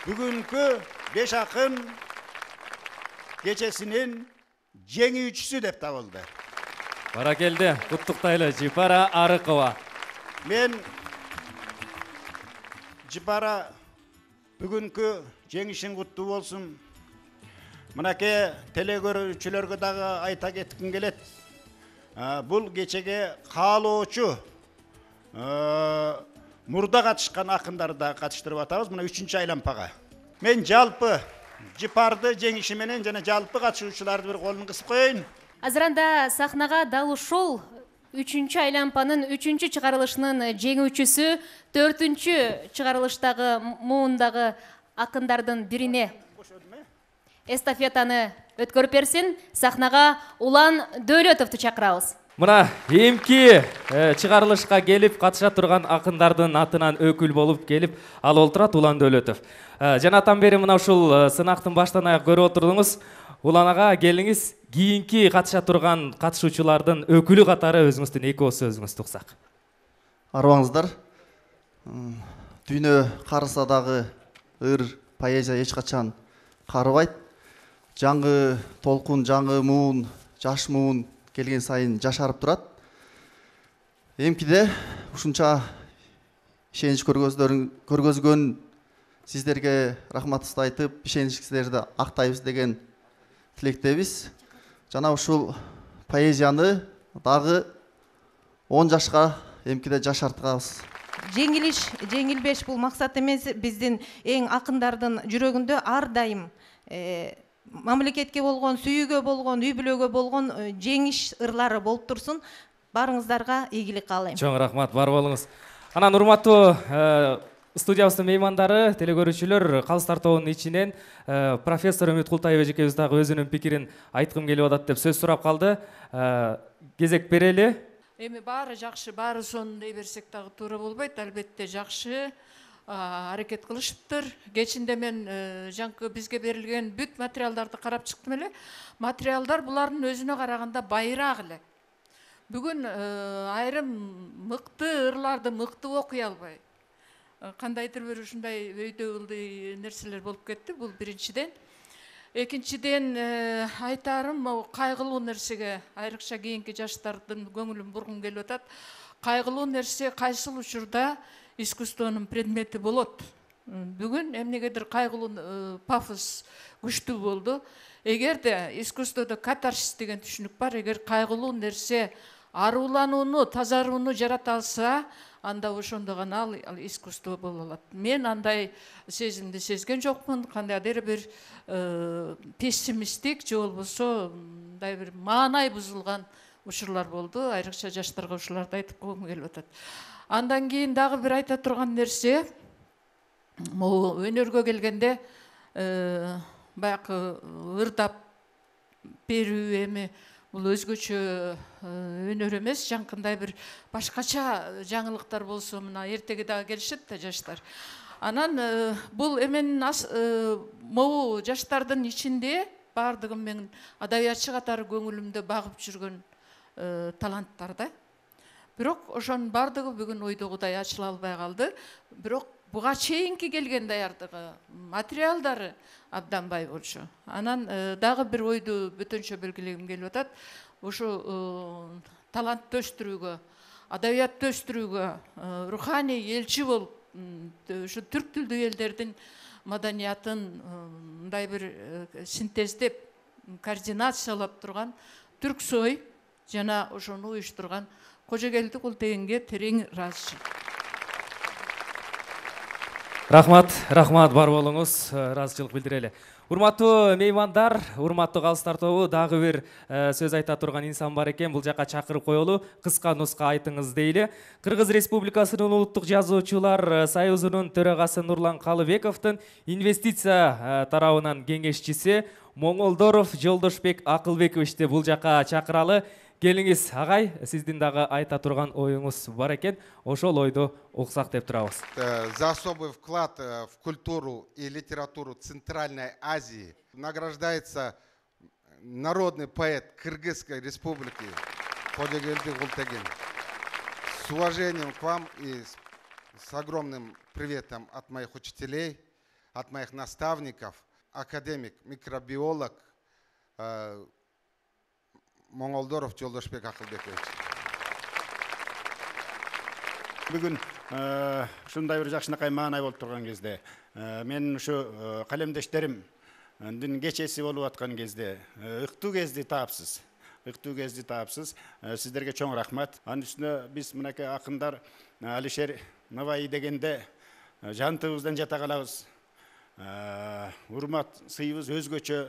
[SPEAKER 18] бүгүнкү 5 акын кечесинин жеңүүчүсү деп табылды.
[SPEAKER 1] Баракелде, куттуктайлы Жипара Арыкова.
[SPEAKER 18] Мен Жипара бүгүнкү жеңишиң куттуу болсун. Мынакей телегөрүүчүлөргө дагы айта кетким келет. Бул кечеге каалоочу мурда катышкан акындарды да катыштырып атабыз. Мына 3-чү айлампага. Мен жалпы Жипарды жеңиши менен жана жалпы катышуучуларды бир колун кысып коеюн.
[SPEAKER 2] Азыранда сахнага дал ушул 3-чү айлампанын 3-чү чыгарылышынын жеңүүчүсү 4-чү чыгарылыштагы муундагы акындардын бирине эстафетаны өткөрүп берсин. Сахнага Улан Дөөлөтовду чакырабыз.
[SPEAKER 1] Мына эмки чыгарылышка келип катыша турган акындардын атынан өкүл болуп келип ал олтурат Улан Дөөлөтов. Жанатан бери мына ушул сынактын баштан аяк көрүп отурдуңуз. Улан ага келиңиз, кийинки катыша турган катышуучулардын өкүлү катары өзүңүздүн эки ооз сөзүңүздү уксак.
[SPEAKER 19] Арыбаңыздар. Дүйнө карыса дагы ыр поэзия эч качан карыбайт. Жаңы толкун, жаңы муун, жаш муун келген сайын жашарып турат. Эмкиде ушунча ишенич көргөзгөн сиздерге рахматыбызды айтып, ишеничиңиздерди актайбыз деген тилектебиз. Жана ушул поэзияны дагы 10 жашка эмкиде жашартабыз.
[SPEAKER 6] Жеңилиш, жеңилбеш бул максат эмес. Биздин эң акындардын жүрөгүндө ар дайым мамлекетке болгон, сүйүүгө болгон, үй бүлөгө болгон жеңиш ырлары болуп турсун. Барыңыздарга ийгилик каалайм.
[SPEAKER 1] Чоң рахмат, бар болуңуз. Анан урматтуу студиябыздын меймандары, телегөрүүчүлөр, Калыстар тобунун ичинен профессор Үмүт Култаев эжекебиз дагы өзүнүн пикирин айткым келип атат деп сөз сурап калды. Кезек берели.
[SPEAKER 13] Эми баары жакшы, баары сонун дей берсек дагы туура болбойт. Албетте жакшы аракет кылышыптыр. Кечинде мен жаңкы бизге берилген бүт материалдарды карап чыктым эле. Материалдар булардын өзүнө караганда байыраак эле. Бүгүн айрым мыкты ырларды мыкты окуй албай. Кандайдыр бир ушундай өйдө ылдый нерселер болуп кетти. Бул биринчиден. Экинчиден айтарым кайгылуу нерсеге, айрыкча кийинки жаштардын көңүлүн бургум келип атат. Кайгылуу нерсе кайсыл учурда искусствонун предмети болот. Бүгүн эмнегедир кайгылуу пафос күчтүү болду. Эгерде искусстводо катарсис деген түшүнүк бар, эгер кайгылуу нерсе арууланууну, тазарууну жарата алса, анда ошондо гана ал искусство боло алат. Мен андай сезимди сезген жокмун. Кандайдыр бир пессимисттик же болбосо мындай бир маанай бузулган учурлар болду. Айрыкча жаштарга ушуларды айтып койгум келип атат. Андан кийин дагы бир айта турган нерсе, могу өнөргө келгенде баягы ырдап берүү эми бул өзгөчө өнөр эмес, жаңкындай бир башкача жаңылыктар болсо мына эртеге дагы келишет да жаштар. Анан бул эменин могу жаштардын ичинде баардыгын мен адабиятчы катары көңүлүмдө багып жүргөн таланттар да. Бирок ошонун баардыгы бүгүн ойдогудай ачыла албай калды. Бирок буга чейинки келген даярдыгы, материалдары абдан бай болчу. Анан дагы бир ойду бөтөнчө белгилегим келип атат. Ушу талантты өстүрүүгө, адабиятты өстүрүүгө, руханий элчи болуп, ушу түрк тилдүү элдердин маданиятын мындай бир синтездеп, координациялап турган Түрксой жана ошону уюштурган Кожогелди Култегенге терең ыраазычылык.
[SPEAKER 1] Рахмат, бар болуңуз, ыраазычылык билдирели. Урматтуу меймандар, урматтуу Калыстар тобу, дагы бир сөз айта турган инсан бар экен. Бул жака чакырып коелу, кыска нуска айтыңыз дейли. Кыргыз Республикасынын Улуттук Жазуучулар Союзунун төрагасы Нурлан Калыбековдун инвестиция тарабынан кеңешчиси Моңолдоров Жолдошбек Акылбековичти бул жака чакыралы. Келиңиз, агай, сиздин дагы айта турган оюңуз бар экен. Ошол ойду уксак деп турабыз.
[SPEAKER 20] За особый вклад в культуру и литературу Центральной Азии награждается народный поэт Кыргызской Республики Кожогелди Култеген. С уважением к вам и с огромным приветом от моих учителей, от моих наставников, академик, микробиолог Моңолдоров Жолдошбек Акылбекович.
[SPEAKER 18] Бүгүн ушундай бир жакшынакай маанай болуп турган кезде мен ушу калемдештерим кечеси болуп аткан кезде ыктуу кезди таапсыз. Сиздерге чоң рахмат. Анын үстүнө биз мынакей акындар Алишер Наваи дегенде жантыбыздан жата калабыз. Урмат сыйыбыз өзгөчө.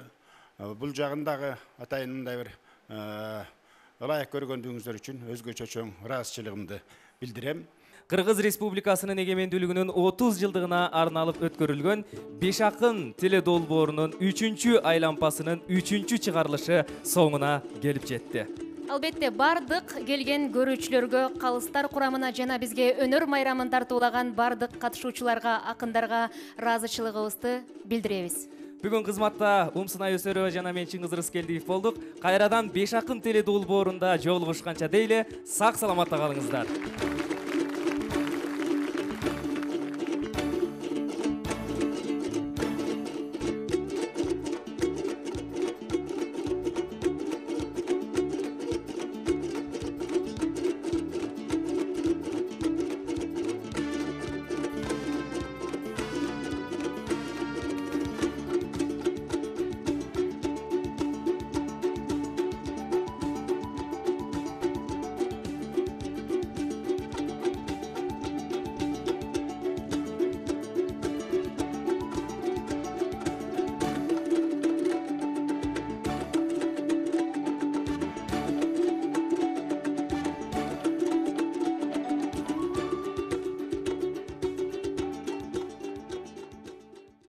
[SPEAKER 18] Бул жагындагы атайын мындай бир ылайык көргөндүгүңүздөр үчүн өзгөчө чоң ыраазычылыгымды билдирем.
[SPEAKER 1] Кыргыз Республикасынын эгемендүүлүгүнүн 30 жылдыгына арналып өткөрүлгөн Беш акын теледолбоорунун 3-чү айлампасынын 3-чү чыгарылышы соңуна келип жетти.
[SPEAKER 2] Албетте бардык келген көрүүчүлөргө, калыстар курамына жана бизге өнөр майрамын тартуулаган бардык катышуучуларга, акындарга ыраазычылыгыбызды билдиребиз.
[SPEAKER 1] Бүгүн кызматта Умсынай Өсөрова жана мен Чыңгыз Рыскелдиев болдук. Кайрадан Беш акын теледолбоорунда жолугушканча дейли, сак саламатта калыңыздар.